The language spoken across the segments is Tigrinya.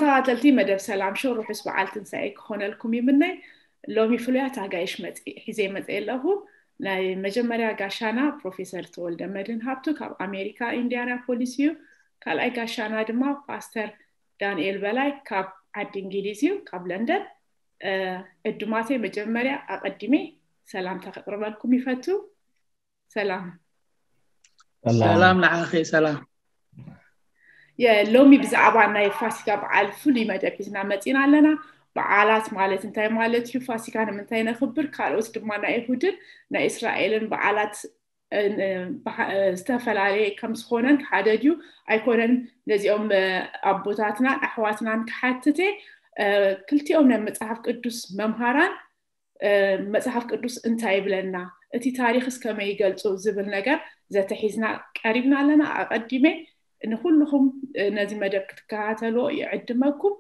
ተኸታተልቲ መደብ ሰላም ሾው፣ ርሑስ በዓል ትንሳኤ ክኾነልኩም ይምነ። ሎሚ ፍሉያት ኣጋይሽ መጺ-፣ ሒዘ መጺአ ኣለኹ። ናይ መጀመርያ ጋሻና ፕሮፌሰር ተወልደ መድህን ሃብቱ ካብ ኣሜሪካ ኢንዲያናፖሊስ እዩ። ካልኣይ ጋሻና ድማ ፓስተር ዳንኤል በላይ ካብ ዓዲ እንግሊዝ እዩ፣ ካብ ለንደን። እ፣ ዕዱማተይ መጀመርያ ኣቐዲሜ ሰላምታ ከቕርበልኩም ይፈቱ። ሰላም። ሰላም ንዓኺ። ሰላም። የሎሚ ብዛዕባ ናይ ፋሲካ በዓል ፍሉይ መደብ ሒዝና መጺና ኣለና። በዓላት ማለት እንታይ ማለት እዩ? ፋሲካ ንምንታይ ነኽብር? ካልኦት ድማ ናይ ይሁድን ናይ እስራኤልን በዓላት፣ እ፣ እ፣ በሓ-፣ እ፣ ዝተፈላለየ ከም ዝኾነን ሓደ ድዩ ኣይኮነን? ነዚኦም፣ እ፣ ኣቦታትናን ኣሕዋትናን ክሓትት እየ። እ፣ ክልቲኦም ናይ መጽሓፍ ቅዱስ መምሃራን፣ እ፣ መጽሓፍ ቅዱስ እንታይ ይብለና፣ እቲ ታሪኽስ ከመይ ይገልጾ ዝብል ነገር ዘተሒዝና ቀሪብና ኣለና። ኣቐዲመ ንኹልኹም፣ እ፣ ነዚ መደብ ክትከታተልዎ ይዕድመኩም።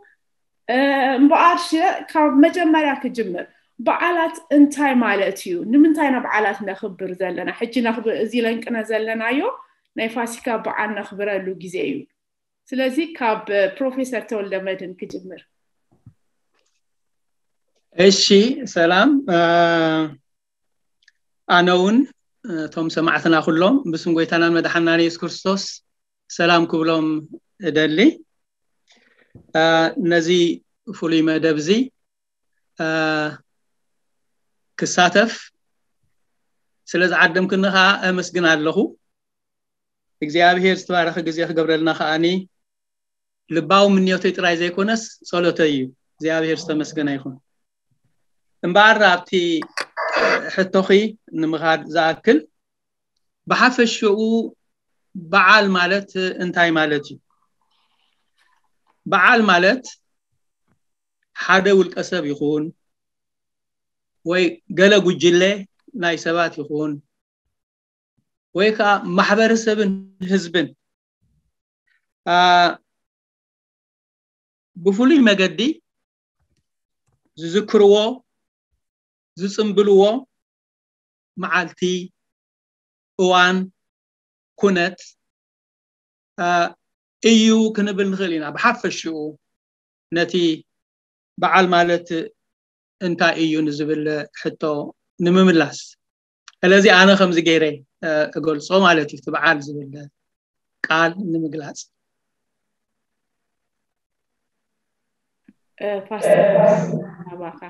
እ፣ እምበኣር ሽ-፣ ካብ መጀመርያ ክጅምር፣ በዓላት እንታይ ማለት እዩ? ንምንታይ ኢና በዓላት ነኽብር ዘለና? ሕጂ ነኽብ-፣ እዚ ለንቅነ ዘለናዮ ናይ ፋሲካ በዓል ነኽብረሉ ግዜ እዩ። ስለዚ ካብ ፕሮፌሰር ተወልደ መድህን ክጅምር። እሺ፣ ሰላም። እ፣ ኣነ እውን፣ እ፣ እቶም ሰማዕትና ኩሎም ብስም ጎይታናን መድሓናን የሱስ ክርስቶስ ሰላም ክብሎም እደሊ። እ፣ ነዚ ፍሉይ መደብ እዚ፣ እ፣ ክሳተፍ ስለ ዝዓደምክኒ ከዓ ኣመስግን ኣለኹ። እግዚኣብሔር ዝተባረኸ ግዜ ክገብረልና ከዓኒ ልባዊ ምንዮተይ ጥራይ ዘይኮነስ ጸሎተይ እዩ። እግዚኣብሔር ዝተመስገነ ይኹን። እምበኣር ኣብቲ ሕቶኺ ንምኻድ ዝኣክል፣ ብሓፈሽኡ በዓል ማለት እንታይ ማለት እዩ? በዓል ማለት ሓደ ውልቀ ሰብ ይኹን ወይ ገለ ጉጅለ ናይ ሰባት ይኹን ወይ ከዓ ማሕበረሰብን ህዝብን፣ አ፣ ብፍሉይ መገዲ ዝዝክርዎ፣ ዝጽምብልዎ መዓልቲ፣ እዋን፣ ኩነት፣ አ፣ እዩ ክንብል ንኽእል ኢና። ብሓፈሽኡ ነቲ በዓል ማለት እንታይ እዩ ንዝብል ሕቶ ንምምላስ። ስለዚ ኣነ ከምዚ ገይረ፣ እ፣ እገልጾ ማለት እዩ፣ እቲ በዓል ዝብል ቃል ንምግላጽ። እ፣ ፓስተር፣ ናባኻ።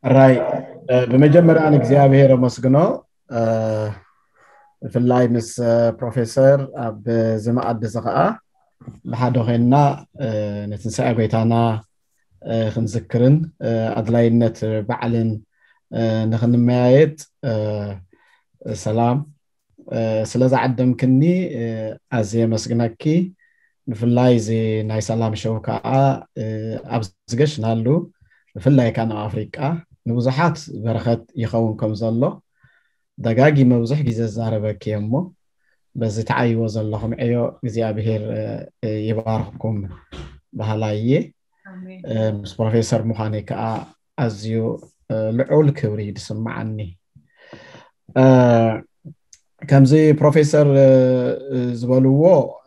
ራይ፣ እ፣ ብመጀመርያ ንእግዚኣብሔር ኣመስግኖ። እ፣ ብፍላይ ምስ፣ እ፣ ፕሮፌሰር ኣብዚ መኣዲ እዚ ኸዓ ብሓደ ኮይንና፣ እ፣ ንትንሳኤ ጎይታና፣ እ፣ ክንዝክርን፣ እ፣ ኣድላይነት በዓልን፣ እ፣ ንኽንመያየጥ፣ እ፣ ሰላም፣ እ፣ ስለ ዝዓደምክኒ፣ እ፣ ኣዝየ የመስግነኪ። ብፍላይ እዚ ናይ ሰላም ሾው ከዓ፣ እ፣ ኣብ ዝገሽናሉ፣ ብፍላይ ከዓ ኣብ ኣፍሪቃ ንብዙሓት በረኸት ይኸውን ከም ዘሎ ደጋጊመ ብዙሕ ግዜ ዝዛረበኪ እየ እሞ፣ በዚ ትዓይዎ ዘለኹም ዕዮ እግዚኣብሄር፣ እ፣ እ፣ ይባርኽኩም በሃላይ እየ። ኣሜን። እ፣ ምስ ፕሮፌሰር ምዃነይ ከዓ ኣዝዩ፣ እ፣ ልዑል ክብሪ እዩ ዝስምዓኒ። እ፣ ከምዚ ፕሮፌሰር፣ እ፣ እ፣ ዝበልዎ፣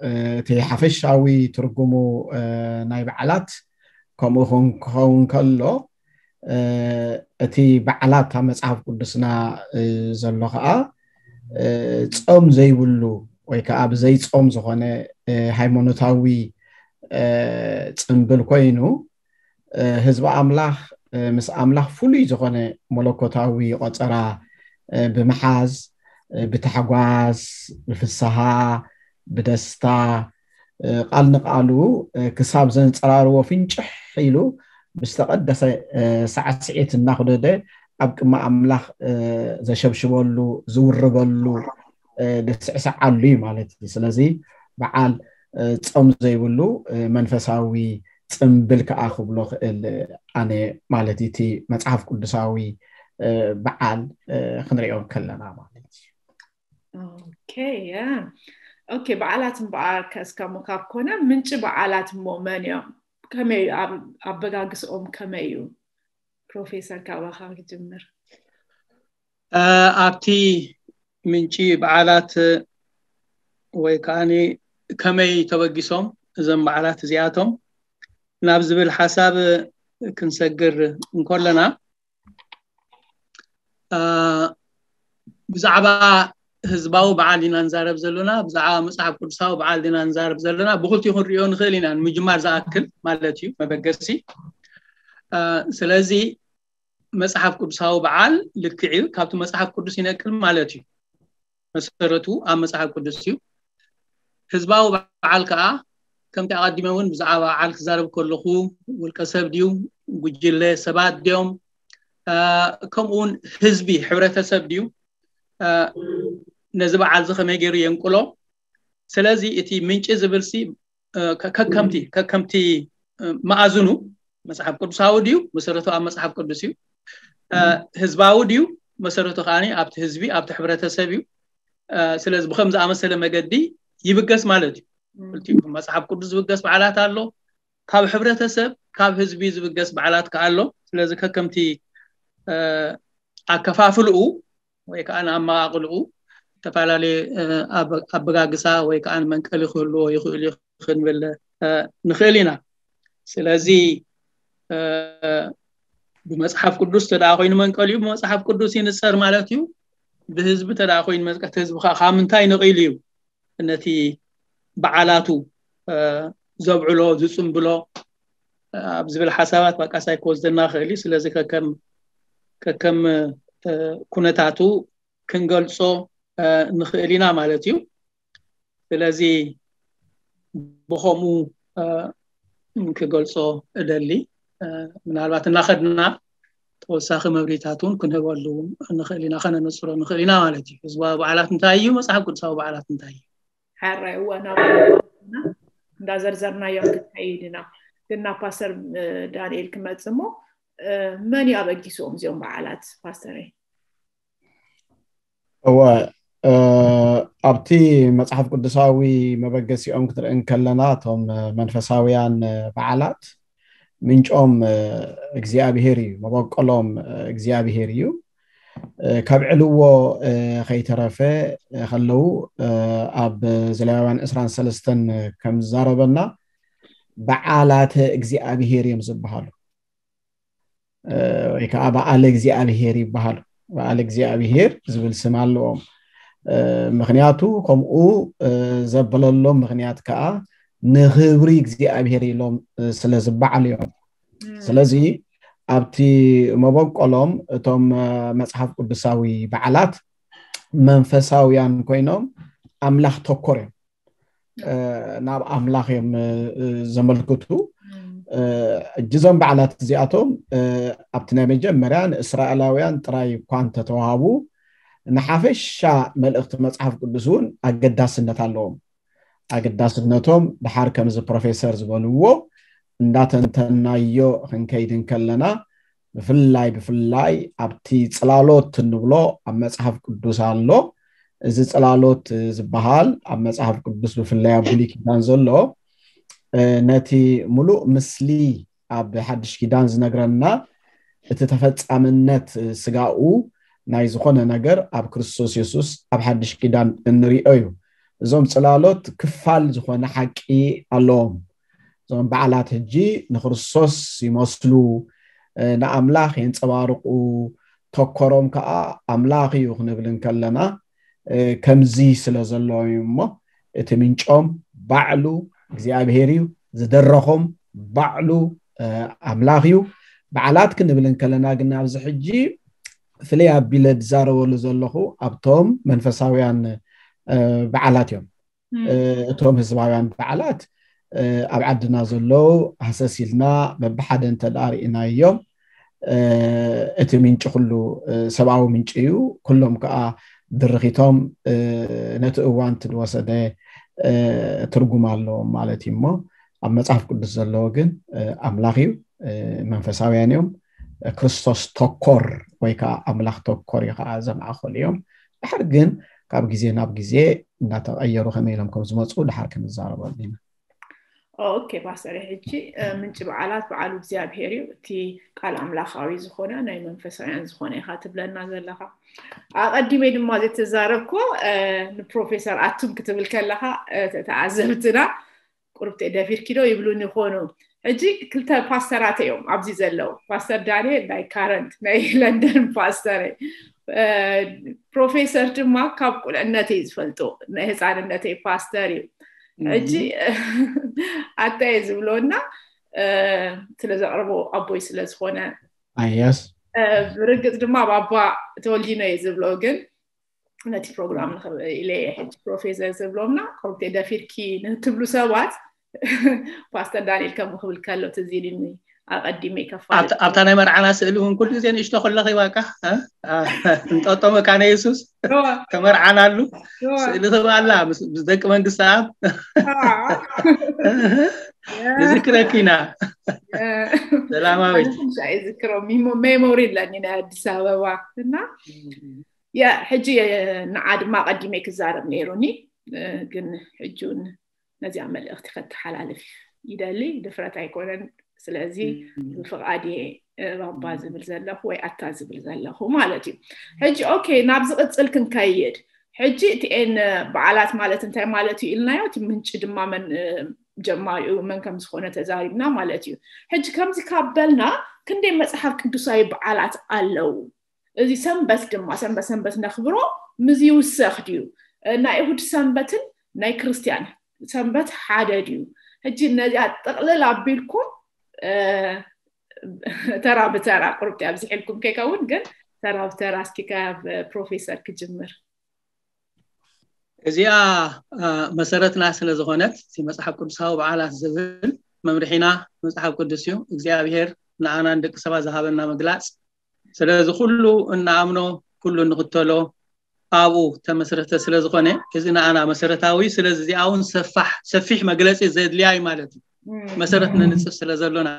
እ፣ እቲ ሓፈሻዊ ትርጉሙ፣ እ፣ ናይ በዓላት ከምኡ ክኸውን፣ ክኸውን ከሎ፣ እ፣ እቲ በዓላት ኣብ መጽሓፍ ቅዱስና፣ እ፣ ዘሎ ኸዓ፣ እ፣ ጾም ዘይብሉ ወይ ከዓ ብዘይ ጾም ዝኾነ፣ እ፣ ሃይማኖታዊ፣ እ፣ ጽምብል ኮይኑ፣ እ፣ ህዝቢ ኣምላኽ፣ እ፣ ምስ ኣምላኽ ፍሉይ ዝኾነ መለኮታዊ ቆጸራ፣ እ፣ ብምሓዝ፣ እ፣ ብታሕጓስ፣ ብፍስሃ፣ ብደስታ፣ እ፣ ቃል ንቃሉ፣ እ፣ ክሳብ ዘንጸራርዎ ፍንጭሕ ኢሉ ብዝተቐደሰ፣ እ፣ ሳዕስዒት እናኹደደ ኣብ ቅድሚ ኣምላኽ፣ እ፣ ዘሸብሽበሉ፣ ዝውርበሉ፣ እ፣ ዝስዕስዓሉ እዩ ማለት እዩ። ስለዚ በዓል፣ እ፣ ጾም ዘይብሉ፣ እ፣ መንፈሳዊ ጽምብል ከኣ ክብሎ ክእል ኣነ ማለት እዩ። እቲ መጽሓፍ ቅዱሳዊ፣ እ፣ በዓል፣ እ፣ ክንሪኦ ከለና ማለት እዩ። ኦኬ፣ ያ። ኦኬ፣ በዓላት እምበኣር ከ እስከ እሞ ካብ ኮነ ምንጪ በዓላት እሞ መን እዮም? ከመይ ኣብ-፣ ኣበጋግስኦም ከመይ እዩ? ፕሮፌሰር ካባኻ ክጅምር። እ፣ ኣብቲ ምንጪ በዓላት ወይ ከዓኒ ከመይ ተበጊሶም እዞም በዓላት እዚኣቶም ናብ ዝብል ሓሳብ ክንሰግር እንከለና፣ ብዛዕባ ህዝባዊ በዓል ኢና ንዛረብ ዘለና፣ ብዛዕባ መፅሓፍ ቅዱሳዊ በዓል ኢና ንዛረብ ዘለና። ብክልቲኡ ክንሪኦ ንኽእል ኢና፣ ንምጅማር ዝኣክል ማለት እዩ፣ መበገሲ። ስለዚ መፅሓፍ ቅዱሳዊ በዓል ልክዕ እዩ፣ ካብቲ መፅሓፍ ቅዱስ ይነቅል ማለት እዩ። መሰረቱ ኣብ መፅሓፍ ቅዱስ እዩ። ህዝባዊ በዓል ከዓ ከምቲ ኣቐዲመ እውን ብዛዕባ በዓል ክዛረብ ከለኹ፣ ውልቀ ሰብ ድዩ፣ ጉጅለ ሰባት ድዮም፣ ከምኡውን ህዝቢ፣ ሕብረተሰብ ድዩ፣ ነዚ በዓል እዚ ከመይ ገይሩ የንቅሎ? ስለዚ እቲ ምንጪ ዝብል ሲ ከከምቲ ከከምቲ መኣዝኑ መፅሓፍ ቅዱሳዊ ድዩ? መሰረቱ ኣብ መፅሓፍ ቅዱስ እዩ። ህዝባዊ ድዩ? መሰረቱ ከዓ ኣብቲ ህዝቢ፣ ኣብቲ ሕብረተሰብ እዩ። ስለዚ ብከም ዝኣመሰለ መገዲ ይብገስ ማለት እዩ። ክልቲኡ መፅሓፍ ቅዱስ ዝብገስ በዓላት ኣሎ፣ ካብ ሕብረተሰብ ካብ ህዝቢ ዝብገስ በዓላት ከዓ ኣሎ። ስለዚ ከከምቲ ኣከፋፍልኡ ወይ ከዓ ንኣመቃቅልኡ ዝተፈላለየ ኣበጋግሳ ወይ ከዓ መንቀሊ ክህልዎ ይኽእል እዩ ክንብል ንኽእል ኢና። ስለዚ ብመፅሓፍ ቅዱስ ተደኣ ኮይኑ መንቀሊኡ ብመፅሓፍ ቅዱስ ይንፀር ማለት እዩ። ብህዝቢ ተደኣ ኮይኑ መዝቀት ህዝቢ ከዓ ካብ ምንታይ ነቒሉ እዩ ነቲ በዓላቱ ዘብዕሎ ዝፅምብሎ ኣብ ዝብል ሓሳባት ባቃሳይ ክወስደና ክእል እዩ። ስለዚ ከከም ከከም ኩነታቱ ክንገልፆ ንኽእል ኢና ማለት እዩ። ስለዚ ብኸምኡ ክገልፆ እደሊ። ምናልባት እናኸድና ተወሳኺ መብሪታት እውን ክንህበሉ ንኽእል ኢና፣ ከነነፅሮ ንኽእል ኢና ማለት እዩ። ህዝባዊ በዓላት እንታይ እዩ? መፅሓፍ ቅዱሳዊ በዓላት እንታይ እዩ? ሕራይ እዋናዊ እንዳዘርዘርናዮም ክንከይድ ኢና። ግን ናብ ፓስተር ዳንኤል ክመጽእ እሞ፣ መን እዩ ኣበጊስዎም እዚኦም በዓላት ፓስተረይ? እወ፣ ኣብቲ መፅሓፍ ቅዱሳዊ መበገሲኦም ክትርኢ እንከለና፣ እቶም መንፈሳውያን በዓላት ምንጮም እግዚኣብሄር እዩ፣ መበቆሎም እግዚኣብሄር እዩ። ከብዕልዎ ከይተረፈ ከለዉ፣ ኣብ ዘሌዋውያን ዕስራን ሰለስተን ከም ዝዛረበና፣ በዓላተ እግዚኣብሄር እዮም ዝበሃሉ፣ ወይ ከዓ በዓለ እግዚኣብሄር ይበሃሉ። በዓለ እግዚኣብሄር ዝብል ስም ኣለዎም። ምኽንያቱ ከምኡ ዘበለሎም ምኽንያት ከዓ ንኽብሪ እግዚኣብሄር ኢሎም ስለ ዝበዓሉ እዮም። ስለዚ ኣብቲ መበቆሎም እቶም መፅሓፍ ቅዱሳዊ በዓላት መንፈሳውያን ኮይኖም ኣምላኽ ተኮር እዮም። ናብ ኣምላኽ እዮም ዘመልክቱ። እጅዞም በዓላት እዚኣቶም ኣብቲ ናይ መጀመርያ ንእስራኤላውያን ጥራይ እኳ እንተተዋሃቡ፣ ንሓፈሻ መልእኽቲ መፅሓፍ ቅዱስ እውን ኣገዳስነት ኣለዎም። ኣገዳስነቶም ድሓር ከምዚ ፕሮፌሰር ዝበልዎ እንዳተንተናዮ ክንከይድ እንከለና፣ ብፍላይ ብፍላይ ኣብቲ ፅላሎት እንብሎ ኣብ መፅሓፍ ቅዱስ ኣሎ። እዚ ፅላሎት ዝበሃል ኣብ መፅሓፍ ቅዱስ ብፍላይ ኣብ ብሉይ ኪዳን ዘሎ ነቲ ሙሉእ ምስሊ ኣብ ሓድሽ ኪዳን ዝነግረና፣ እቲ ተፈፃምነት ስጋኡ ናይ ዝኾነ ነገር ኣብ ክርስቶስ የሱስ ኣብ ሓድሽ ኪዳን እንሪኦ እዩ። እዞም ፅላሎት ክፋል ዝኾነ ሓቂ ኣለዎም። እዞም በዓላት ሕጂ ንክርስቶስ ይመስሉ፣ ንኣምላኽ የንፀባርቁ፣ ተኮሮም ከዓ ኣምላኽ እዩ ክንብል እንከለና ከምዚ ስለ ዘለዎም እዩ እሞ፣ እቲ ምንጮም ባዕሉ እግዚኣብሄር እዩ፣ ዝደረኾም ባዕሉ ኣምላኽ እዩ። በዓላት ክንብል እንከለና ግን ኣብዚ ሕጂ ፍልይ ኣቢለ ዝዛረበሉ ዘለኹ ኣብቶም መንፈሳውያን በዓላት እዮም። እቶም ህዝባውያን በዓላት ኣብ ዓድና ዘለዉ ሃሰስ ኢልና በብሓደ እንተ ደኣ ርኢናዮም፣ እቲ ምንጪ ኩሉ ሰብኣዊ ምንጪ እዩ። ኩሎም ከዓ ድርኺቶም ነቲ እዋን እቲ ዝወሰደ ትርጉም ኣለዎም ማለት እዩ እሞ፣ ኣብ መፅሓፍ ቅዱስ ዘለዎ ግን ኣምላኽ እዩ፣ መንፈሳውያን እዮም፣ ክርስቶስ ተኮር ወይ ከዓ ኣምላኽ ተኮር እዩ ከዓ ዘማእኸሉ እዮም። ድሓር ግን ካብ ግዜ ናብ ግዜ እንዳተቐየሩ ከመይ ኢሎም ከም ዝመፁ ድሓር ክንዛረበሉ ኢና። ኦኬ ፓስተር፣ ሕጂ ምንጪ በዓላት በዓሉ እግዚኣብሔር እዩ፣ እቲ ቃል ኣምላኻዊ ዝኾነ ናይ መንፈሳውያን ዝኾነ ኢኻ ትብለና ዘለኻ። ኣቐዲመ ድማ ዘይተዛረብኮ ንፕሮፌሰር ኣቱም ክትብል ከለኻ ተዓዘብትና ቁርብቲ ደፊርኪዶ ይብሉን ይኾኑ። ሕጂ ክልተ ፓስተራት እዮም ኣብዚ ዘለዉ። ፓስተር ዳንኤል ናይ ካረንት ናይ ለንደን ፓስተር፣ ፕሮፌሰር ድማ ካብ ቁልዕነተይ ዝፈልጡ ናይ ህፃንነተይ ፓስተር እዩ። ሕጂ ኣታይ ዝብሎና ስለ ዘቕርቦ ኣቦይ ስለ ዝኾነ ኣያስ ብርግፅ ድማ ኣብ ኣባ ተወልዲኖ እዩ ዝብሎ፣ ግን ነቲ ፕሮግራም ኢለ ሕጂ ፕሮፌሰር ዝብሎምና ኮምቴ ደፊርኪ ንትብሉ ሰባት ፓስተር ዳንኤል ከም ክብል ከሎ ትዝ ኢልኒ። ኣቐዲመ ይከፋል ኣብታ ናይ መርዓና ስእሊ እውን ኩሉ ግዜ ንእሽቶ ከለኺ ባቃ እንጠጦ መካነ የሱስ ተመርዓናሉ ስእሊ ትብኣላ ምስ ደቂ መንግስቲ ኣብ ንዝክረኪና ሰላማዊት ዝክሮ ሜሞሪ ኣለኒ ናይ ኣዲስ ኣበባ እና ያ ሕጂ ንዓ ድማ ኣቐዲመ ክዛረብ ነይሩኒ፣ ግን ሕጂ እውን ነዚኣ መልእኽቲ ከተሓላልፍ ይደሊ። ድፍረት ኣይኮነን። ስለዚ ብፍቓድ እየ ባባ ዝብል ዘለኹ ወይ ኣታ ዝብል ዘለኹ ማለት እዩ። ሕጂ ኦኬ፣ ናብ ዝቕፅል ክንከይድ። ሕጂ እቲኤን በዓላት ማለት እንታይ ማለት እዩ ኢልናዮ። እቲ ምንጪ ድማ መን ጀማሪኡ መን ከም ዝኾነ ተዛሪብና ማለት እዩ። ሕጂ ከምዚ ካብ በልና ክንደይ መፅሓፍ ቅዱሳዊ በዓላት ኣለዉ? እዚ ሰንበት ድማ ሰንበት ሰንበት ነኽብሮ ምስ ይውሰኽ ድዩ? ናይ እሁድ ሰንበትን ናይ ክርስቲያን ሰንበት ሓደ ድዩ? ሕጂ ነዚኣ ጥቕልል ኣቢልኩም ተራ ብተራ ቁርብቲ ኣብዚሕልኩም ከይከውን ግን ተራ ብተራ እስኪ ካብ ፕሮፌሰር ክጅምር። እዚኣ መሰረትና ስለ ዝኾነት እቲ መፅሓፍ ቅዱሳዊ በዓላት ዝብል መምርሒና መፅሓፍ ቅዱስ እዩ። እግዚኣብሔር ንኣናን ደቂ ሰባት ዝሃበና ምግላፅ። ስለዚ ኩሉ እንኣምኖ ኩሉ እንኽተሎ ኣብኡ ተመስረተ ስለ ዝኾነ እዚ ንኣና መሰረታዊ። ስለዚ እዚኣ እውን ሰፋሕ ሰፊሕ መግለፂ ዘድልያ እዩ ማለት እዩ። መሰረት ነንፅፍ ስለ ዘሎና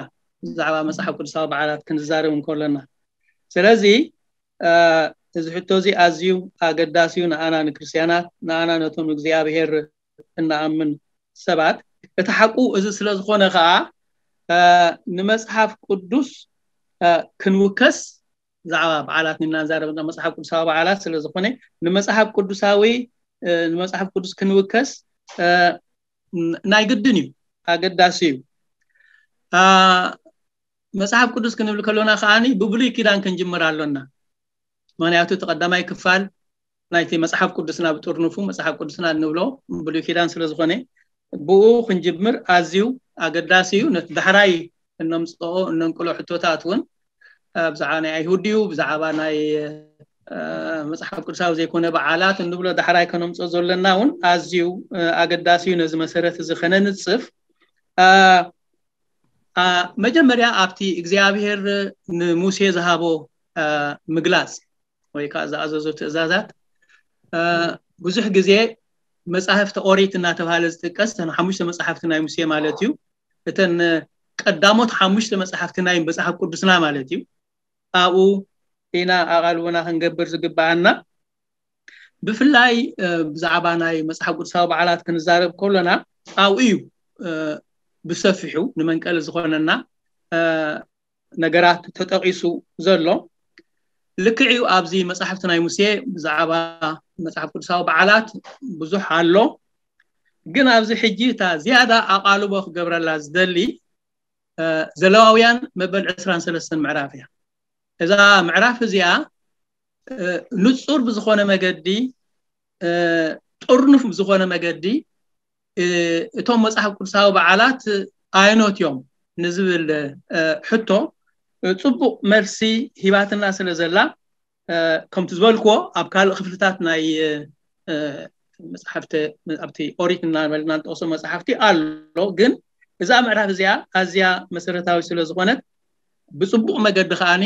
ብዛዕባ መፅሓፍ ቅዱሳዊ በዓላት ክንዛረብ እንከለና ስለዚ እዚ ሕቶ እዚ ኣዝዩ ኣገዳሲ እዩ ንኣና ንክርስትያናት ንኣና ነቶም እግዚኣብሔር እንኣምን ሰባት። እቲ ሓቁ እዚ ስለ ዝኾነ ከዓ ንመፅሓፍ ቅዱስ ክንውከስ ብዛዕባ በዓላት ኢና ንዛረብ ዘለና መፅሓፍ ቅዱሳዊ በዓላት ስለ ዝኾነ ንመፅሓፍ ቅዱሳዊ ንመፅሓፍ ቅዱስ ክንውከስ ናይ ግድን እዩ ኣገዳሲ እዩ። መፅሓፍ ቅዱስ ክንብል ከሎና ከዓ ብብሉይ ኪዳን ክንጅምር ኣሎና። ምክንያቱ እቲ ቀዳማይ ክፋል ናይቲ መፅሓፍ ቅዱስና ብጥርንፉ መፅሓፍ ቅዱስና እንብሎ ብሉይ ኪዳን ስለ ዝኾነ ብኡ ክንጅምር ኣዝዩ ኣገዳሲ እዩ። ነቲ ዳሕራይ እነምፅኦ እነንቅሎ ሕቶታት እውን ብዛዕባ ናይ ኣይሁድ ድዩ ብዛዕባ ናይ መፅሓፍ ቅዱሳዊ ዘይኮነ በዓላት እንብሎ ዳሕራይ ከነምፅኦ ዘለና እውን ኣዝዩ ኣገዳሲ እዩ። ነዚ መሰረት እዚ ከነንፅፍ መጀመርያ ኣብቲ እግዚኣብሔር ንሙሴ ዝሃቦ ምግላፅ ወይ ከዓ ዝኣዘዞ ትእዛዛት ብዙሕ ግዜ መፃሕፍቲ ኦሪት እናተባሃለ ዝጥቀስ እተን ሓሙሽተ መፃሕፍቲ ናይ ሙሴ ማለት እዩ። እተን ቀዳሞት ሓሙሽተ መፃሕፍቲ ናይ መፅሓፍ ቅዱስና ማለት እዩ። ኣብኡ ኢና ኣቓልቦና ክንገብር ዝግባኣና። ብፍላይ ብዛዕባ ናይ መፅሓፍ ቅዱሳዊ በዓላት ክንዛረብ ከሎና ኣብኡ እዩ ብሰፊሑ ንመንቀሊ ዝኾነና ነገራት ተጠቒሱ ዘሎ። ልክዕ እዩ ኣብዚ መፃሕፍቲ ናይ ሙሴ ብዛዕባ መፅሓፍ ቅዱሳዊ በዓላት ብዙሕ ኣሎ። ግን ኣብዚ ሕጂ እታ ዝያዳ ኣቓልቦ ክገብረላ ዝደሊ ዘለዋውያን መበል ዕስራን ሰለስተን ምዕራፍ እያ። እዛ ምዕራፍ እዚኣ ንፁር ብዝኾነ መገዲ ጥርኑፍ ብዝኾነ መገዲ እቶም መፅሓፍ ቅዱሳዊ በዓላት ኣየኖት እዮም ንዝብል ሕቶ ፅቡቕ መልሲ ሂባትና ስለ ዘላ ከምቲ ዝበልክዎ ኣብ ካልእ ክፍልታት ናይ መፅሓፍቲ ኣብቲ ኦሪት እናበልና ንጠቕሶ መፅሓፍቲ ኣሎ። ግን እዛ ምዕራፍ እዚኣ ኣዝያ መሰረታዊ ስለ ዝኾነት ብፅቡቕ መገዲ ከዓኒ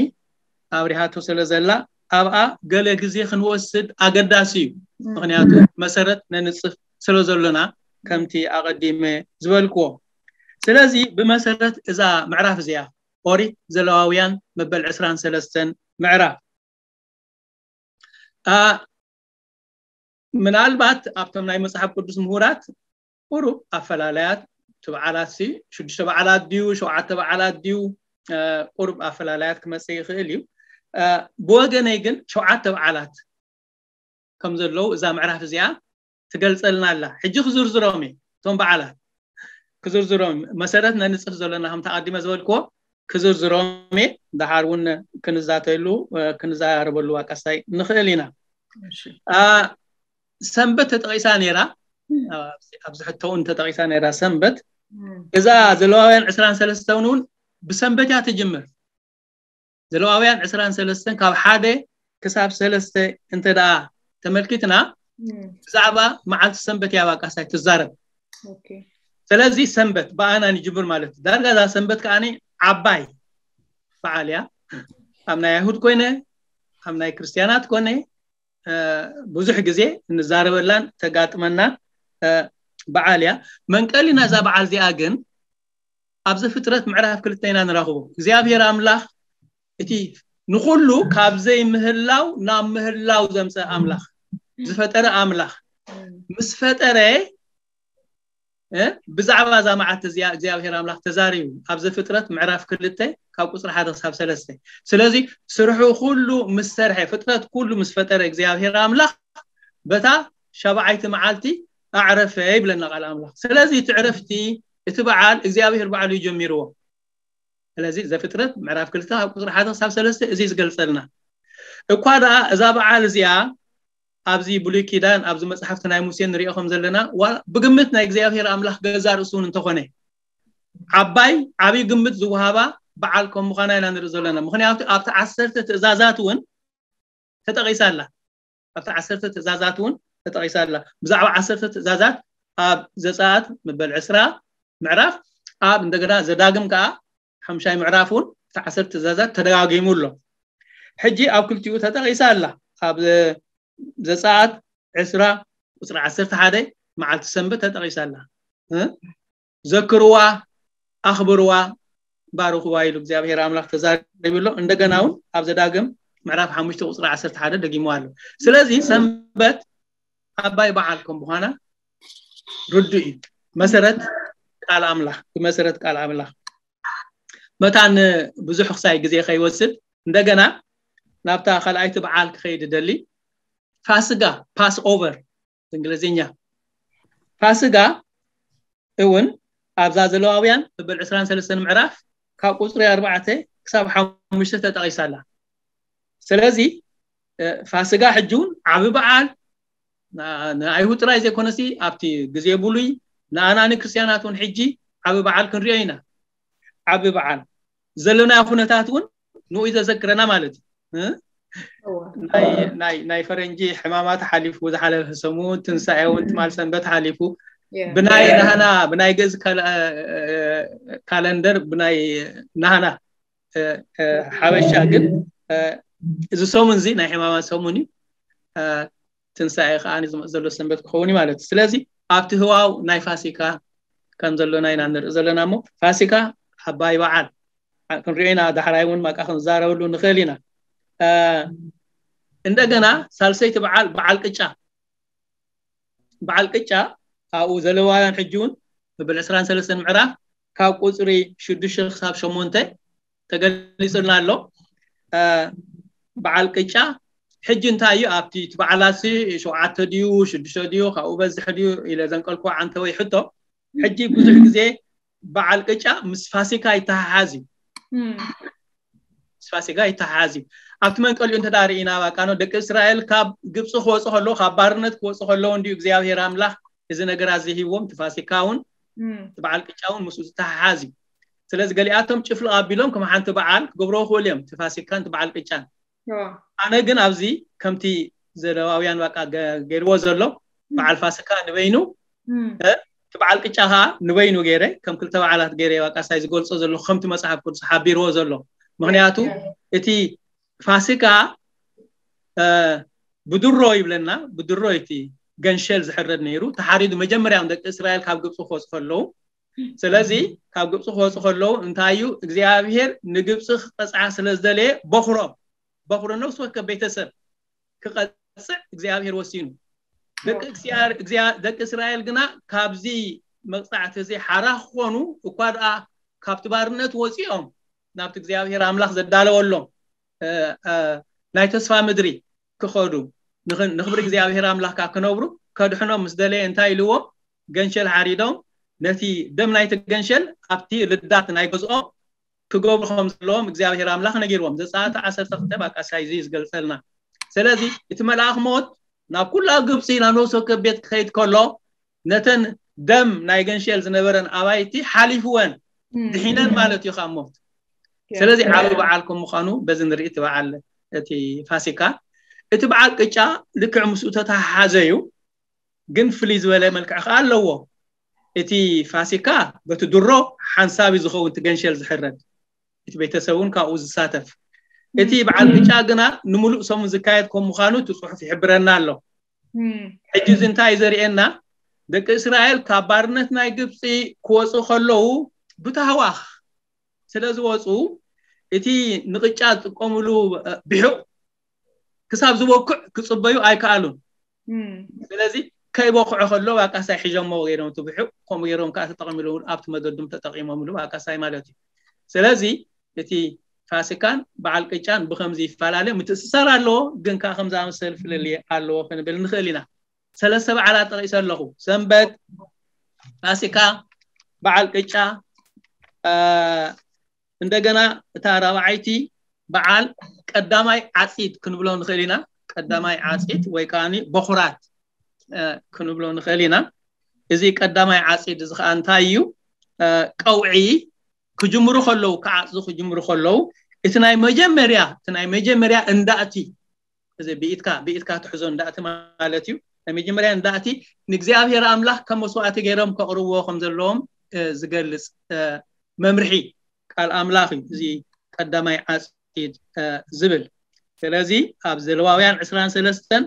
ኣብሪሃቶ ስለ ዘላ ኣብኣ ገለ ግዜ ክንወስድ ኣገዳሲ እዩ። ምክንያቱ መሰረት ነንፅፍ ስለ ዘሎና ከምቲ ኣቐዲመ ዝበልክዎ። ስለዚ ብመሰረት እዛ ምዕራፍ እዚኣ ኦሪት ዘለዋውያን መበል ዕስራን ሰለስተን ምዕራፍ ምናልባት ኣብቶም ናይ መፅሓፍ ቅዱስ ምሁራት ቁሩብ ኣፈላላያት በዓላት ሲ ሽዱሽተ በዓላት ድዩ ሸውዓተ በዓላት ድዩ ቁርብ ኣፈላላያት ክመፅእ ይኽእል እዩ። ብወገነይ ግን ሸውዓተ በዓላት ከም ዘለዉ እዛ ምዕራፍ እዚኣ ትገልፀልና ኣላ። ሕጂ ክዝርዝሮም እየ እቶም በዓላት ክዝርዝሮም መሰረት ነንፅፍ ዘለና ከም ተቐዲመ ዝበልክዎ ክዝርዝሮም እየ። ደሓር እውን ክንዛተሉ ክንዛረበሉ ዋቃሳይ ንኽእል ኢና። ሰንበት ተጠቒሳ ነይራ። ኣብዚ ሕቶውን ተጠቒሳ ነይራ ሰንበት። እዛ ዘለዋውያን ዕስራን ሰለስተን እውን ብሰንበት እያ ትጅምር። ዘለዋውያን ዕስራን ሰለስተን ካብ ሓደ ክሳብ ሰለስተ እንተ ደኣ ተመልኪትና ብዛዕባ መዓልቲ ሰንበት እያ ዋቃሳይ ትዛረብ። ስለዚ ሰንበት ብኣና ንጅምር ማለት እዩ። ዳርጋ እዛ ሰንበት ከኣ ዓባይ በዓል እያ። ኣብ ናይ ኣይሁድ ኮይነ ኣብ ናይ ክርስትያናት ኮነ ብዙሕ ግዜ እንዛረበላን ተጋጥመና በዓል እያ። መንቀሊ ናዛ በዓል እዚኣ ግን ኣብ ዘፍጥረት ምዕራፍ ክልተ ኢና ንረኽቦ። እግዚኣብሔር ኣምላኽ እቲ ንኹሉ ካብ ዘይምህላው ናብ ምህላው ዘምፀ ኣምላኽ ዝፈጠረ ኣምላኽ ምስ ፈጠረ ብዛዕባ እዛ መዓልቲ እዚኣ እግዚኣብሔር ኣምላኽ ተዛሪቡ ኣብ ዘፍጥረት ምዕራፍ ክልተ ካብ ቁፅሪ ሓደ ክሳብ ሰለስተ። ስለዚ ስርሑ ኩሉ ምስ ሰርሐ ፍጥረት ኩሉ ምስ ፈጠረ እግዚኣብሔር ኣምላኽ በታ ሻብዓይቲ መዓልቲ ኣዕረፈ ይብለና ቃል ኣምላኽ። ስለዚ እቲ ዕረፍቲ እቲ በዓል እግዚኣብሔር ባዕሉ እዩ ጀሚርዎ። ስለዚ ዘፍጥረት ምዕራፍ ክልተ ካብ ቁፅሪ ሓደ ክሳብ ሰለስተ እዚ ዝገልፀልና እኳ ደኣ እዛ በዓል እዚኣ ኣብዚ ብሉይ ኪዳን ኣብዚ መፅሓፍቲ ናይ ሙሴ ንሪኦ ከም ዘለና ብግምት ናይ እግዚኣብሔር ኣምላኽ ገዛ ርእሱ እውን እንተኾነ ዓባይ ዓብዪ ግምት ዝወሃባ በዓል ከም ምዃና ኢና ንርኢ ዘለና። ምክንያቱ ኣብቲ ዓሰርተ ትእዛዛት እውን ተጠቒሳ ኣላ። ኣብቲ ዓሰርተ ትእዛዛት እውን ተጠቒሳ ኣላ። ብዛዕባ ዓሰርተ ትእዛዛት ኣብ ዘፀኣት መበል ዕስራ ምዕራፍ ኣብ እንደገና ዘዳግም ከዓ ሓምሻይ ምዕራፍ እውን እቲ ዓሰርተ ትእዛዛት ተደጋጊሙ ኣሎ። ሕጂ ኣብ ክልቲኡ ተጠቒሳ ኣላ። ኣብ ዘፀኣት ዕስራ ቁፅሪ ዓሰርተ ሓደ መዓልቲ ሰንበት ተጠቒሳ ኣላ። ዘክርዋ ኣኽብርዋ ባርኽዋ ኢሉ እግዚኣብሔር ኣምላኽ ተዛሪቡ ኣሎ። እንደገና እውን ኣብ ዘዳግም ምዕራፍ ሓሙሽተ ቁፅሪ ዓሰርተ ሓደ ደጊሙ ኣሎ። ስለዚ ሰንበት ዓባይ በዓል ከም ምዃና ርዱእ እዩ። መሰረት ቃል ኣምላኽ ብመሰረት ቃል ኣምላኽ መታን ብዙሕ ክሳይ ግዜ ከይወስድ እንደገና ናብታ ካልኣይቲ በዓል ክኸይድ ደሊ ፋስጋ ፓስ ኦቨር እንግሊዝኛ ፋስጋ እውን ኣብዛ ዘለዋውያን መበል ዕስራን ሰለስተን ምዕራፍ ካብ ቁፅሪ ኣርባዕተ ክሳብ ሓሙሽተ ተጠቒሳላ። ስለዚ ፋስጋ ሕጂ እውን ዓቢ በዓል ንኣይሁድ ጥራይ ዘይኮነሲ ኣብቲ ግዜ ብሉይ ንኣና ንክርስትያናት እውን ሕጂ ዓቢ በዓል ክንሪኦ ኢና። ዓቢ በዓል ዘለናዮ ኩነታት እውን ንኡ ዘዘክረና ማለት እዩ። ናይ ፈረንጂ ሕማማት ሓሊፉ ዝሓለፈ ሰሙን ትንሳኤ እውን ትማል ሰንበት ሓሊፉ ብናይ ናህና ብናይ ግእዝ ካለንደር ብናይ ናህና ሓበሻ ግን እዚ ሰሙን እዚ ናይ ሕማማት ሰሙን እዩ። ትንሳኤ ከዓ ዝመፅ ዘሎ ሰንበት ክኸውን እዩ ማለት እዩ። ስለዚ ኣብቲ ህዋው ናይ ፋሲካ ከም ዘሎና ኢና ንርኢ ዘለና እሞ ፋሲካ ዓባይ በዓል ክንሪኦ ኢና። ዳሕራይ እውን ማቃ ክንዛረበሉ ንኽእል ኢና። እንደገና ሳልሰይቲ በዓል በዓል ቅጫ በዓል ቅጫ ኣብኡ ዘለዋውያን ሕጂ እውን መበል ዕስራን ሰለስተን ምዕራፍ ካብ ቁፅሪ ሽዱሽተ ክሳብ ሸሞንተ ተገሊፁልና ኣሎ። በዓል ቅጫ ሕጂ እንታይ እዩ ኣብቲ በዓላት ሸውዓተ ድዩ ሽዱሽተ ድዩ ካብኡ በዝሕ ድዩ ኢለ ዘንቀልኩ ዓንተ ወይ ሕቶ ሕጂ ብዙሕ ግዜ በዓል ቅጫ ምስ ፋሲካ ይተሓሓዝ እዩ። ምስ ፋሲካ ይተሓሓዝ እዩ። ኣብቲ መንቀሊኡ እንተ ርኢና ባቃኖ ደቂ እስራኤል ካብ ግብፂ ክወፁ ከለዉ ካብ ባርነት ክወፁ ከለዉ እንዲዩ እግዚኣብሔር ኣምላኽ እዚ ነገር ኣዘሂዎም እቲ ፋሲካ እውን እቲ በዓል ቅጫ እውን ምስኡ ዝተሓሓዝ እዩ። ስለዚ ገሊኣቶም ጭፍልቕ ኣቢሎም ከም ሓንቲ በዓል ክገብሮ ክኽእሉ እዮም እቲ ፋሲካን እቲ በዓል ቅጫን። ኣነ ግን ኣብዚ ከምቲ ዘለዋውያን ባቃ ገይርዎ ዘሎ በዓል ፋሲካ ንበይኑ እቲ በዓል ቅጫ ከዓ ንበይኑ ገይረ ከም ክልተ በዓላት ገይረ ባቃ ሳይ ዝገልፆ ዘሎ ከምቲ መፅሓፍ ቅዱስ ሓቢርዎ ዘሎ። ምክንያቱ እቲ ፋሲካ ብድሮ ይብለና ብድሮ እቲ ገንሸል ዝሕረድ ነይሩ ተሓሪዱ መጀመርያ ደቂ እስራኤል ካብ ግብፂ ክወፁ ከለዉ ስለዚ ካብ ግብፂ ክወፁ ከለዉ እንታይ እዩ እግዚኣብሔር ንግብፂ ክቀፅዓ ስለ ዝደለየ በኩሮም በኩሮ ነፍሲ ወከፍ ቤተሰብ ክቐፅዕ እግዚኣብሔር ወሲኑ። ደቂ እስራኤል ግና ካብዚ መቕጻዕቲ እዚ ሓራ ክኾኑ እኳ ደኣ ካብቲ ባርነት ወፂኦም ናብቲ እግዚኣብሔር ኣምላኽ ዘዳለወሎም ናይ ተስፋ ምድሪ ክኸዱ ንኽብሪ እግዚኣብሔር ኣምላኽ ካብ ክነብሩ ከድሕኖም ምስ ደለየ እንታይ ኢልዎም? ገንሸል ሓሪዶም ነቲ ደም ናይቲ ገንሸል ኣብቲ ልዳት ናይ ገዝኦም ክገብሩ ከም ዘለዎም እግዚኣብሔር ኣምላኽ ነጊርዎም። ዘጸኣት ዓሰርተ ክልተ ባቃሳይ እዚ ዝገልጸልና። ስለዚ እቲ መልኣኽ ሞት ናብ ኩላ ግብፂ ናብ ነፍሲ ወከፍ ቤት ክኸይድ ከሎ ነተን ደም ናይ ገንሸል ዝነበረን ኣባይቲ ሓሊፍወን ድሒነን ማለት እዩ ካብ ሞት። ስለዚ ዓቢ በዓል ከም ምዃኑ በዚ ንርኢ እቲ በዓል እቲ ፋሲካ። እቲ በዓል ቅጫ ልክዕ ምስኡ ተተሓሓዘ እዩ፣ ግን ፍልይ ዝበለ መልክዕ ከዓ ኣለዎ። እቲ ፋሲካ በቲ ድሮ ሓንሳብ እዩ ዝኸውን፣ እቲ ገንሸል ዝሕረድ፣ እቲ ቤተሰብ እውን ካብኡ ዝሳተፍ። እቲ በዓል ቅጫ ግና ንምሉእ ሰሙን ዝካየድ ከም ምዃኑ እቲ ጽሑፍ ይሕብረና ኣሎ። ሕጂ እዚ እንታይ እዩ ዘርእየና? ደቂ እስራኤል ካብ ባርነት ናይ ግብፂ ክወፁ ከለዉ ብታህዋኽ ስለ ዝወፁ እቲ ንቅጫ ዝጥቀምሉ ብሑቕ ክሳብ ዝበኩዕ ክፅበዩ ኣይከኣሉን። ስለዚ ከይበኩዖ ከሎ ባቃሳይ ሒዞሞ ገይሮም እቲ ብሑቕ ከምኡ ገይሮም ከዓ ተጠቂምሉ ኣብቲ መገዱም ተጠቂሞምሉ ባቃሳይ ማለት እዩ። ስለዚ እቲ ፋሲካን በዓል ቅጫን ብከምዚ ይፈላለ፣ ምትእስሳር ኣለዎ፣ ግን ከዓ ከም ዝኣመሰል ፍልልይ ኣለዎ ክንብል ንኽእል ኢና። ሰለስተ በዓላት ጠቒሰ ኣለኹ። ሰንበት፣ ፋሲካ፣ በዓል ቅጫ፣ እንደገና እታ ራብዓይቲ በዓል ቀዳማይ ዓፂድ ክንብሎ ንኽእል ኢና። ቀዳማይ ዓፂድ ወይ ከዓ በኹራት ክንብሎ ንኽእል ኢና። እዚ ቀዳማይ ዓፂድ እዚ ከዓ እንታይ እዩ? ቀውዒ ክጅምሩ ከለዉ፣ ክዓፅዱ ክጅምሩ ከለዉ እቲ ናይ መጀመርያ እቲ ናይ መጀመርያ እንዳእቲ እዚ ብኢትካ ብኢትካ ትሕዞ እንዳእቲ ማለት እዩ። ናይ መጀመርያ እንዳእቲ ንእግዚኣብሔር ኣምላኽ ከም መስዋእቲ ገይሮም ከቕርብዎ ከም ዘለዎም ዝገልጽ መምርሒ ቃል ኣምላኽ እዩ። እዚ ቀዳማይ ዓፂድ ዝብል። ስለዚ ኣብ ዘለዋውያን ዕስራን ሰለስተን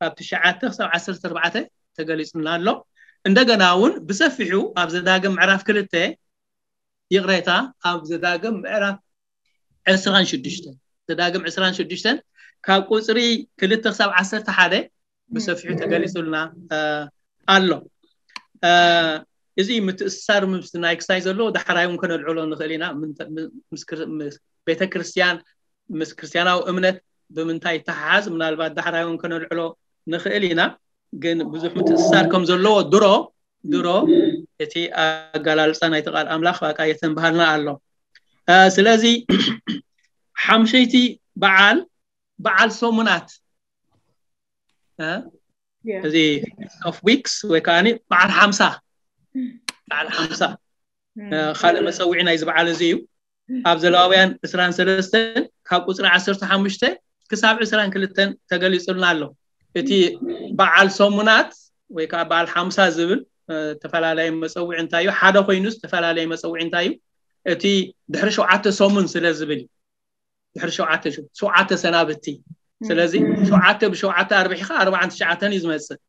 ካብ ትሽዓተ ክሳብ ዓሰርተ ኣርባዕተ ተገሊጹና ኣሎ። እንደገና እውን ብሰፊሑ ኣብ ዘዳግም ምዕራፍ ክልተ፣ ይቕሬታ፣ ኣብ ዘዳግም ምዕራፍ ዕስራን ሽዱሽተን፣ ዘዳግም ዕስራን ሽዱሽተን ካብ ቁፅሪ ክልተ ክሳብ ዓሰርተ ሓደ ብሰፊሑ ተገሊጹልና ኣሎ። እዚ ምትእስሳር ምስ ናይ ክሳይ ዘሎ ዳሕራይ እውን ከነልዕሎ ንኽእል ኢና። ቤተክርስትያን ምስ ክርስትያናዊ እምነት ብምንታይ ይተሓሓዝ? ምናልባት ዳሕራይ እውን ከነልዕሎ ንኽእል ኢና። ግን ብዙሕ ምትእስሳር ከም ዘለዎ ድሮ ድሮ እቲ ኣገላልፃ ናይቲ ቃል ኣምላኽ በቃ የተንብሃልና ኣሎ። ስለዚ ሓምሸይቲ በዓል በዓል ሰሙናት እዚ ኦፍ ዊክስ ወይ ከዓ በዓል ሓምሳ በዓል ሓምሳ ካልእ መፀውዒ ናይዚ በዓል እዚ እዩ። ኣብ ዘለዋውያን ዕስራን ሰለስተን ካብ ቁፅሪ ዓሰርተ ሓሙሽተ ክሳብ ዕስራን ክልተን ተገሊፁልና ኣሎ። እቲ በዓል ሰሙናት ወይ ከዓ በዓል ሓምሳ ዝብል ዝተፈላለየ መፀውዒ እንታይ እዩ? ሓደ ኮይኑ ዝተፈላለየ መፀውዒ እንታይ እዩ? እቲ ድሕሪ ሸውዓተ ሰሙን ስለ ዝብል እዩ። ድሕሪ ሸውዓተ ሸውዓተ ሰናብቲ። ስለዚ ሸውዓተ ብሸውዓተ ኣርቢሕካ ኣርባዓን ትሽዓተን እዩ ዝመፅእ።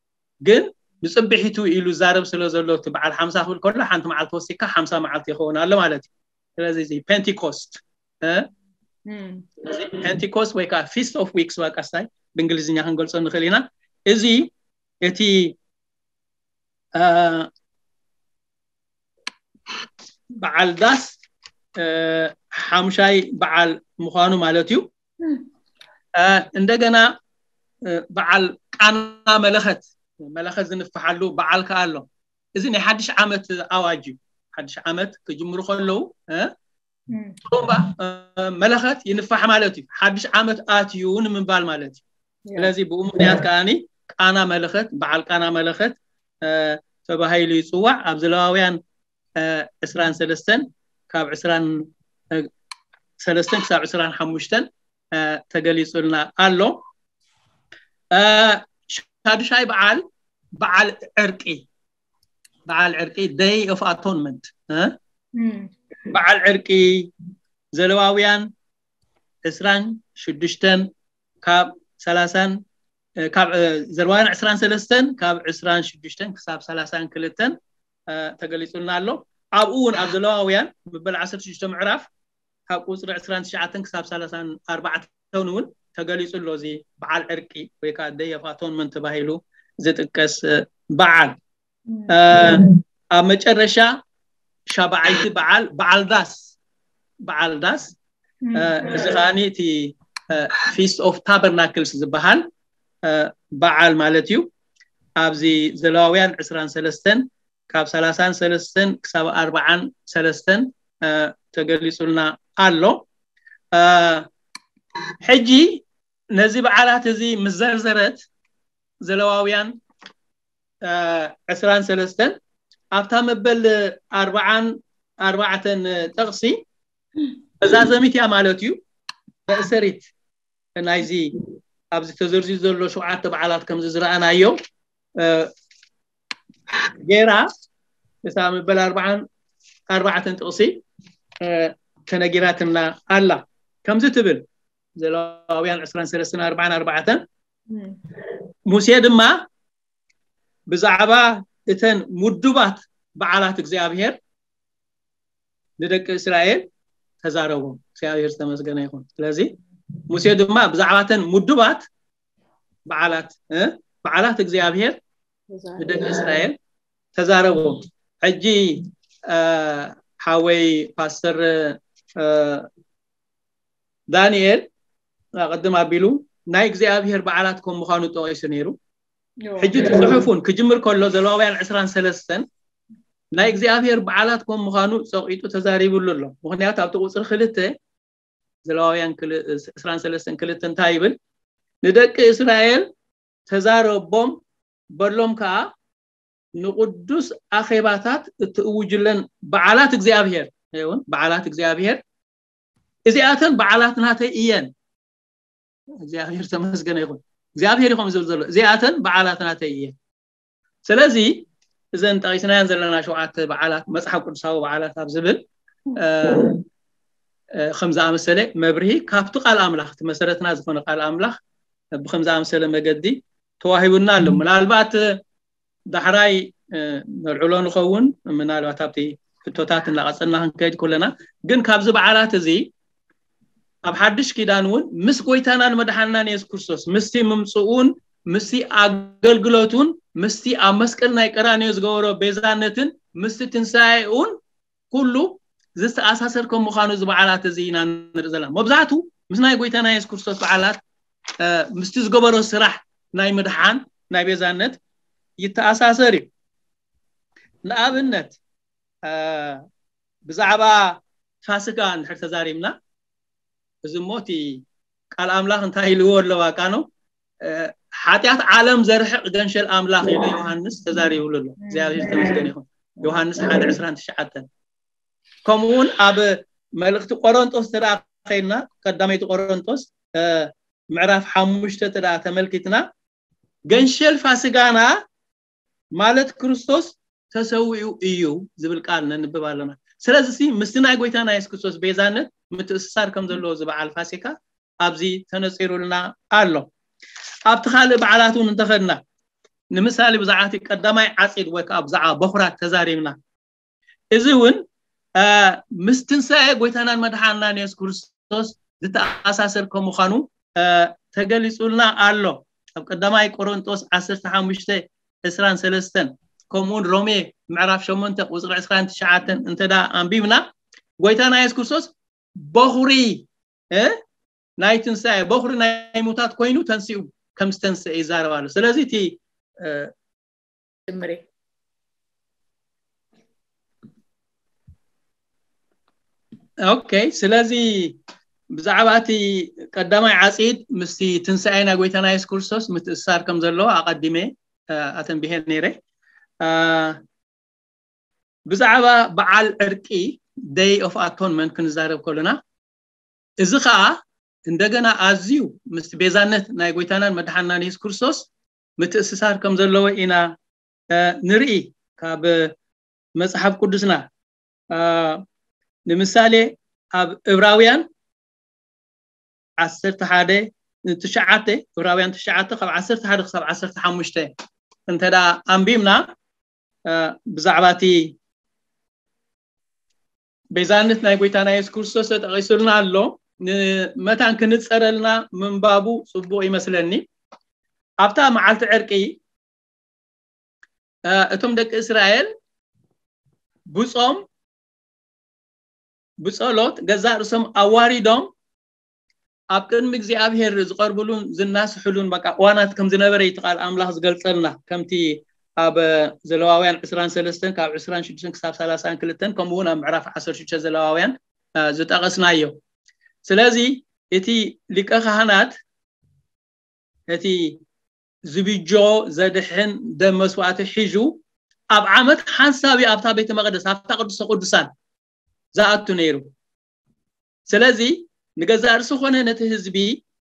ግን ንፅብሒቱ ኢሉ ዛረብ ስለ ዘሎ እቲ በዓል ሓምሳ ክብል ከሎ ሓንቲ መዓልቲ ወሲካ ሓምሳ መዓልቲ ይኸውን ኣሎ ማለት እዩ። ስለዚ እዚ ፔንቲኮስት ፔንቲኮስት ወይ ከዓ ፊስት ኦፍ ዊክስ ዋቃስታይ ብእንግሊዝኛ ክንገልፆ ንኽእል ኢና። እዚ እቲ በዓል ዳስ ሓምሻይ በዓል ምዃኑ ማለት እዩ። እንደገና በዓል ቃና መለኸት መለኸት ዝንፍሓሉ በዓል ከዓ ኣሎ። እዚ ናይ ሓድሽ ዓመት ኣዋጅ እዩ። ሓድሽ ዓመት ክጅምሩ ከለዉ ጥሩምባ መለኸት ይንፋሕ ማለት እዩ። ሓድሽ ዓመት ኣትዩ ንምባል ማለት እዩ። ስለዚ ብኡ ምክንያት ከዓኒ ቃና መለኸት በዓል ቃና መለኸት ተባሂሉ ይፅዋዕ። ኣብ ዘለዋውያን ዕስራን ሰለስተን ካብ ዕስራን ሰለስተን ክሳብ ዕስራን ሓሙሽተን ተገሊፁልና ኣሎ። ሻድሻይ በዓል በዓል ዕርቂ በዓል ዕርቂ ደይ ኦፍ ኣቶንመንት በዓል ዕርቂ ዘለዋውያን ዕስራን ሽዱሽተን ካብ ሰላሳን ካብ ዘለዋውያን ዕስራን ሰለስተን ካብ ዕስራን ሽዱሽተን ክሳብ ሰላሳን ክልተን ተገሊፁልና ኣሎ። ኣብኡ እውን ኣብ ዘለዋውያን ምበል ዓሰርተ ሽዱሽተ ምዕራፍ ካብ ቁፅሪ ዕስራን ትሽዓተን ክሳብ ሰላሳን ኣርባዕተን እውን ተገሊፁ ኣሎ። እዚ በዓል ዕርቂ ወይ ከዓ ደይ ኦፍ ኣቶንመንት ተባሂሉ ዝጥቀስ በዓል ኣብ መጨረሻ ሻብዓይቲ በዓል በዓል ዳስ በዓል ዳስ እዚ ከዓኒ እቲ ፊስት ኦፍ ታበርናክልስ ዝበሃል በዓል ማለት እዩ። ኣብዚ ዘለዋውያን ዕስራን ሰለስተን ካብ ሰላሳን ሰለስተን ክሳብ ኣርባዓን ሰለስተን ተገሊጹልና ኣሎ። ሕጂ ነዚ በዓላት እዚ ምስ ዘርዘረት ዘለዋውያን ዕስራን ሰለስተን ኣብታ መበል ኣርባዓን ኣርባዕተን ጥቕሲ መዛዘሚት እያ ማለት እዩ። መእሰሪት ናይዚ ኣብዚ ተዘርዚሩ ዘሎ ሸውዓተ በዓላት ከምዚ ዝረኣናዮ ገይራ እታ መበል ኣርባዓን ኣርባዕተን ጥቕሲ ተነጊራትና ኣላ። ከምዚ ትብል ዘለዋውያን ዕስራን ሰለስተን ኣርባዓን ኣርባዕተን ሙሴ ድማ ብዛዕባ እተን ምዱባት በዓላት እግዚኣብሔር ንደቂ እስራኤል ተዛረቦም። እግዚኣብሔር ዝተመስገነ ይኹን። ስለዚ ሙሴ ድማ ብዛዕባ እተን ምዱባት በዓላት በዓላት እግዚኣብሔር ንደቂ እስራኤል ተዛረቦም። ሕጂ ሓወይ ፓስተር ዳንኤል ቅድም ኣቢሉ ናይ እግዚኣብሔር በዓላት ከም ምዃኑ ጠቂሱ ነይሩ። ሕጂ እቲ ጽሑፉን ክጅምር ከሎ ዘለዋውያን ዕስራን ሰለስተን ናይ እግዚኣብሔር በዓላት ከም ምዃኑ ጸቂጡ ተዛሪብሉ ኣሎ። ምክንያቱ ኣብቲ ቁጽሪ ክልተ ዘለዋውያን ዕስራን ሰለስተን ክልተ እንታይ ይብል? ንደቂ እስራኤል ተዛረቦም በሎም ከዓ ንቅዱስ ኣኼባታት እትእውጅለን በዓላት እግዚኣብሔር ይውን በዓላት እግዚኣብሔር እዚኣተን በዓላት ናተይ እየን። እግዚኣብሔር ተመስገነ ይኹን። እግዚኣብሔር ይኹም ዝብል ዘሎ እዚኣተን በዓላት ናተይ እየን። ስለዚ እዘን ጠቂስናያን ዘለና ሸውዓተ በዓላት መፅሓፍ ቅዱሳዊ በዓላት ኣብ ዝብል ከም ዝኣመሰለ መብርሂ ካብቲ ቃል ኣምላኽ እቲ መሰረትና ዝኾነ ቃል ኣምላኽ ብከም ዝኣመሰለ መገዲ ተዋሂቡና ኣሎ። ምናልባት ዳሕራይ ነልዕሎ ንኸውን ምናልባት ኣብቲ ሕቶታት እናቐፀልና ክንከይድ ከለና ግን ካብዚ በዓላት እዚ ኣብ ሓድሽ ኪዳን እውን ምስ ጎይታናን መድሓንናን የሱስ ክርስቶስ ምስቲ ምምፅኡን ምስቲ ኣገልግሎቱን ምስቲ ኣብ መስቀል ናይ ቀራንዮ ዝገበሮ ቤዛነትን ምስቲ ትንሳኤኡን ኩሉ ዝተኣሳሰር ከም ምዃኑ እዚ በዓላት እዚ ኢና ንርኢ ዘለና። መብዛሕቱ ምስ ናይ ጎይታና የሱስ ክርስቶስ በዓላት ምስቲ ዝገበሮ ስራሕ ናይ ምድሓን ናይ ቤዛነት ይተኣሳሰር እዩ። ንኣብነት ብዛዕባ ፋሲካ እንድሕር ተዛሪብና እዚ እሞ እቲ ቃል ኣምላኽ እንታይ ኢልዎ ኣለዋ ቃኖ ሓጢኣት ዓለም ዘርሕቕ ገንሸል ኣምላኽ ኢሉ ዮሃንስ ተዛሪብሉ ኣሎ። እግዚኣብሔር ተመስገን ይኹን። ዮሃንስ ሓደ ዕስራን ትሽዓተን ከምኡ እውን ኣብ መልእኽቲ ቆሮንጦስ ተደኣ ከይድና ቀዳመይቲ ቆሮንጦስ ምዕራፍ ሓሙሽተ ተደኣ ተመልኪትና ገንሸል ፋሲጋና ማለት ክርስቶስ ተሰዊኡ እዩ ዝብል ቃል ነንብብ ኣለና። ስለዚ ምስቲ ናይ ጎይታና የሱስ ክርስቶስ ቤዛነት ምትእስሳር ከም ዘለዎ እዚ በዓል ፋሲካ ኣብዚ ተነፂሩልና ኣሎ። ኣብቲ ካልእ በዓላት እውን እንተኸድና ንምሳሌ ብዛዕባ እቲ ቀዳማይ ዓፂድ ወይ ከዓ ብዛዕባ በኹራት ተዛሪብና እዚ እውን ምስ ትንሳኤ ጎይታናን መድሓንናን የሱስ ክርስቶስ ዝተኣሳሰር ከም ምዃኑ ተገሊፁልና ኣሎ። ኣብ ቀዳማይ ቆሮንጦስ ዓሰርተ ሓሙሽተ ዕስራን ሰለስተን ከምኡውን ሮሜ ምዕራፍ ሸሞንተ ቁፅሪ ዕስራን ትሽዓተን እንተ ደኣ ኣንቢብና ጎይታና የሱስ ክርስቶስ በኹሪ ናይ ትንሳኤ በኹሪ ናይ ሙታት ኮይኑ ተንሲኡ ከም ዝተንስአ ይዛረብ ኣሎ። ስለዚ እቲ ጅምሬ ኦኬ ስለዚ ብዛዕባ እቲ ቀዳማይ ዓፂድ ምስቲ ትንሳኤ ናይ ጎይታና የሱስ ክርስቶስ ምትእስሳር ከም ዘለዎ ኣቐዲመ ኣተንቢሄ ነይረ። ብዛዕባ በዓል ዕርቂ ደይ ኦፍ ኣቶንመንት ክንዛረብ ከለና እዚ ከዓ እንደገና ኣዝዩ ምስቲ ቤዛነት ናይ ጎይታናን መድሓናን የሱስ ክርስቶስ ምትእስሳር ከም ዘለዎ ኢና ንርኢ ካብ መፅሓፍ ቅዱስና። ንምሳሌ ኣብ እብራውያን ዓሰርተ ሓደ ትሽዓተ እብራውያን ትሽዓተ ካብ ዓሰርተ ሓደ ክሳብ ዓሰርተ ሓሙሽተ እንተ ደኣ ኣንቢብና ብዛዕባ እቲ ቤዛነት ናይ ጎይታና የሱስ ክርስቶስ ተጠቒሱልና ኣሎ። ንመታን ክንፀረልና ምንባቡ ፅቡቕ ይመስለኒ። ኣብታ መዓልቲ ዕርቂ እቶም ደቂ እስራኤል ብጾም ብጸሎት ገዛእ ርእሶም ኣዋሪዶም ኣብ ቅድሚ እግዚኣብሔር ዝቐርብሉን ዝናስሕሉን በቃ እዋናት ከም ዝነበረ እዩ እቲ ቃል ኣምላኽ ዝገልጸልና። ከምቲ ኣብ ዘለዋውያን ዕስራን ሰለስተን ካብ ዕስራን ሽዱሽተን ክሳብ ሰላሳን ክልተን ከምኡ እውን ኣብ ምዕራፍ ዓሰርተ ሽዱሽተ ዘለዋውያን ዝጠቐስናዮ። ስለዚ እቲ ሊቀ ካህናት እቲ ዝብጆ ዘድሕን ደም መስዋእቲ ሒዙ ኣብ ዓመት ሓንሳብ ኣብታ ቤተ መቅደስ ኣብታ ቅዱሰ ቅዱሳን ዝኣቱ ነይሩ። ስለዚ ንገዛእ ርእሱ ኮነ ነቲ ህዝቢ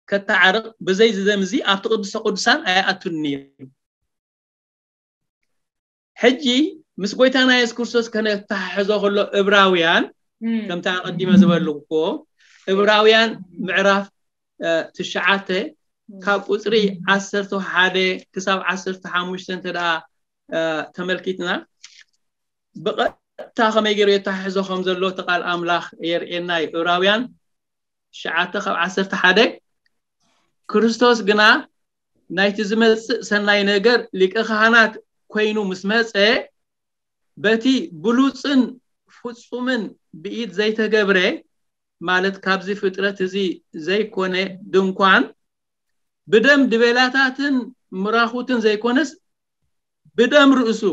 ከተዓርቕ ብዘይ ዝደምዚ ኣብቲ ቅዱሰ ቅዱሳን ኣይኣቱን ነይሩ። ሕጂ ምስ ጎይታና የሱስ ክርስቶስ ከነተሓሕዞ ከሎ እብራውያን ከምታ ኣቐዲመ ዝበልኩዎ እብራውያን ምዕራፍ ትሽዓተ ካብ ቁፅሪ ዓሰርተ ሓደ ክሳብ ዓሰርተ ሓሙሽተ እንተ ደኣ ተመልኪትና ብቐጥታ ከመይ ገይሩ የተሓሕዞ ከም ዘሎ እቲ ቃል ኣምላኽ የርእየና እዩ። እብራውያን ትሽዓተ ካብ ዓሰርተ ሓደ ክርስቶስ ግና ናይቲ ዝመጽእ ሰናይ ነገር ሊቀ ካህናት ኮይኑ ምስ መጸ በቲ ብሉጽን ፍጹምን ብኢድ ዘይተገብረ ማለት ካብዚ ፍጥረት እዚ ዘይኮነ ድንኳን ብደም ድቤላታትን ምራኹትን ዘይኮነስ ብደም ርእሱ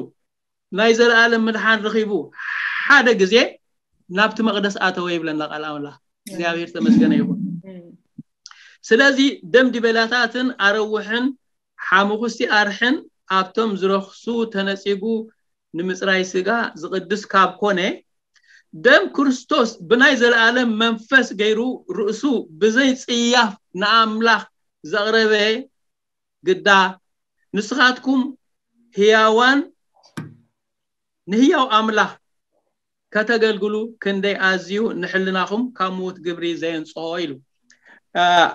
ናይ ዘለኣለም ምድሓን ረኺቡ ሓደ ግዜ ናብቲ መቕደስ ኣተወ ይብለና ቃል ኣምላኽ። እግዚኣብሔር ተመስገነ ይኹን። ስለዚ ደም ድቤላታትን ኣረውሕን ሓሙኽስቲ ኣርሕን ኣብቶም ዝረኽሱ ተነጺጉ ንምጽራይ ስጋ ዝቕድስ ካብ ኮነ ደም ክርስቶስ ብናይ ዘለኣለም መንፈስ ገይሩ ርእሱ ብዘይ ጽያፍ ንኣምላኽ ዘቕረበ ግዳ ንስኻትኩም ህያዋን ንህያው ኣምላኽ ከተገልግሉ ክንደይ ኣዝዩ ንሕልናኹም ካብ ምዉት ግብሪ ዘየንጽሆ ኢሉ።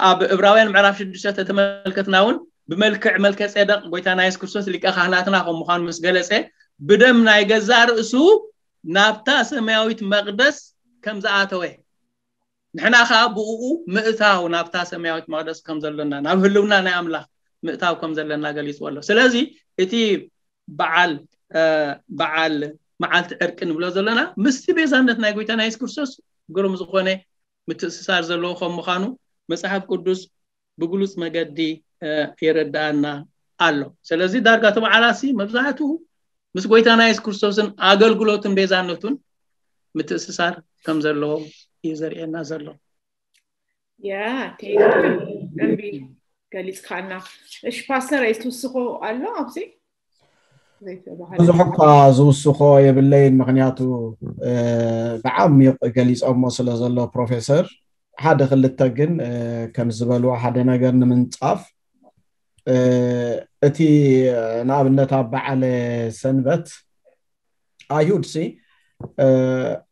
ኣብ እብራውያን ምዕራፍ ሽዱሽተ ተተመልከትና እውን ብመልክዕ መልከ ጼደቅ ጎይታና የሱስ ክርስቶስ ሊቀ ካህናትና ከም ምዃኑ ምስ ገለጸ ብደም ናይ ገዛእ ርእሱ ናብታ ሰማያዊት መቕደስ ከም ዝኣተወ ንሕና ከዓ ብእኡ ምእታው ናብታ ሰማያዊት መቕደስ ከም ዘሎና ናብ ህልውና ናይ ኣምላኽ ምእታው ከም ዘለና ገሊፅዎ ኣሎ። ስለዚ እቲ በዓል በዓል መዓልቲ ዕርቂ ንብሎ ዘለና ምስቲ ቤዛነት ናይ ጎይታና የሱስ ክርስቶስ ግሩም ዝኾነ ምትእስሳር ዘለዎ ከም ምዃኑ መጽሓፍ ቅዱስ ብግሉጽ መገዲ የረድኣና ኣሎ። ስለዚ ዳርጋ እቲ በዓላሲ መብዛሕትኡ ምስ ጎይታና የሱስ ክርስቶስን ኣገልግሎትን ቤዛነቱን ምትእስሳር ከም ዘለዎ እዩ ዘርእየና ዘሎ። ያ ደንቢ ገሊፅካና። እሺ ፓስተር፣ ትውስኾ ኣሎ ኣብዚ? ዘይተባህለ ብዙሕ እኳ ዝውስኾ የብለይን፣ ምክንያቱ ብዓሚቕ ገሊፆሞ ስለ ዘሎ ፕሮፌሰር። ሓደ ክልተ ግን ከም ዝበልዎ ሓደ ነገር ንምንፃፍ፣ እቲ ንኣብነት ኣብ በዓለ ሰንበት ኣይሁድ ሲ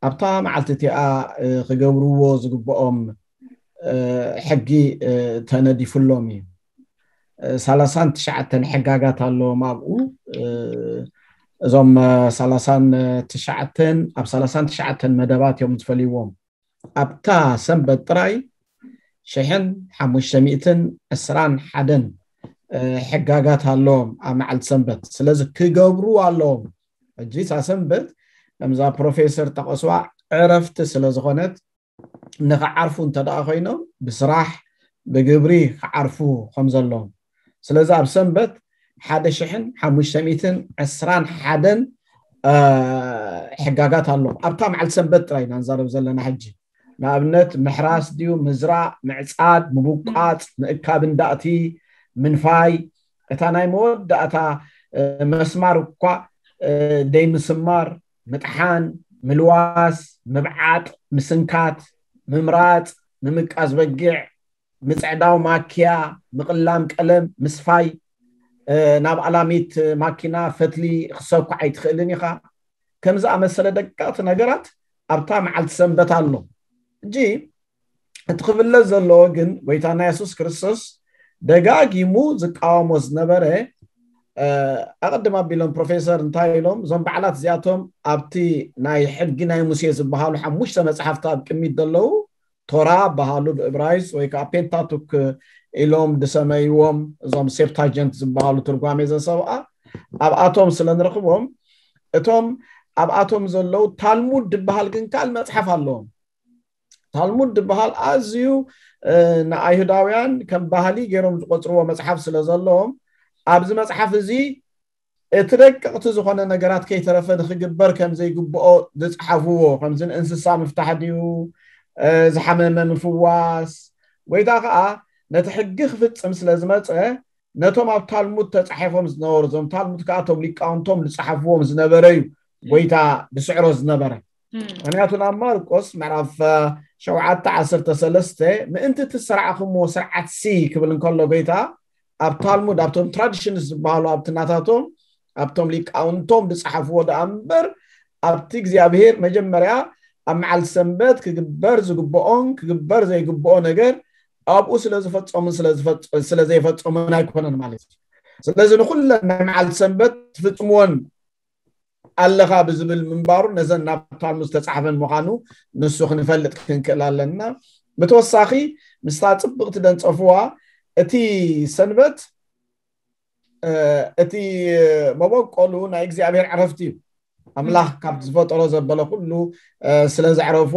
ኣብታ መዓልቲ እቲኣ ክገብርዎ ዝግብኦም ሕጊ ተነዲፉሎም እዩ። ሰላሳን ትሽዓተን ሕጋጋት ኣለዎም ኣብኡ። እዞም ሰላሳን ትሽዓተን ኣብ ሰላሳን ትሽዓተን መደባት እዮም ዝፈልይዎም። ኣብታ ሰንበት ጥራይ ሽሕን ሓሙሽተ ሚእትን ዕስራን ሓደን ሕጋጋት ኣለዎም ኣብ መዓልቲ ሰንበት። ስለዚ ክገብሩ ኣለዎም። ሕጂ እታ ሰንበት ከምዛ ፕሮፌሰር ጠቐስዋ ዕረፍቲ ስለ ዝኾነት ንኽዓርፉ እንተ ደኣ ኮይኖም ብስራሕ ብግብሪ ክዓርፉ ከም ዘለዎም። ስለዚ ኣብ ሰንበት ሓደ ሽሕን ሓሙሽተ ሚእትን ዕስራን ሓደን ሕጋጋት ኣሎ። ኣብታ መዓልቲ ሰንበት ጥራይ ኢና ንዛረብ ዘለና ሕጂ። ንኣብነት ምሕራስ ድዩ፣ ምዝራእ፣ ምዕጻድ፣ ምቡቃጽ፣ ምእካብ እንዳእቲ፣ ምንፋይ፣ እታ ናይ መወዳእታ መስማር እኳ ደይ ምስማር፣ ምጥሓን፣ ምልዋስ፣ ምብዓጥ፣ ምስንካት፣ ምምራጽ፣ ምምቃዝ በጊዕ፣ ምጽዕዳው ማኪያ፣ ምቕላም ቀለም፣ ምስፋይ፣ ናብ ኣላሚት ማኪና ፈትሊ ክሰኩ ኣይትኽእልን ኢኻ። ከም ዝኣመሰለ ደቀቕቲ ነገራት ኣብታ መዓልቲ ሰንበት ኣሎ። እጂ እቲ ክፍለጥ ዘለዎ ግን ጎይታና የሱስ ክርስቶስ ደጋጊሙ ዝቃወሞ ዝነበረ ኣቐድም ኣቢሎም ፕሮፌሰር እንታይ ኢሎም፣ እዞም በዓላት እዚኣቶም ኣብቲ ናይ ሕጊ ናይ ሙሴ ዝበሃሉ ሓሙሽተ መፅሓፍቲ ኣብ ቅሚት ዘለዉ ቶራ በሃሉ ብእብራይስ ወይ ከዓ ፔንታቱክ ኢሎም ዝሰመይዎም እዞም ሴፕታጀንት ዝበሃሉ ትርጓሜ ዘሰብኣ ኣብኣቶም ስለ ንረኽቦም እቶም ኣብኣቶም ዘለዉ ታልሙድ ዝበሃል ግን ካልእ መፅሓፍ ኣለዎም። ታልሙድ ዝበሃል ኣዝዩ ንኣይሁዳውያን ከም ባህሊ ገይሮም ዝቆፅርዎ መፅሓፍ ስለ ዘለዎም ኣብዚ መፅሓፍ እዚ እቲ ደቀቕቲ ዝኾነ ነገራት ከይተረፈ ንክግበር ከም ዘይግብኦ ዝፅሓፍዎ፣ ከምዚ ንእንስሳ ምፍታሕ ድዩ፣ ዝሓመመ ምፍዋስ፣ ጎይታ ከዓ ነቲ ሕጊ ክፍፅም ስለ ዝመፀ ነቶም ኣብ ታልሙድ ተፃሒፎም ዝነበሩ፣ እዞም ታልሙድ ከዓ እቶም ሊቃውንቶም ዝፅሓፍዎም ዝነበረ እዩ ጎይታ ዝስዕሮ ዝነበረ። ምክንያቱ ናብ ማርቆስ ምዕራፍ ሸውዓተ ዓሰርተ ሰለስተ ምእንቲ እቲ ዝሰራዕኹምዎ ስርዓት ሲ ክብል እንከሎ ጎይታ ኣብ ታልሙድ ኣብቶም ትራዲሽንስ ዝበሃሉ ኣብቲ ናታቶም ኣብቶም ሊቃውንቶም ዝፀሓፍዎ ደኣ እምበር ኣብቲ እግዚኣብሄር መጀመርያ ኣብ መዓልቲ ሰንበት ክግበር ዝግብኦን ክግበር ዘይግብኦ ነገር ኣብኡ ስለ ዝፈፀሙን ስለ ዘይፈፀሙን ኣይኮነን ማለት እዩ። ስለዚ ንኩለን ናይ መዓልቲ ሰንበት ትፍፅምዎን ኣለኻ ብዝብል ምንባሩ ነዘን ናብ ታልሙድ ዝተፃሕፈን ምዃኑ ንሱ ክንፈልጥ ክንክእል ኣለና። ብተወሳኺ ምስታ ፅብቕቲ ደንፀፍዋ እቲ ሰንበት እቲ መበቆሉ ናይ እግዚኣብሔር ዕረፍቲ እዩ። ኣምላኽ ካብ ዝፈጠሮ ዘበለ ኩሉ ስለ ዘዕረፎ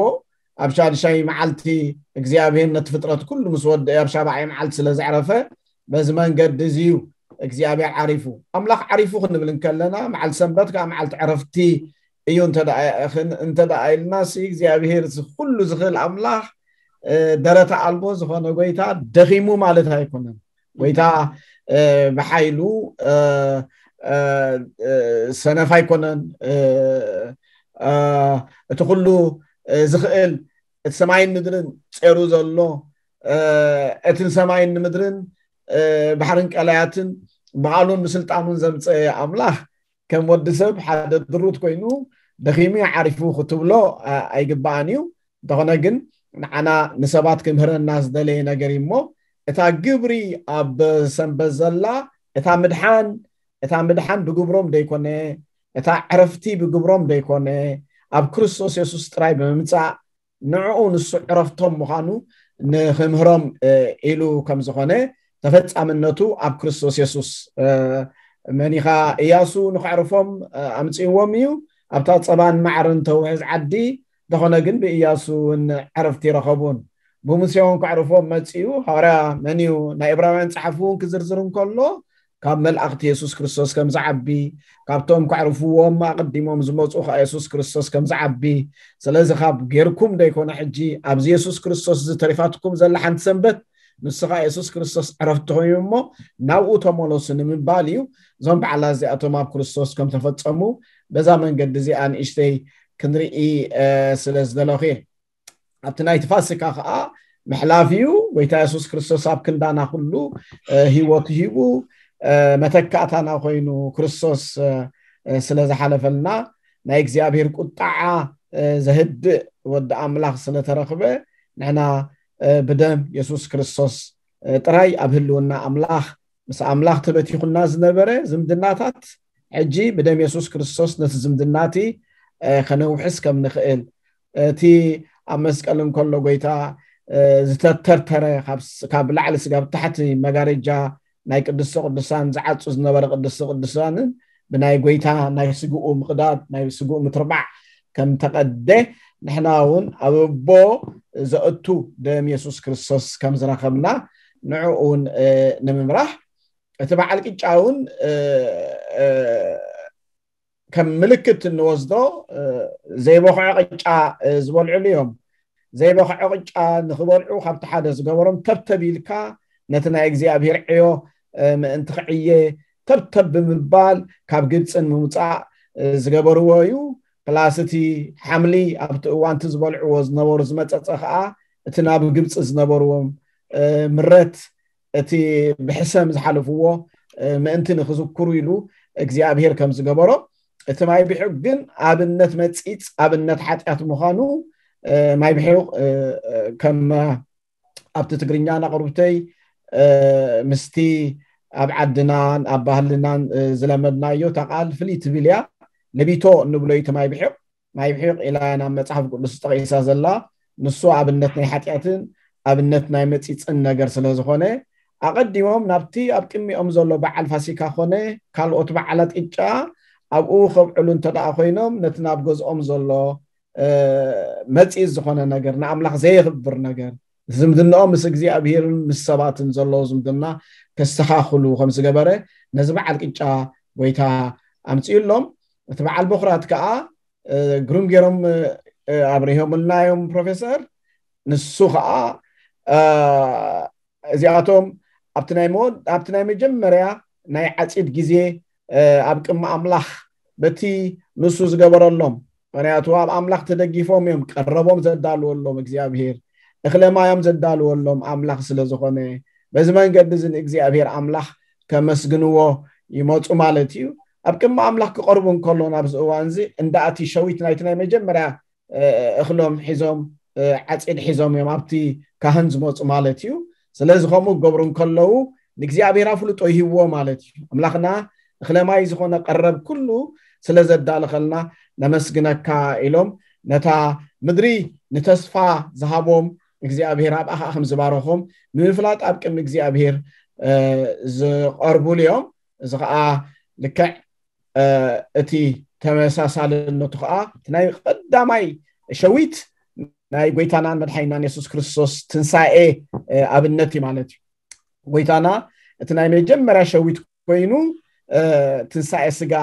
ኣብ ሻድሻይ መዓልቲ እግዚኣብሔር ነቲ ፍጥረት ኩሉ ምስ ወደአ ኣብ ሻብዓይ መዓልቲ ስለ ዘዕረፈ በዚ መንገዲ እዚ እዩ እግዚኣብሔር ዓሪፉ። ኣምላኽ ዓሪፉ ክንብል እንከለና መዓልቲ ሰንበት ከዓ መዓልቲ ዕረፍቲ እዩ እንተ ኢልና ሲ እግዚኣብሔር ኩሉ ዝኽእል ኣምላኽ ደረተ ኣልቦ ዝኾነ ጎይታ ደኺሙ ማለት ኣይኮነን። ጎይታ ብሓይሉ ሰነፍ ኣይኮነን። እቲ ኩሉ ዝኽእል እቲ ሰማይን ምድርን ጼሩ ዘሎ እቲ ንሰማይን ንምድርን ባሕርን ቀላያትን ብቓሉን ብስልጣኑን ዘምፀ ኣምላኽ ከም ወዲ ሰብ ሓደ ድሩት ኮይኑ ደኺሙ ዓሪፉ ክትብሎ ኣይግባኣን እዩ። እንተኾነ ግን ንዓና ንሰባት ክምህረና ዝደለየ ነገር እዩ እሞ እታ ግብሪ ኣብ ሰንበት ዘላ እታ ምድሓን እታ ምድሓን ብግብሮም ደይኮነ እታ ዕረፍቲ ብግብሮም ደይኮነ ኣብ ክርስቶስ የሱስ ጥራይ ብምምፃእ ንዕኡ ንሱ ዕረፍቶም ምዃኑ ንክምህሮም ኢሉ ከም ዝኾነ ተፈጻምነቱ ኣብ ክርስቶስ የሱስ መኒኻ እያሱ ንክዕርፎም ኣምፅእዎም እዩ። ኣብታ ፀባን ማዕርን ተውሕዝ ዓዲ እንተኾነ ግን ብእያሱ እውን ዕረፍቲ ይረኸቡን ብሙሴ እውን ክዕርፎም መፅኡ። ሃዋርያ መን እዩ ናይ እብራውያን ፀሓፊ እውን ክዝርዝር እንከሎ ካብ መልኣኽቲ የሱስ ክርስቶስ ከም ዝዓቢ ካብቶም ከዕርፍዎም ኣቐዲሞም ዝመፁ ከዓ የሱስ ክርስቶስ ከም ዝዓቢ ስለዚ ካብ ጌርኩም ደይኮነ ሕጂ ኣብዚ የሱስ ክርስቶስ ዝተሪፋትኩም ዘላ ሓንቲ ሰንበት ንሱ ከዓ የሱስ ክርስቶስ ዕረፍቲ ኮይኑ እሞ ናብኡ ተመለሱ ንምባል እዩ። እዞም በዓላት እዚኣቶም ኣብ ክርስቶስ ከም ተፈፀሙ በዛ መንገዲ እዚኣ ንእሽተይ ክንርኢ ስለ ዝደለኹ እየ። ኣብቲ ናይቲ ፋሲካ ከዓ ምሕላፍ እዩ። ጎይታ የሱስ ክርስቶስ ኣብ ክንዳና ኩሉ ህይወቱ ሂቡ መተካእታና ኮይኑ ክርስቶስ ስለ ዝሓለፈልና ናይ እግዚኣብሔር ቁጣዓ ዘህድእ ወዲ ኣምላኽ ስለተረኽበ ንሕና ብደም የሱስ ክርስቶስ ጥራይ ኣብ ህልውና ኣምላኽ ምስ ኣምላኽ ተበቲኹና ዝነበረ ዝምድናታት ሕጂ ብደም የሱስ ክርስቶስ ነቲ ዝምድና እቲ ከነውሕስ ከም ንኽእል እቲ ኣብ መስቀል እንከሎ ጎይታ ዝተተርተረ ካብ ላዕሊ ስጋብ ታሕቲ መጋረጃ ናይ ቅድስተ ቅዱሳን ዝዓፁ ዝነበረ ቅድስተ ቅዱሳንን ብናይ ጎይታ ናይ ስግኡ ምቕዳድ ናይ ስግኡ ምትርባዕ ከም ተቐደ ንሕና እውን ኣብ ኣቦ ዘእቱ ደም የሱስ ክርስቶስ ከም ዝረኸብና ንዕኡ እውን ንምምራሕ እቲ በዓል ቅጫ እውን ከም ምልክት እንወስዶ ዘይበኽዖ ቅጫ ዝበልዕሉ እዮም። ዘይበኽዖ ቅጫ ንክበልዑ ካብቲ ሓደ ዝገበሮም ተብተብ ኢልካ ነቲ ናይ እግዚኣብሔር ዕዮ ምእንቲ ክዕየ ተብተብ ብምባል ካብ ግብፅን ምውፃእ ዝገበርዎ እዩ። ፕላስ እቲ ሓምሊ ኣብቲ እዋንቲ ዝበልዕዎ ዝነበሩ ዝመፀፀ ከዓ እቲ ናብ ግብፂ ዝነበርዎም ምረት እቲ ብሕሰም ዝሓለፍዎ ምእንቲ ንክዝክሩ ኢሉ እግዚኣብሔር ከም ዝገበሮ እቲ ማይ ብሕግ ግን ኣብነት መፂፅ ኣብነት ሓጢኣት ምዃኑ ማይ ብሕቅ ከም ኣብቲ ትግርኛ ናቅርብተይ ምስቲ ኣብ ዓድናን ኣብ ባህልናን ዝለመድናዮ እታ ቃል ፍልይ ትብል እያ። ለቢቶ እንብሎ እዩ እቲ ማይ ብሕቅ ማይ ብሕቕ ኢላ ናብ መጽሓፍ ቅዱስ ጠቒሳ ዘላ ንሱ ኣብነት ናይ ሓጢኣትን ኣብነት ናይ መጺጽን ነገር ስለ ዝኾነ ኣቐዲሞም ናብቲ ኣብ ቅድሚኦም ዘሎ በዓል ፋሲካ ኮነ ካልኦት በዓላት ቅጫ ኣብኡ ከብዕሉ እንተ ደኣ ኮይኖም፣ ነቲ ናብ ገዝኦም ዘሎ፣ እ፣ መጺኢ ዝኾነ ነገር፣ ንኣምላኽ ዘየኽብር ነገር፣ ዝምድናኦም ምስ እግዚኣብሄርን ምስ ሰባትን ዘለዎ ዝምድና ከስተኻኽሉ ከም ዝገበረ፣ ነዚ በዓል ቅጫ ጎይታ ኣምጺኡሎም። እቲ በዓል በኹራት ከኣ፣ እ፣ ግሩም ገይሮም፣ እ፣ ኣብሪሆምልና እዮም ፕሮፌሰር። ንሱ ከኣ፣ እ፣ እዚኣቶም ኣብቲ ናይ መወድ-፣ ኣብቲ ናይ መጀመርያ ናይ ዓጺድ ግዜ፣ እ፣ ኣብ ቅድሚ ኣምላኽ በቲ ንሱ ዝገበረሎም፣ ምኽንያቱ ኣብ ኣምላኽ ተደጊፎም እዮም ቀረቦም ዘዳልወሎም እግዚኣብሄር፣ እኽለ ማዮም ዘዳልወሎም ኣምላኽ ስለ ዝኾነ፣ በዚ መንገዲ እዚ ንእግዚኣብሄር ኣምላኽ ከመስግንዎ ይመጹ ማለት እዩ። ኣብ ቅድሚ ኣምላኽ ክቐርቡ እንከሎ፣ ናብዚ እዋን እዚ እንዳ እቲ ሸዊት ናይቲ ናይ መጀመርያ፣ እ፣ እኽሎም ሒዞም፣ እ፣ ዓጺድ ሒዞም እዮም ኣብቲ ካህን ዝመጹ ማለት እዩ። ስለዚ ከምኡ ክገብሩ እንከለዉ ንእግዚኣብሔር ኣፍልጦ ይህብዎ ማለት እዩ። ኣምላኽና እኽለ ማይ ዝኾነ ቀረብ ኩሉ ስለ ዘዳለኸልና ነመስግነካ ኢሎም ነታ ምድሪ ንተስፋ ዝሃቦም እግዚኣብሔር ኣብኣ ኸዓ ከም ዝባረኾም ንምፍላጥ ኣብ ቅድሚ እግዚኣብሔር፣ እ፣ ዝቐርቡሉ እዮም። እዚ ኸዓ ልክዕ፣ እ፣ እቲ ተመሳሳልነቱ ኸዓ እቲ ናይ ቀዳማይ ሸዊት ናይ ጎይታናን መድሓኒናን የሱስ ክርስቶስ ትንሳኤ፣ እ፣ ኣብነት እዩ ማለት እዩ። ጎይታና እቲ ናይ መጀመርያ ሸዊት ኮይኑ፣ እ፣ ትንሳኤ ስጋ፣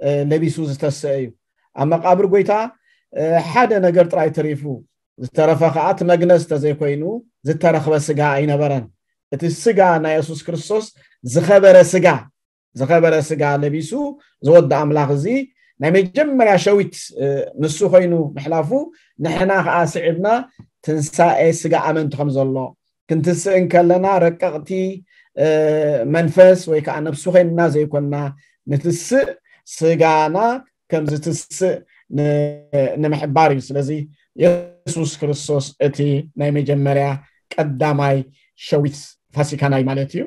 እ፣ ለቢሱ ዝተሰአ እዩ። ኣብ መቃብር ጎይታ፣ እ፣ ሓደ ነገር ጥራይ ተሪፉ፣ ዝተረፈ ኸዓ እቲ መግነዝ ተዘይኮይኑ ዝተረኽበ ስጋ ኣይነበረን። እቲ ስጋ ናይ የሱስ ክርስቶስ ዝኸበረ ስጋ፣ ዝኸበረ ስጋ ለቢሱ ዝወዲ ኣምላኽ እዚ ናይ መጀመርያ ሸዊት፣ እ፣ ንሱ ኮይኑ ምሕላፉ፣ ንሕና ኸዓ ስዒብና ትንሳኤ ስጋ ኣመንቲ ከም ዘሎ፣ ክንትስእ እንከለና ረቀቕቲ፣ እ፣ መንፈስ ወይ ከዓ ነብሱ ኮይንና ዘይኮንና፣ ንትስእ ስጋና ከም ዝትስእ ን-፣ ንምሕባር እዩ። ስለዚ የሱስ ክርስቶስ እቲ ናይ መጀመርያ ቀዳማይ ሸዊት ፋሲካናይ ማለት እዩ።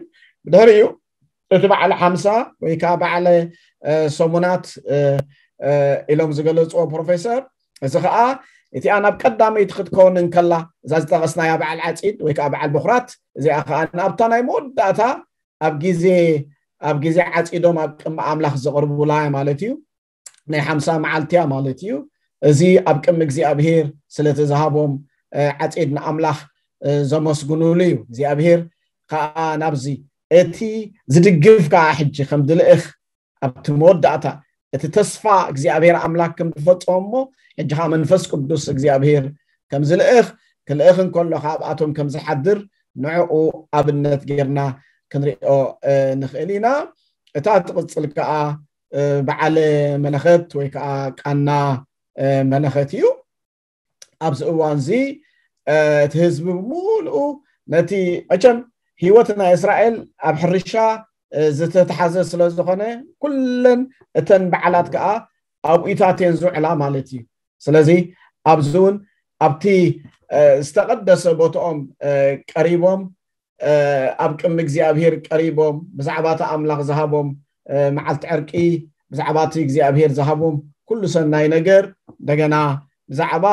ብድሕሪኡ እቲ በዓለ ሓምሳ ወይ ከዓ በዓለ፣ እ፣ ሰሙናት፣ እ፣ እ፣ ኢሎም ዝገለፅዎ ፕሮፌሰር፣ እዚ ከዓ እቲኣ ናብ ቀዳመይቲ ክትከውን እንከላ፣ እዛ ዝጠቐስናያ በዓል ዓፂድ ወይ ከዓ በዓል በኹራት፣ እዚኣ ከዓ ናብታ ናይ መወዳእታ ኣብ ግዜ፣ ኣብ ግዜ ዓፂዶም ኣብ ቅድሚ ኣምላኽ ዘቕርቡላ ማለት እዩ። ናይ ሓምሳ መዓልቲ እያ ማለት እዩ። እዚ ኣብ ቅድሚ እግዚኣብሔር ስለቲ ዝሃቦም፣ እ፣ ዓፂድ ንኣምላኽ፣ እ፣ ዘመስግኑሉ እዩ። እግዚኣብሔር ከዓ ናብዚ እቲ ዝድግፍ ከዓ ሕጂ ከም ዝልእኽ ኣብቲ መወዳእታ እቲ ተስፋ እግዚኣብሔር ኣምላኽ ከም ዝፈጸሞ እሞ፣ ሕጂ ኸዓ መንፈስ ቅዱስ እግዚኣብሔር ከም ዝልእኽ፣ ክልእኽ እንከሎ ካብኣቶም ከም ዝሓድር ንዕኡ ኣብነት ጌርና ክንሪኦ፣ እ፣ ንኽእል ኢና። እታ ትቕጽል ከኣ፣ እ፣ በዓለ መለኸት ወይ ከኣ ቃና፣ እ፣ መለኸት እዩ። ኣብዚ እዋን እዚ፣ እ፣ እቲ ህዝቢ ብምሉኡ ነቲ፣ መቸም ህይወት ናይ እስራኤል ኣብ ሕርሻ፣ እ፣ ዝተተሓዘ ስለ ዝኾነ፣ ኩለን እተን በዓላት ከኣ ኣብኡታት እየን ዝውዕላ ማለት እዩ። ስለዚ ኣብዚ እውን ኣብቲ፣ እ፣ ዝተቐደሰ ቦትኦም፣ እ፣ ቀሪቦም፣ እ፣ ኣብ ቅድሚ እግዚኣብሔር ቀሪቦም፣ ብዛዕባ እቲ ኣምላኽ ዝሃቦም፣ እ፣ መዓልቲ ዕርቂ፣ ብዛዕባ እቲ እግዚኣብሔር ዝሃቦም ኩሉ ሰናይ ነገር፣ እንደገና ብዛዕባ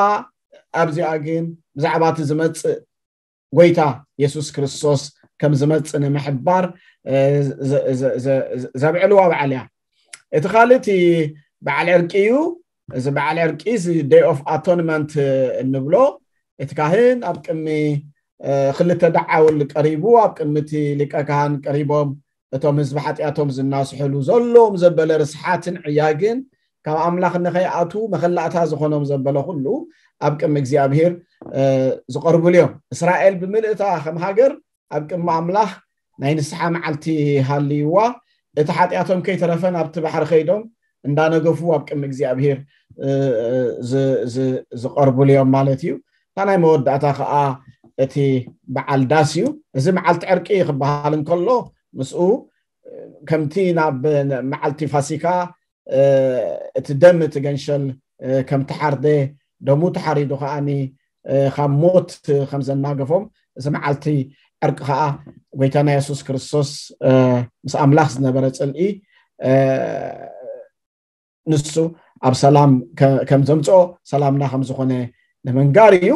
ኣብዚኣ ግን፣ ብዛዕባ እቲ ዝመጽእ ጎይታ የሱስ ክርስቶስ ከም ዝመጽእ ንምሕባር፣ እ፣ ዘ-፣ ዘ-፣ ዘ-፣ ዘ-፣ ዘብዕልዋ በዓል እያ። እቲ ካልእ እቲ በዓል ዕርቂ እዩ። እዚ በዓል ዕርቂ፣ እዚ Day of Atonement እንብሎ፣ እቲ ካህን ኣብ ቅድሚ፣ እ፣ ክልተ ደዓውል ቀሪቡ፣ ኣብ ቅድሚ እቲ ሊቀ ካህን ቀሪቦም፣ እቶም ህዝቢ ሓጢኣቶም ዝናስሕሉ፣ ዘለዎም ዘበለ ርስሓትን ዕያግን ካብ ኣምላኽ ንኸይኣትዉ መኸላእታ ዝኾኖም ዘበለ ኩሉ ኣብ ቅድሚ እግዚኣብሔር፣ እ፣ ዝቐርቡሉ እዮም። እስራኤል ብምልእታ ከም ሃገር ኣብ ቅድሚ ኣምላኽ ናይ ንስሓ መዓልቲ ሃልይዋ፣ እቲ ሓጢኣቶም ከይተረፈ ናብቲ ባሕሪ ከይዶም እንዳነገፉ ኣብ ቅድሚ እግዚኣብሔር፣ እ፣ እ፣ ዝ-፣ ዝ-፣ ዝቐርቡሉ እዮም ማለት እዩ። እታ ናይ መወዳእታ ኸዓ እቲ በዓል ዳስ እዩ። እዚ መዓልቲ ዕርቂ ክበሃል እንከሎ፣ ምስኡ ከምቲ ናብ መዓልቲ ፋሲካ፣ እ፣ እቲ ደም እቲ ገንሸል፣ እ፣ ከም ተሓርደ፣ ደሙ ተሓሪዱ ከዓኒ፣ እ፣ ካብ ሞት ከም ዘናገፎም፣ እዚ መዓልቲ ዕርቂ ከኣ ጎይታና የሱስ ክርስቶስ፣ እ፣ ምስ ኣምላኽ ዝነበረ ጽልኢ፣ እ፣ ንሱ ኣብ ሰላም ከ-፣ ከም ዘምጽኦ፣ ሰላምና ከም ዝኾነ ንምንጋር እዩ።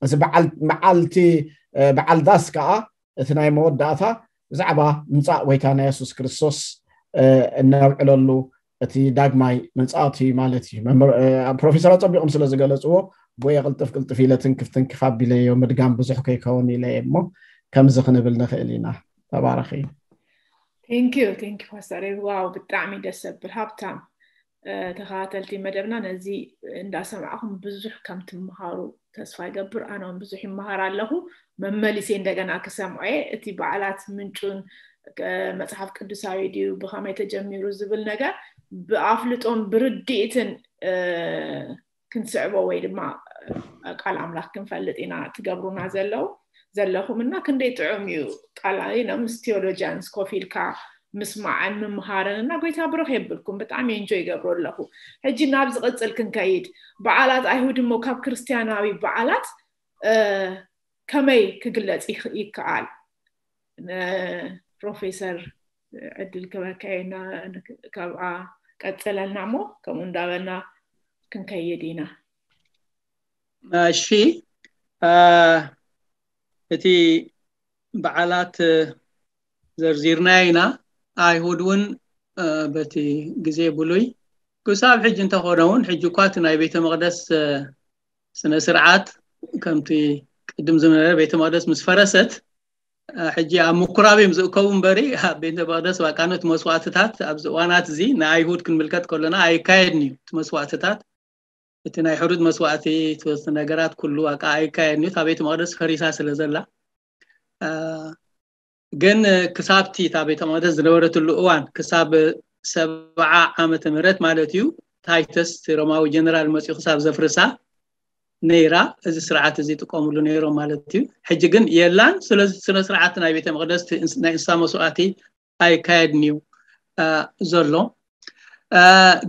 እዚ በዓል-፣ መዓልቲ፣ እ፣ በዓል ዳስ ከኣ እቲ ናይ መወዳእታ ብዛዕባ ምምጻእ ጎይታና የሱስ ክርስቶስ፣ እ፣ እነብዕለሉ እቲ ዳግማይ ምጽኣቱ ማለት እዩ። መምህር ፕሮፌሰር ኣጸቢቖም ስለ ዝገለጽዎ፣ ጎየ ቅልጥፍ ቅልጥፍ ኢለ ትንክፍ ትንክፍ ኣቢለዮ፣ ምድጋም ብዙሕ ከይከውን ኢለ እየ እሞ ከምዚ ክንብል ንኽእል ኢና። ተባረኺ። Thank you, thank you ፓስተር። ዋው፣ ብጣዕሚ ደስ ዘብል ሃብታም ተኸታተልቲ መደብና፣ ነዚ እንዳሰማዕኹም ብዙሕ ከም ትምሃሩ ተስፋ ይገብር። ኣነ እውን ብዙሕ ይመሃር ኣለኹ። መመሊሴ እንደገና ክሰምዖ እየ። እቲ በዓላት ምንጩን መጽሓፍ ቅዱሳዊ ድዩ፣ ብኸመይ ተጀሚሩ ዝብል ነገር ብኣፍልጦን ብርድኢትን ክንስዕቦ ወይ ድማ ቃል ኣምላኽ ክንፈልጥ ኢና ትገብሩና ዘለዉ ዘለኹም እና ክንደይ ጥዑም እዩ። ቃል ምስ ቴዎሎጂያንስ ኮፍ ኢልካ ምስማዕን ምምሃርን እና ጎይታ ብሩኽ የብልኩም። ብጣዕሚ እንጆ ይገብሮ ኣለኹ። ሕጂ ናብ ዝቕጽል ክንከይድ፣ በዓላት ኣይሁድ እሞ ካብ ክርስቲያናዊ በዓላት ከመይ ክግለጽ ይከኣል? ፕሮፌሰር ዕድል ክበካየና ካብኣ ቀጸለና እሞ ከምኡ እንዳበልና ክንከይድ ኢና። እሺ፣ እቲ በዓላት ዘርዚርና ኢና። ኣይሁድ እውን በቲ ግዜ ብሉይ ክሳብ ሕጂ እንተኾነ እውን፣ ሕጂ እኳ እቲ ናይ ቤተ መቕደስ ስነ ስርዓት ከምቲ ቅድም ዝነበረ ቤተ መቕደስ ምስ ፈረሰት ሕጂ ኣብ ምኩራብ እዮም ዝእከቡ እምበሪ፣ ኣብ ቤተ መቕደስ ባቃኖት መስዋዕትታት ኣብዚ እዋናት እዚ ንኣይሁድ ክንምልከት ከለና ኣይካየድን እዩ። እቲ መስዋዕትታት፣ እቲ ናይ ሕሩድ መስዋዕቲ፣ እቲ ነገራት ኩሉ ኣቃ ኣይካየድን እዩ። እታ ቤተ መቕደስ ፈሪሳ ስለ ዘላ ግን ክሳብቲ እታ ቤተ መቕደስ ዝነበረትሉ እዋን ክሳብ ሰብዓ ዓመተ ምህረት ማለት እዩ፣ ታይተስ እቲ ሮማዊ ጀነራል መፅኡ ክሳብ ዘፍርሳ ነይራ። እዚ ስርዓት እዚ ይጥቀሙሉ ነይሮም ማለት እዩ። ሕጂ ግን የላን። ስለዚ ስነ ስርዓት ናይ ቤተ መቕደስ ናይ እንስሳ መስዋዕቲ ኣይካየድን እዩ ዘሎ።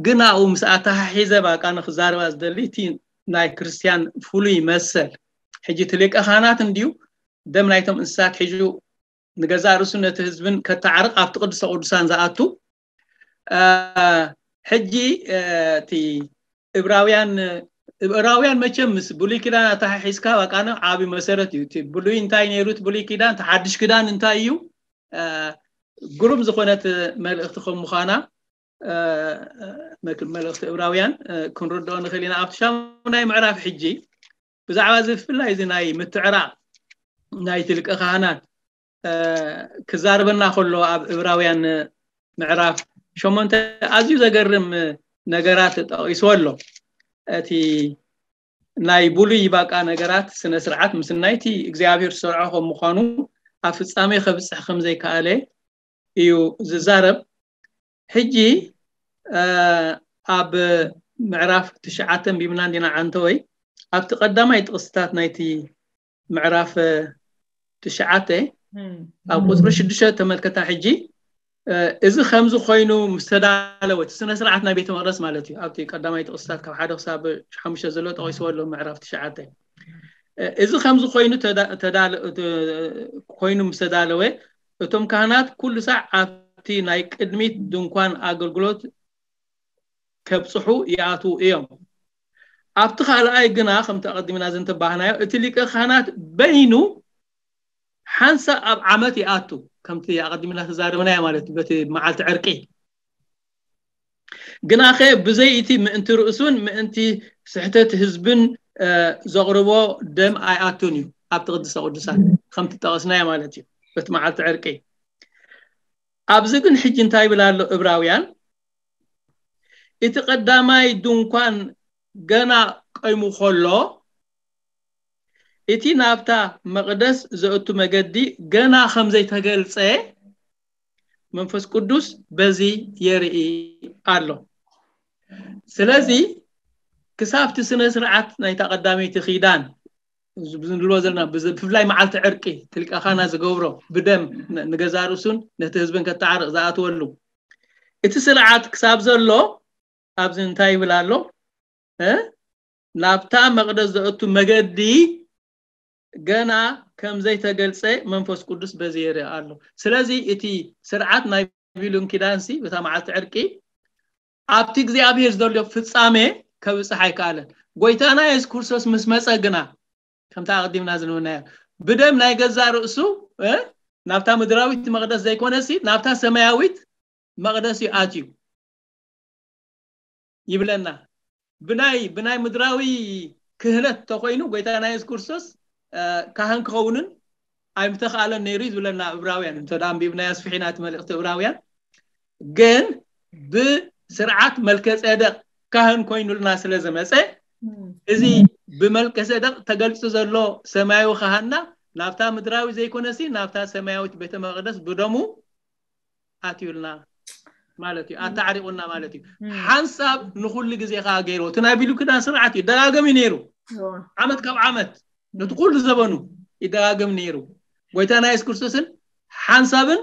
ግን ኣብኡ ምስ ኣተሓሒዘ ባቃ ንክዛረባ ዝደሊ እቲ ናይ ክርስቲያን ፍሉይ መሰል፣ ሕጂ እቲ ሊቀ ካህናት እንድዩ ደም ናይቶም እንስሳት ሒዙ ንገዛእ ርእሱ ነቲ ህዝብን ከተዓርቕ ኣብቲ ቅዱሰ ቅዱሳን ዝኣቱ። ሕጂ እቲ እብራውያን እብራውያን መቸም ምስ ብሉይ ኪዳን ኣተሓሒዝካ ባቃነ ዓቢ መሰረት እዩ። እቲ ብሉይ እንታይ ነይሩ፣ እቲ ብሉይ ኪዳን፣ እቲ ሓድሽ ኪዳን እንታይ እዩ? ግሩም ዝኾነት መልእኽቲ ከም ምዃና መልእኽቲ እብራውያን ክንርድኦ ንኽእል ኢና። ኣብቲ ሻሙናይ ምዕራፍ ሕጂ ብዛዕባ እዚ ብፍላይ እዚ ናይ ምትዕራቕ ናይ እቲ ሊቀ ካህናት ክዛርበና ከሎ ኣብ እብራውያን ምዕራፍ ሸሞንተ ኣዝዩ ዘገርም ነገራት ጠቒስዎ ኣሎ። እቲ ናይ ብሉይ ባቃ ነገራት ስነ ስርዓት ምስ ናይቲ እግዚኣብሔር ዝሰርዖ ከም ምዃኑ ኣብ ፍጻሜ ከብጽሕ ከም ዘይከኣለ እዩ ዝዛረብ። ሕጂ ኣብ ምዕራፍ ትሽዓተ ኣንቢብና እንዲና ዓንተወይ ኣብቲ ቀዳማይ ጥቕስታት ናይቲ ምዕራፍ ትሽዓተ ኣብ ቁፅሪ ሽዱሽተ ተመልከታ። ሕጂ እዚ ከምዚ ኮይኑ ምስ ተዳለወ እቲ ስነ ስርዓት ናይ ቤተ መቅደስ ማለት እዩ። ኣብቲ ቀዳማይ ጥቕስታት ካብ ሓደ ክሳብ ሓሙሽተ ዘሎ ጠቂስዎ ኣሎ ምዕራፍ ትሽዓተ። እዚ ከምዚ ኮይኑ ኮይኑ ምስ ተዳለወ እቶም ካህናት ኩሉ ሳዕ ኣብቲ ናይ ቅድሚት ድንኳን ኣገልግሎት ከብፅሑ ይኣትዉ እዮም። ኣብቲ ካልኣይ ግና ከምቲ ኣቐዲምና ዘንተባህናዮ እቲ ሊቀ ካህናት በይኑ ሓንሳእ ኣብ ዓመት ይኣቱ፣ ከምቲ ኣቐዲምና ተዛረብናዮ ማለት በቲ መዓልቲ ዕርቂ። ግናኸ ብዘይ እቲ ምእንቲ ርእሱን ምእንቲ ስሕተት ህዝብን ዘቕርቦ ደም ኣይኣቱን እዩ ኣብቲ ቅድስተ ቅዱሳን ከምቲ ጠቐስናዮ ማለት እዩ በቲ መዓልቲ ዕርቂ። ኣብዚ ግን ሕጂ እንታይ ይብል ኣሎ እብራውያን? እቲ ቀዳማይ ድንኳን ገና ቀይሙ ከሎ እቲ ናብታ መቕደስ ዘእቱ መገዲ ገና ከም ዘይተገልጸ መንፈስ ቅዱስ በዚ የርኢ ኣሎ። ስለዚ ክሳብቲ ስነ ስርዓት ናይታ ቀዳመይቲ ኪዳን ዝብልዎ ዘለና ብፍላይ መዓልቲ ዕርቂ ትልቀኻና ዝገብሮ ብደም ንገዛ ርእሱን ነቲ ህዝብን ከተዓርቕ ዝኣትወሉ እቲ ስርዓት ክሳብ ዘሎ ኣብዚ እንታይ ይብል ኣሎ? ናብታ መቕደስ ዘእቱ መገዲ ገና ከም ዘይተገልጸ መንፈስ ቅዱስ በዚ የርኢ ኣሎ። ስለዚ እቲ ስርዓት ናይ ብሉይ ኪዳንሲ በታ መዓልቲ ዕርቂ ኣብቲ እግዚኣብሔር ዘሎ ፍጻሜ ከብጽሕ ኣይከኣለን። ጎይታና የሱስ ክርስቶስ ምስ መጸ ግና ከምታ ኣቐዲምና ዝነበርናዮ ብደም ናይ ገዛ ርእሱ ናብታ ምድራዊት መቕደስ ዘይኮነሲ ናብታ ሰማያዊት መቕደስ እዩ ኣትዩ። ይብለና። ብናይ ብናይ ምድራዊ ክህነት ተኮይኑ ጎይታና የሱስ ክርስቶስ ካህን ክኸውንን ኣይምተኻለን ነይሩ እዩ ዝብለና ዕብራውያን። እንተ ደኣ ኣንቢብናዮ ኣስፊሒና እቲ መልእኽቲ ዕብራውያን፣ ግን ብስርዓት መልከ ጼደቅ ካህን ኮይኑልና ስለ ዝመፀ፣ እዚ ብመልከ ጼደቅ ተገልጹ ዘሎ ሰማያዊ ካህንና ናብታ ምድራዊ ዘይኮነሲ ናብታ ሰማያዊት ቤተ መቅደስ ብደሙ ኣትዩልና ማለት እዩ፣ ኣተዓሪቁና ማለት እዩ። ሓንሳብ ንኩሉ ግዜ ከዓ ገይሩ። እቲ ናይ ብሉይ ኪዳን ስርዓት እዩ፣ ይደጋገም እዩ ነይሩ። ዓመት ካብ ዓመት ነቲ ኩሉ ዘበኑ ይደጋገም ነይሩ። ጎይታና የሱስ ክርስቶስን ሓንሳብን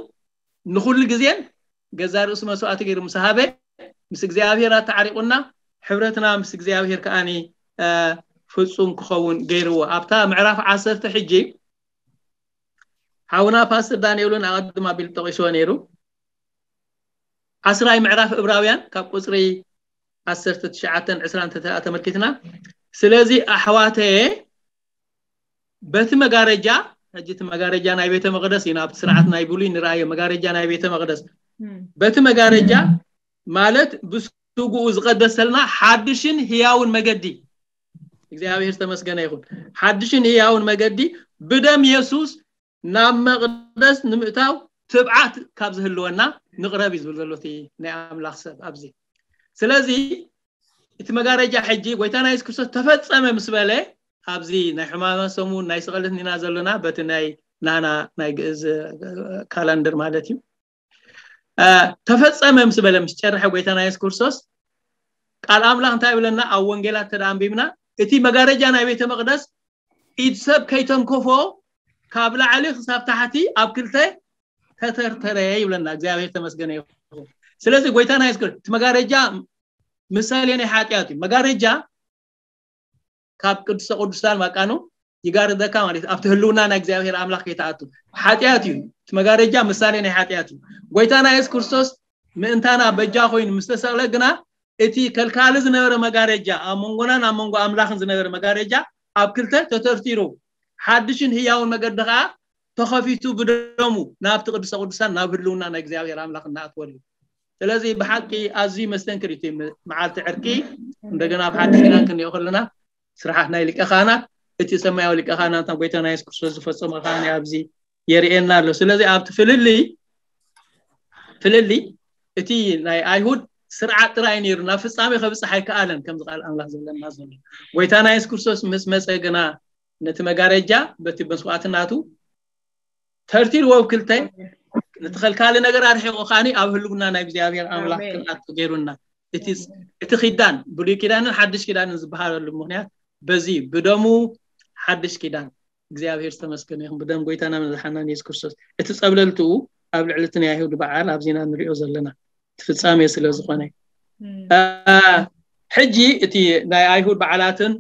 ንኩሉ ግዜን ገዛ ርእሱ መስዋዕቲ ገይሩ ምስ ሃበ፣ ምስ እግዚኣብሔር ኣተዓሪቁና፣ ሕብረትና ምስ እግዚኣብሔር ከዓኒ ፍጹም ክኸውን ገይርዎ። ኣብታ ምዕራፍ ዓሰርተ ሕጂ ሓውና ፓስተር ዳንኤል እውን ኣቐድም ኣቢሉ ጠቂስዎ ነይሩ። ዓስራይ ምዕራፍ ዕብራውያን ካብ ቁፅሪ ዓሰርተ ትሽዓተን ዕስራን ተተ- ተመልኪትና፣ ስለዚ ኣሕዋተየ በቲ መጋረጃ፣ ሕጂ እቲ መጋረጃ ናይ ቤተ መቅደስ እዩ፣ ናብቲ ስርዓት ናይ ብሉይ ንረኣዮ፣ መጋረጃ ናይ ቤተ መቅደስ፣ በቲ መጋረጃ ማለት ብስግኡ ዝቀደሰልና ሓድሽን ህያውን መገዲ፣ እግዚኣብሔር ዝተመስገነ ይኹን፣ ሓድሽን ህያውን መገዲ ብደም የሱስ ናብ መቅደስ ንምእታው ትብዓት ካብ ዝህልወና ንቅረብ እዩ ዝብል ዘሎ እቲ ናይ ኣምላኽ ሰብ ኣብዚ። ስለዚ እቲ መጋረጃ ሕጂ ጎይታና የሱስ ክርስቶስ ተፈጸመ ምስ በለ፣ ኣብዚ ናይ ሕማመ ሰሙን ናይ ስቕለት ኢና ዘለና፣ በቲ ናይ ናና ናይ ግእዝ ካላንደር ማለት እዩ። ተፈጸመ ምስ በለ፣ ምስ ጨርሐ ጎይታና የሱስ ክርስቶስ፣ ቃል ኣምላኽ እንታይ ይብለና? ኣብ ወንጌላት ተደኣ ኣንቢብና፣ እቲ መጋረጃ ናይ ቤተ መቅደስ ኢድ ሰብ ከይተንከፎ ካብ ላዕሊ ክሳብ ታሕቲ ኣብ ክልተ ተተርተረ ይብለና። እግዚኣብሔር ተመስገነ ይኹን። ስለዚ ጎይታና የሱስ ክርስቶስ እቲ መጋረጃ ምሳሌ ናይ ሓጢኣት እዩ። መጋረጃ ካብ ቅድስተ ቅዱሳን ማቃኑ ይጋርደካ ማለት እዩ። ኣብቲ ህልውና ናይ እግዚኣብሔር ኣምላኽ ከይትኣቱ ሓጢኣት እዩ። እቲ መጋረጃ ምሳሌ ናይ ሓጢኣት እዩ። ጎይታና የሱስ ክርስቶስ ምእንታና በጃ ኮይኑ ምስ ተሰቕለ ግና እቲ ከልካሊ ዝነበረ መጋረጃ፣ ኣብ መንጎናን ኣብ መንጎ ኣምላኽን ዝነበረ መጋረጃ ኣብ ክልተ ተተርቲሩ፣ ሓድሽን ህያውን መገዲ ኸዓ ተኸፊቱ ብደሙ ናብቲ ቅዱሰ ቅዱሳን ናብ ህልውና ናይ እግዚኣብሔር ኣምላኽ እናኣትወሉ። ስለዚ ብሓቂ ኣዝዩ መስተንክር እዩ እቲ መዓልቲ ዕርቂ። እንደገና ኣብ ሓድሽ ኪዳን ክንሪኦ ከለና ስርሓት ናይ ሊቀ ካህናት፣ እቲ ሰማያዊ ሊቀ ካህናት ናብ ጎይታና የሱስ ክርስቶስ ዝፈጸሞ ካህን ኣብዚ የርእየና ኣሎ። ስለዚ ኣብቲ ፍልልይ ፍልልይ እቲ ናይ ኣይሁድ ስርዓት ጥራይ ነይሩ፣ ናብ ፍጻሜ ከብጽሕ ኣይከኣለን፣ ከምዚ ቃል ኣምላኽ ዝብለና ዘሎ። ጎይታና የሱስ ክርስቶስ ምስ መጸ ግና ነቲ መጋረጃ በቲ መስዋዕትናቱ ተርቲርዎ ኣብ ክልተ፣ ነቲ ከልካሊ ነገር ኣርሒቑ ከዓኒ ኣብ ህልውና ናይ እግዚኣብሔር ኣምላኽ ኣሜን። ክንኣቱ ገይሩና። እቲ እቲ ኪዳን ብሉይ ኪዳንን ሓድሽ ኪዳንን ዝበሃለሉ ምኽንያት በዚ ብደሙ ሓድሽ ኪዳን እግዚኣብሔር ዝተመስገነ ይኹን፣ ብደም ጎይታና መድሓናን የሱስ ክርስቶስ እቲ ጸብለልትኡ ኣብ ልዕሊ እቲ ናይ ኣይሁድ በዓል ኣብዚና ንሪኦ ዘለና እቲ ፍጻሜ ስለ ዝኾነ። ሕጂ እቲ ናይ ኣይሁድ በዓላትን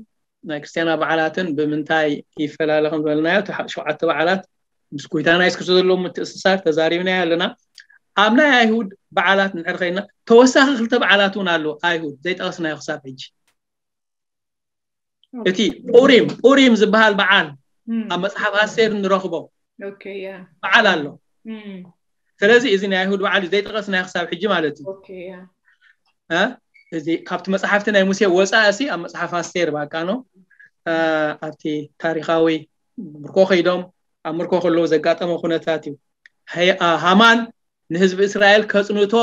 ናይ ክርስትያና በዓላትን ብምንታይ ይፈላለ ከም ዝበልናዮ፣ እቲ ሸውዓተ በዓላት ምስ ጎይታና የሱስ ክርስቶስ ዘለዎም ምትእስሳር ተዛሪብናዮ ኣለና። ኣብ ናይ ኣይሁድ በዓላት ንድሕር ኸይድና ተወሳኺ ክልተ በዓላት እውን ኣለዉ። ኣይሁድ ዘይጠቐስናዮ ክሳብ ሕጂ እቲ ኡሪም ኡሪም ዝበሃል በዓል ኣብ መጽሓፍ ኣስቴር እንረኽቦ በዓል ኣሎ። ስለዚ እዚ ናይ ኣይሁድ በዓል እዩ ዘይጠቐስናዮ ክሳብ ሕጂ ማለት እዩ። እ? እዚ ካብቲ መጽሓፍቲ ናይ ሙሴ ወፃእ ሲ ኣብ መጽሓፍ ኣስቴር ባቃ ነው። እ፣ ኣብቲ ታሪኻዊ ምርኮ ከይዶም ኣብ ምርኮ ከለዉ ዘጋጠመ ኩነታት እዩ። ሃይ- አ- ሃማን ንህዝቢ እስራኤል ከጽንቶ፣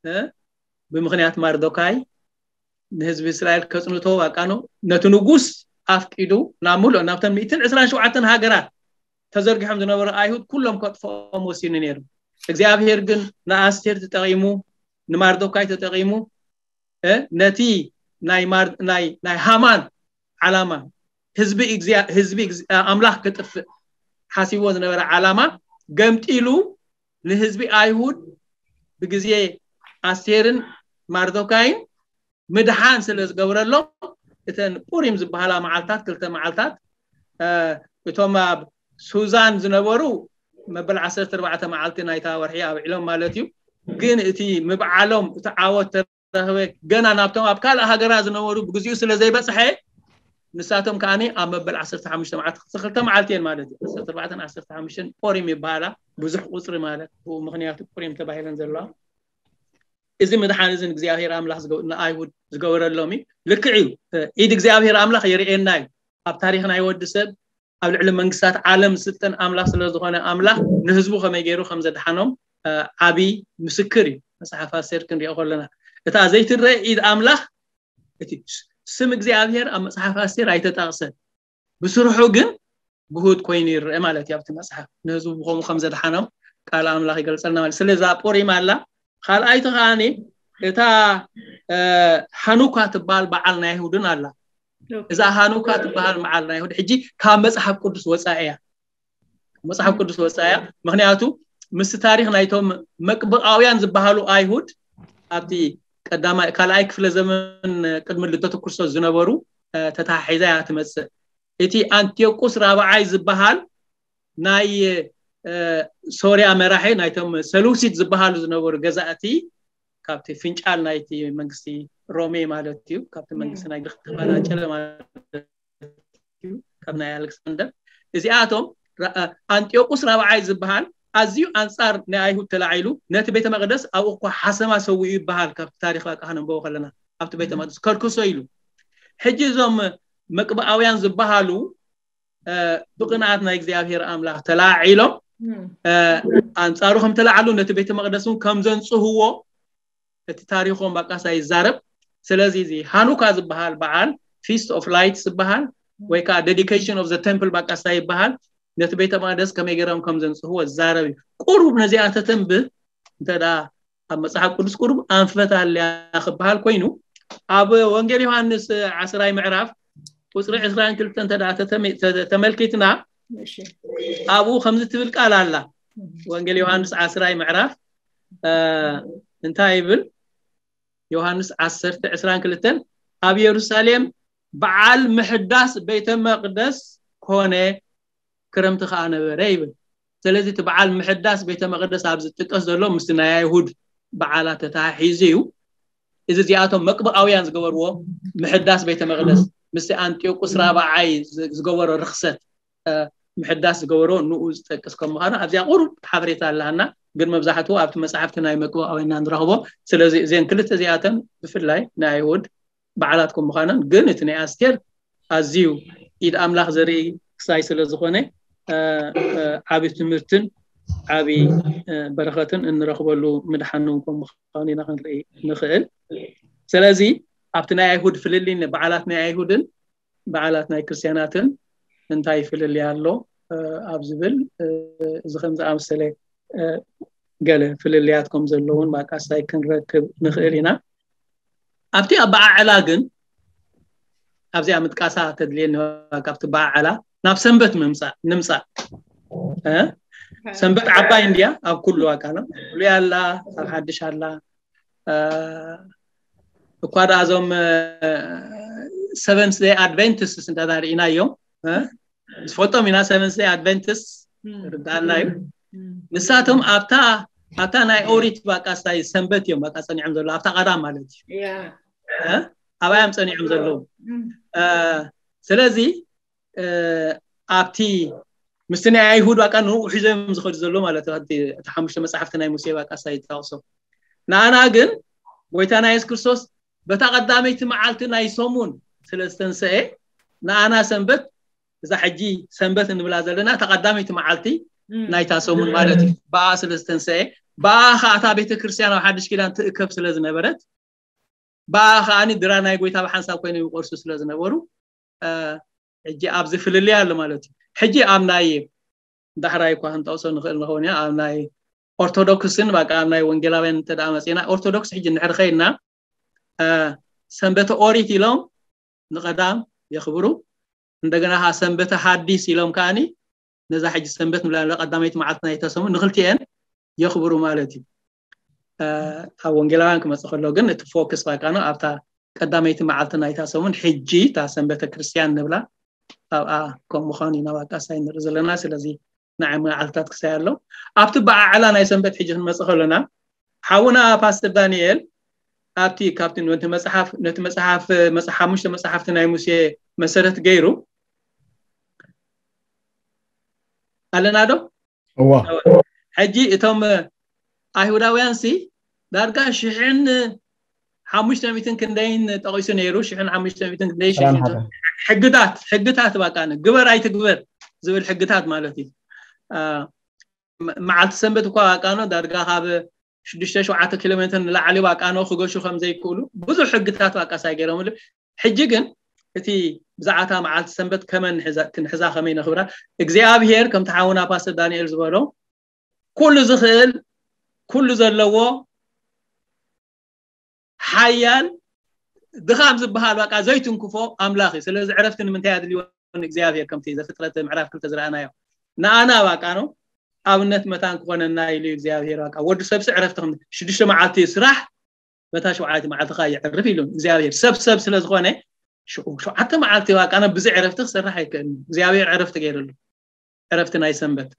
እ፣ ብምኽንያት ማርዶካይ ንህዝቢ እስራኤል ከጽንቶ ባቃ ነው። ነቲ ንጉስ ኣፍቂዱ ናብ ሙሉእ ናብተን ሚእትን ዕስራን ሸውዓተን ሃገራት ተዘርጊሖም ዝነበሩ ኣይሁድ ኩሎም ከጥፍኦም ወሲኑ ነይሩ። እግዚኣብሔር ግን ንኣስቴር ተጠቒሙ፣ ንማርዶካይ ተጠቒሙ፣ እ፣ ነቲ ናይ ማር- ናይ ናይ ሃማን ዓላማ ህዝቢ እግዚኣብ- ህዝቢ እግዚኣብ- ኣምላኽ ክጥፍእ ሓሲብዎ ዝነበረ ዓላማ ገምጢሉ ንህዝቢ ኣይሁድ ብግዜ ኣስቴርን ማርዶካይን ምድሓን ስለ ዝገብረሎም እተን ፑሪም ዝበሃላ መዓልታት ክልተ መዓልታት እ፣ እቶም ኣብ ሱዛን ዝነበሩ መበል ዓሰርተ ኣርባዕተ መዓልቲ ናይታ ወርሒ ኣብዒሎም ማለት እዩ። ግን እቲ ምብዓሎም እቲ ዓወት ተረኽበ ገና ናብቶም ኣብ ካልእ ሃገራ ዝነበሩ ብግዚኡ ስለ ዘይበጽሐ ንሳቶም ከዓኒ ኣብ መበል ዓሰርተ ሓሙሽተ መዓልቲ ክልተ መዓልቲ እየን ማለት እዩ። ዓሰርተ ኣርባዕተን ዓሰርተ ሓሙሽተን ፖሪም ይበሃላ። ብዙሕ ቁጽሪ ማለት ብኡ ምኽንያቱ ፖሪም ተባሂለን ዘለዋ። እዚ ምድሓን እዚ እግዚኣብሔር ኣምላኽ ንኣይሁድ ዝገበረሎም እዩ። ልክዕ እዩ። ኢድ እግዚኣብሔር ኣምላኽ የርእየና እዩ። ኣብ ታሪኽ ናይ ወዲ ሰብ ኣብ ልዕሊ መንግስታት ዓለም ዝስልጠን ኣምላኽ ስለ ዝኾነ ኣምላኽ ንህዝቡ ከመይ ገይሩ ከም ዘድሓኖም ዓብይ ምስክር እዩ። መጽሓፍ ኣስቴር ክንሪኦ ከለና እታ ዘይትረአ ኢድ ኣምላኽ፣ እቲ ስም እግዚኣብሔር ኣብ መጽሓፍ ኣስቴር ኣይተጠቕሰን። ብስርሑ ግን ግሁድ ኮይኑ ይረአ ማለት እዩ። ኣብቲ መጽሓፍ ንህዝቡ ብኸምኡ ከም ዘድሓኖም ቃል ኣምላኽ ይገልጸልና ማለት። ስለዚ እዛ ፖሪም ኣላ። ካልኣይቲ ከዓኒ እታ ሃኑካ ትበሃል በዓል ናይ ኣይሁድን ኣላ። እዛ ሃኑካ ትበሃል በዓል ናይ ኣይሁድ ሕጂ ካብ መጽሓፍ ቅዱስ ወጻኢ እያ። መጽሓፍ ቅዱስ ወጻኢ እያ። ምክንያቱ ምስ ታሪኽ ናይቶም መቅብኣውያን ዝበሃሉ ኣይሁድ ኣብቲ ቀዳማይ ካልኣይ ክፍለ ዘመን ቅድሚ ልደቱ ክርስቶስ ዝነበሩ ተታሒዛ እያ ትመጽእ። እቲ ኣንቲዮቁስ ራብዓይ ዝበሃል ናይ ሶርያ መራሒ ናይቶም ሰሉሲት ዝበሃሉ ዝነበሩ ገዛእቲ ካብቲ ፍንጫል ናይቲ መንግስቲ ሮሜ ማለት እዩ፣ ካብቲ መንግስቲ ናይ ግሪክ ተፈናጨለ ማለት እዩ፣ ካብ ናይ ኣሌክሳንደር። እዚኣቶም ኣንጢዮቁስ ራብዓይ ዝበሃል ኣዝዩ ኣንጻር ናይ ኣይሁድ ተላዒሉ ነቲ ቤተ መቅደስ ኣብኡ እኳ ሓሰማ ሰዊኡ ይበሃል። ካብቲ ታሪክ በቃ ከነንበቦ ከለና ኣብቲ ቤተ መቅደስ ከርክሶ ኢሉ። ሕጂ እዞም መቅብኣውያን ዝበሃሉ ብቅንኣት ናይ እግዚኣብሔር ኣምላኽ ተላዒሎም ኣንጻሩ ከም ተላዓሉ ነቲ ቤተ መቅደስ እውን ከም ዘንጽህዎ እቲ ታሪኾም ባቃሳ ይዛረብ። ስለዚ እዚ ሃኑካ ዝበሃል በዓል ፊስት ኦፍ ላይትስ ዝበሃል ወይ ከዓ ዴዲኬሽን ኦፍ ዘ ቴምፕል ባቃሳ ይበሃል። ነቲ ቤተ መቅደስ ከመይ ገይሮም ከም ዘንጽህዎ ዝዛረብ እዩ። ቁሩብ ነዚኣ ተተንብህ እንተ ደኣ ኣብ መጽሓፍ ቅዱስ ቁሩብ ኣንፈት ኣለያ ክበሃል ኮይኑ ኣብ ወንጌል ዮሃንስ ዓስራይ ምዕራፍ ቁፅሪ ዕስራን ክልተን እንተ ደኣ ተተመ- ተ- ተመልኪትና እሺ። ኣብኡ ከምዚ ትብል ቃል ኣላ። ወንጌል ዮሃንስ ዓስራይ ምዕራፍ እ፣ እንታይ ይብል? ዮሃንስ ዓሰርተ ዕስራን ክልተን ኣብ የሩሳሌም በዓል ምሕዳስ ቤተ መቅደስ ኮነ፣ ክረምቲ ከዓ ነበረ ይብል። ስለዚ እቲ በዓል ምሕዳስ ቤተ መቅደስ ኣብ ዝጥቀስ ዘሎ ምስቲ ናይ ኣይሁድ በዓላት ተተሓሒዙ እዩ። እዚ እዚኣቶም መቅብኣውያን ዝገበርዎ ምሕዳስ ቤተ መቅደስ ምስቲ ኣንጢዮቁስ ራብዓይ ዝ- ዝገበሮ ርክሰት እ፣ ምሕዳስ ዝገበሮ ንኡ ዝጠቅስ ከም ምዃኑ ኣብዚኣ ቁሩብ ሓበሬታ ኣለሃና። ግን መብዛሕትኡ ኣብቲ መጽሓፍቲ ናይ መቅብኣውያን ኢና ንረኽቦ። ስለዚ እዘን ክልተ እዚኣተን ብፍላይ ናይ ኣይሁድ በዓላት ከም ምዃነን ግን እቲ ናይ ኣስቴር ኣዝዩ ኢድ ኣምላኽ ዘርኢ ክሳይ ስለ ዝኾነ እ፣ እ፣ ዓቢ ትምህርትን ዓቢ እ፣ በረኸትን እንረኽበሉ ምድሓን እውን ከም ምዃኑ ኢና ክንርኢ ንኽእል። ስለዚ ኣብቲ ናይ ኣይሁድ ፍልልይ በዓላት ናይ ኣይሁድን በዓላት ናይ ክርስትያናትን እንታይ ፍልልይ ኣሎ እ፣ ኣብ ዝብል እ፣ እዚ ከም ዝኣመሰለ እ፣ ገለ ፍልልያት ከም ዘለውን ባቃሳይ ክንረክብ ንኽእል ኢና። ኣብቲ ኣበዓዕላ ግን ኣብዚኣ ምጥቃሳ ተድልየኒ። ካብቲ በዓዕላ ናብ ሰንበት ምምፃእ ንምፃእ እ? ሰንበት ዓባይ እንድያ ኣብ ኩሉ ኣካና ፍሉይ ኣላ፣ ኣብ ሓድሽ ኣላ እ፣ እኳ ደኣ እዞም ሰቨንስ ደይ ኣድቨንቲስት እንተዳ ርኢናዮም እ? ዝፈልጦም ኢና። ሰቨንስ ደይ ኣድቨንቲስት ርዳኣና እዩ። ንሳቶም ኣብታ ኣብታ ናይ ኦሪት ባቃሳይ ሰንበት እዮም ባቃ ጸኒዖም ዘለዉ ኣብታ ቀዳም ማለት እዩ። ያ እ? ኣብኣ እዮም ጸኒዖም ዘለዉ። እ፣ ስለዚ እ፣ ኣብቲ ምስቲ ናይ ኣይሁድ ባቃ ንኡ ሒዞም ዝኸዱ ዘለዉ ማለት እዩ። ኣብቲ እቲ ሓሙሽተ መጽሓፍቲ ናይ ሙሴ ባቃሳይ ይጠቕሶ። ንኣና ግን ጎይታና የሱስ ክርስቶስ በታ ቀዳመይቲ መዓልቲ ናይ ሰሙን ስለ ዝተንሰኤ ንኣና ሰንበት እዛ ሕጂ ሰንበት እንብላ ዘለና እታ ቀዳመይቲ መዓልቲ ናይታ ሰሙን ማለት እዩ። ብኣ ስለ ዝተንሰኤ ብኣ ከዓ እታ ቤተ ክርስቲያን ኣብ ሓድሽ ኪዳን ትእከብ ስለ ዝነበረት ብኣ ከዓ ድራ ናይ ጎይታ ብሓንሳብ ኮይኖም ይቆርሱ ስለ ዝነበሩ እ፣ ሕጂ ኣብዚ ፍልልይ ኣሎ ማለት እዩ። ሕጂ ኣብ ናይ ዳሕራይ እኳ ክንጠቕሶ ንኽእል ንኸውን ኢና ኣብ ናይ ኦርቶዶክስን በቃ ኣብ ናይ ወንጌላውያን እንተ ደኣ መፂና ኦርቶዶክስ ሕጂ እንድሕር ኸይድና እ፣ ሰንበተ ኦሪት ኢሎም ንቐዳም የኽብሩ። እንደገና ከዓ ሰንበተ ሓዲስ ኢሎም ከዓኒ ነዛ ሕጂ ሰንበት ንብላ ቀዳመይቲ መዓልቲ ናይ ተሰሙ ንክልቲኤን የኽብሩ ማለት እዩ። እ፣ ኣብ ወንጌላውያን ክመፅእ ከሎ ግን እቲ ፎክስ ባቃ ነው ኣብታ ቀዳመይቲ መዓልቲ ናይታ ሰሙን ሕጂ እታ ሰንበተ ክርስቲያን ንብላ ኣብኣ ከም ምዃኑ ኢና ባቃሳይ ንርኢ ዘለና። ስለዚ ንዓይ መዓልታት ክሳይ ኣሎ። ኣብቲ በዓዕላ ናይ ሰንበት ሕጂ ክንመፅእ ከለና ሓውና ፓስተር ዳንኤል ኣብቲ ካብቲ ነቲ መጽሓፍ ነቲ መጽሓፍ መጽ- ሓሙሽተ መጽሓፍቲ ናይ ሙሴ መሰረት ገይሩ ኣለና ዶ? እዋ ሕጂ እቶም ኣይሁዳውያን ሲ ዳርጋ ሽሕን ሓሙሽተ ሚእትን ክንደይን ጠቒሱ ነይሩ። ሽሕን ሓሙሽተ ሚእትን ክንደይ ሽሕን ሕግታት፣ ሕግታት ባቃ ግበር ኣይትግበር ዝብል ሕግታት ማለት እዩ። መዓልቲ ሰንበት እኳ ባቃኖ ዳርጋ ካብ ሽዱሽተ ሸውዓተ ኪሎ ሜትር ንላዕሊ ባቃኖ ክገሹ ከም ዘይክእሉ ብዙሕ ሕግታት ባቃ ሳይ ገይሮምሉ። ሕጂ ግን እቲ ብዛዕታ መዓልቲ ሰንበት ከመን ክንሕዛ ከመይ ነኽብራ፣ እግዚኣብሔር ከምቲ ሓውና ፓስተር ዳንኤል ዝበሎ ኩሉ ዝኽእል ኩሉ ዘለዎ ሓያል ድኻም ዝበሃል ባቃ ዘይትንክፎ ኣምላኽ እዩ። ስለዚ ዕረፍቲ ንምንታይ ኣድልዮ ንእግዚኣብሔር? ከምቲ ዘፍጥረት ምዕራፍ ክልተ ዝረኣናዮ ንኣና ባቃ ነው ኣብነት መታን ክኾነና ኢሉ እግዚኣብሔር ባቃ ወዲ ሰብሲ ዕረፍቲ ከም ሽዱሽተ መዓልቲ ስራሕ በታ ሸውዓይቲ መዓልቲ ካ የዕርፍ ኢሉ እግዚኣብሔር ሰብ ሰብ ስለ ዝኾነ ሸውዓተ መዓልቲ ባቃ ነው ብዚ ዕረፍቲ ክሰርሕ ኣይክእልን። እግዚኣብሔር ዕረፍቲ ገይርሉ ዕረፍቲ ናይ ሰንበት።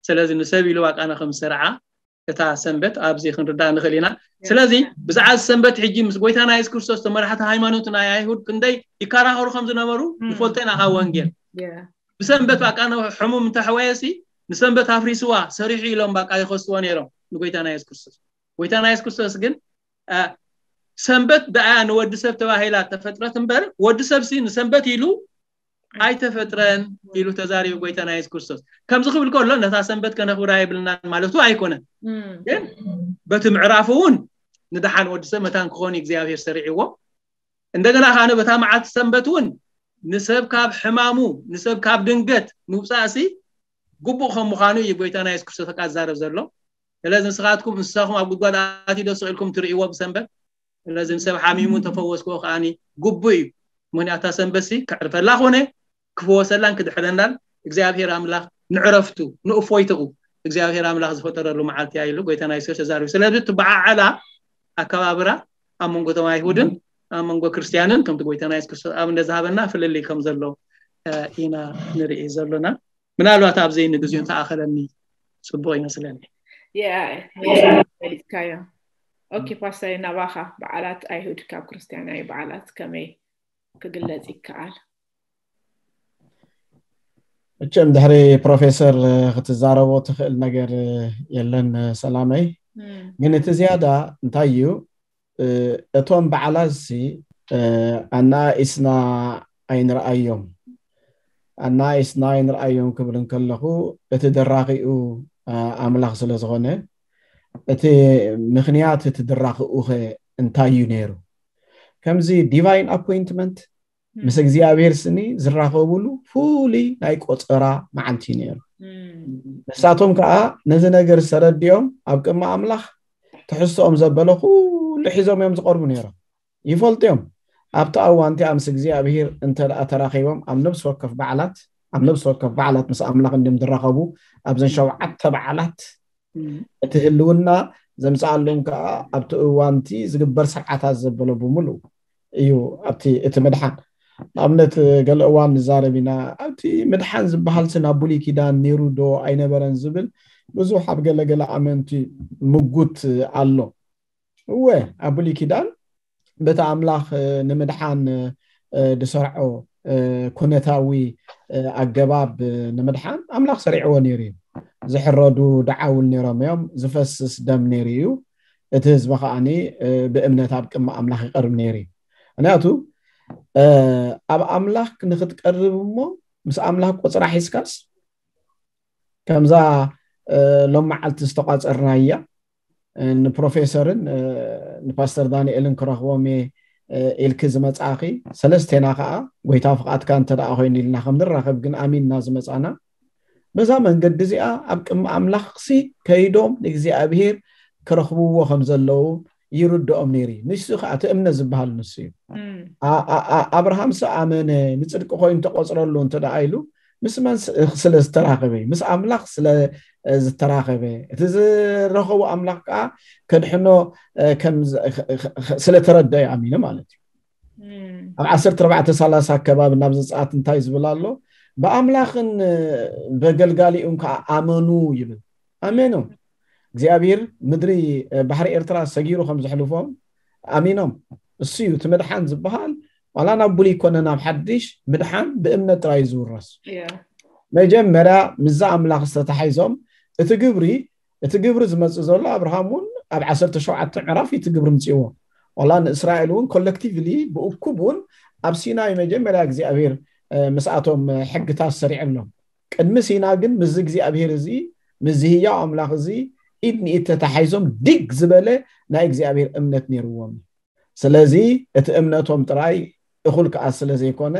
ስለዚ ንሰብ ኢሉ ባቃ ነው ከም ዝሰርዓ እታ ሰንበት ኣብዚ ክንርዳእ ንኽእል ኢና። ስለዚ ብዛዕባ ሰንበት ሕጂ ምስ ጎይታና የሱስ ክርስቶስ ተመራሕቲ ሃይማኖት ናይ ኣይሁድ ክንደይ ይከራኸሩ ከም ዝነበሩ ንፈልጦ ኢና ካብ ወንጌል። ብሰንበት ባቃ ነው ሕሙም እንተሕወየሲ ንሰንበት ኣፍሪስዋ ሰሪሑ ኢሎም ባቃ ይኸስዎ ነይሮም ንጎይታና የሱስ ክርስቶስ። ጎይታና የሱስ ክርስቶስ ግን ሰንበት ደኣያ ንወዲ ሰብ ተባሂላ ተፈጥረት እምበር ወዲ ሰብሲ ንሰንበት ኢሉ ኣይተፈጥረን ኢሉ ተዛሪቡ ጎይታና የሱስ ክርስቶስ። ከምዚ ክብል ከሎ ነታ ሰንበት ከነኽብራ የብልናን ማለቱ ኣይኮነን። ግን በቲ ምዕራፍ እውን ንደሓን ወዲ ሰብ መታን ክኾን እግዚኣብሔር ሰሪዕዎ። እንደገና ካነ በታ መዓልቲ ሰንበት እውን ንሰብ ካብ ሕማሙ ንሰብ ካብ ድንገት ምውፃእሲ ግቡእ ከም ምዃኑ እዩ ጎይታና የሱስ ክርስቶስ ተቃዛረብ ዘሎ። ስለዚ ንስኻትኩም እንስሳኹም ኣብ ጉድጓድ ኣትዩ ዶ ስቕ ኢልኩም ትርእይዎ ብሰንበት? ስለዚ ንሰብ ሓሚሙ ተፈወስክዎ ከዓኒ ግቡእ እዩ። ምክንያቱ እታ ሰንበትሲ ከዕርፈላ ኮነ ክፈወሰላን ክድሕረናን እግዚኣብሔር ኣምላኽ ንዕረፍቱ ንእፎይትኡ እግዚኣብሔር ኣምላኽ ዝፈጠረሉ መዓልቲ እያ ኢሉ ጎይታና የሱስ ተዛሪቡ። ስለዚ ትበዓዓላ ኣከባብራ ኣብ መንጎ ቶም ኣይሁድን ኣብ መንጎ ክርስትያንን ከምቲ ጎይታና የሱስ ክርስቶስ ኣብነት ዝሃበና ፍልልይ ከም ዘሎ ኢና ንርኢ ዘሎና። ምናልባት ኣብዚ ንግዚኡ እንተኣኸለኒ ፅቡቅ ይመስለኒ። ፈሊጥካዮ። ኦኬ ፓስተር፣ ናባኻ በዓላት ኣይሁድ ካብ ክርስትያናዊ በዓላት ከመይ ክግለጽ ይከኣል? እቸም ድሕሪ ፕሮፌሰር ክትዛረቦ ትኽእል ነገር የለን ሰላመይ። ግን እቲ ዝያዳ እንታይ እዩ፣ እቶም በዓላት ሲ ኣናኢስና ኣይንርኣዮም። ኣናኢስና ኣይንርኣዮም ክብል እንከለኹ እቲ ደራኺኡ ኣምላኽ ስለ ዝኾነ፣ እቲ ምኽንያት እቲ ድራኺኡ ኸ እንታይ እዩ ነይሩ? ከምዚ ዲቫይን ኣፖይንትመንት ምስ እግዚኣብሔር ስኒ ዝራኸብሉ ፍሉይ ናይ ቆፀራ መዓልቲ እዩ ነይሩ። ንሳቶም ከዓ ነዚ ነገር ዝተረድኦም ኣብ ቅድሚ ኣምላኽ ትሕዝቶኦም ዘበለ ኩሉ ሒዞም እዮም ዝቐርቡ ነይሮም። ይፈልጡ እዮም ኣብቲ ኣዋን እቲኣ ምስ እግዚኣብሔር እንተ ደኣ ተራኺቦም ኣብ ነብሲ ወከፍ በዓላት ኣብ ነብሲ ወከፍ በዓላት ምስ ኣምላኽ እንድም ዝራኸቡ ኣብዘን ሸውዓተ በዓላት እቲ ህልውና ዘምፅኣሎም ከዓ ኣብቲ እዋንቲ ዝግበር ስርዓታት ዘበሎ ብምሉ እዩ። ኣብቲ እቲ ምድሓን ንኣብነት ገለ እዋን ንዛረብ ኢና። ኣብቲ ምድሓን ዝበሃል ሲ ናብ ብሉይ ኪዳን ነይሩ ዶ ኣይነበረን ዝብል ብዙሕ ኣብ ገለገለ ኣመንቲ ምጉት ኣሎ። እወ ኣብ ብሉይ ኪዳን በቲ ኣምላኽ ንምድሓን ዝሰርዖ ኩነታዊ ኣገባብ ንምድሓን ኣምላኽ ሰሪዕዎ ነይሩ እዩ። ዝሕረዱ ደዓውል ነይሮም እዮም። ዝፈስስ ደም ነይሩ እዩ። እቲ ህዝቢ ከዓኒ ብእምነት ኣብ ቅድሚ ኣምላኽ ይቐርብ ነይሩ እዩ። ምክንያቱ ኣብ ኣምላኽ ንክትቀርብ እሞ ምስ ኣምላኽ ቆፅራ ሒዝካስ ከምዛ ሎም መዓልቲ ዝተቋፀርናያ ንፕሮፌሰርን ንፓስተር ዳንኤልን ክረኽቦም እየ ኢልኪ ዝመፃእኺ ሰለስቴና ከዓ ጎይታ ፍቓድካ እንተ ደኣ ኮይኑ ኢልና ከም ንራኸብ ግን ኣሚንና ዝመፃና በዛ መንገዲ እዚኣ ኣብ ቅድሚ ኣምላኽሲ ከይዶም ንእግዚኣብሄር ክረኽብዎ ከም ዘለዉ ይርድኦም ነይሩ እዩ። ንሱ ከዓ እቲ እምነት ዝበሃል ንሱ እዩ። ኣብርሃምሲ ኣመነ ንፅድቂ ኮይኑ ተቆፅረሉ እንተ ደኣ ኢሉ ምስ መን ስለ ዝተራኸበ እዩ? ምስ ኣምላኽ ስለ ዝተራኸበ እቲ ዝረኸቦ ኣምላኽ ከዓ ከድሕኖ ስለተረደ እዩ ኣሚኑ ማለት እዩ። ኣብ ዓሰርተ ኣርባዕተ ሰላሳ ኣከባቢ ናብ ዘፅኣት እንታይ ዝብል ኣሎ? ብኣምላኽን በገልጋሊኡን ከዓ ኣመኑ ይብል። ኣሜኖም እግዚኣብሔር ምድሪ ባሕሪ ኤርትራ ሰጊሩ ከም ዘሕልፎም ኣሚኖም። እሱ እዩ እቲ ምድሓን ዝበሃል ዋላ ናብ ብሉይ ኮነ ናብ ሓድሽ ምድሓን ብእምነት ጥራይ ዝውረስ። መጀመርያ ምዛ ኣምላኽ ዝተታሒዞም እቲ ግብሪ እቲ ግብሪ ዝመፅእ ዘሎ ኣብርሃም እውን ኣብ ዓሰርተ ሸውዓተ ምዕራፍ እቲ ግብሪ ምፅእዎ። ዋላ ንእስራኤል እውን ኮለክቲቭሊ ብእኩብ እውን ኣብ ሲናይ መጀመርያ እግዚኣብሔር ምስኣቶም ሕግታት ሰሪዐሎም። ቅድሚ ሲና ግን ምስዚ እግዚኣብሔር እዚ ምስዚ ህያው ኣምላኽ እዚ ኢድ ንኢድ ተታሓይዞም ድግ ዝበለ ናይ እግዚኣብሔር እምነት ነይርዎም። ስለዚ እቲ እምነቶም ጥራይ እኹል ከዓ ስለ ዘይኮነ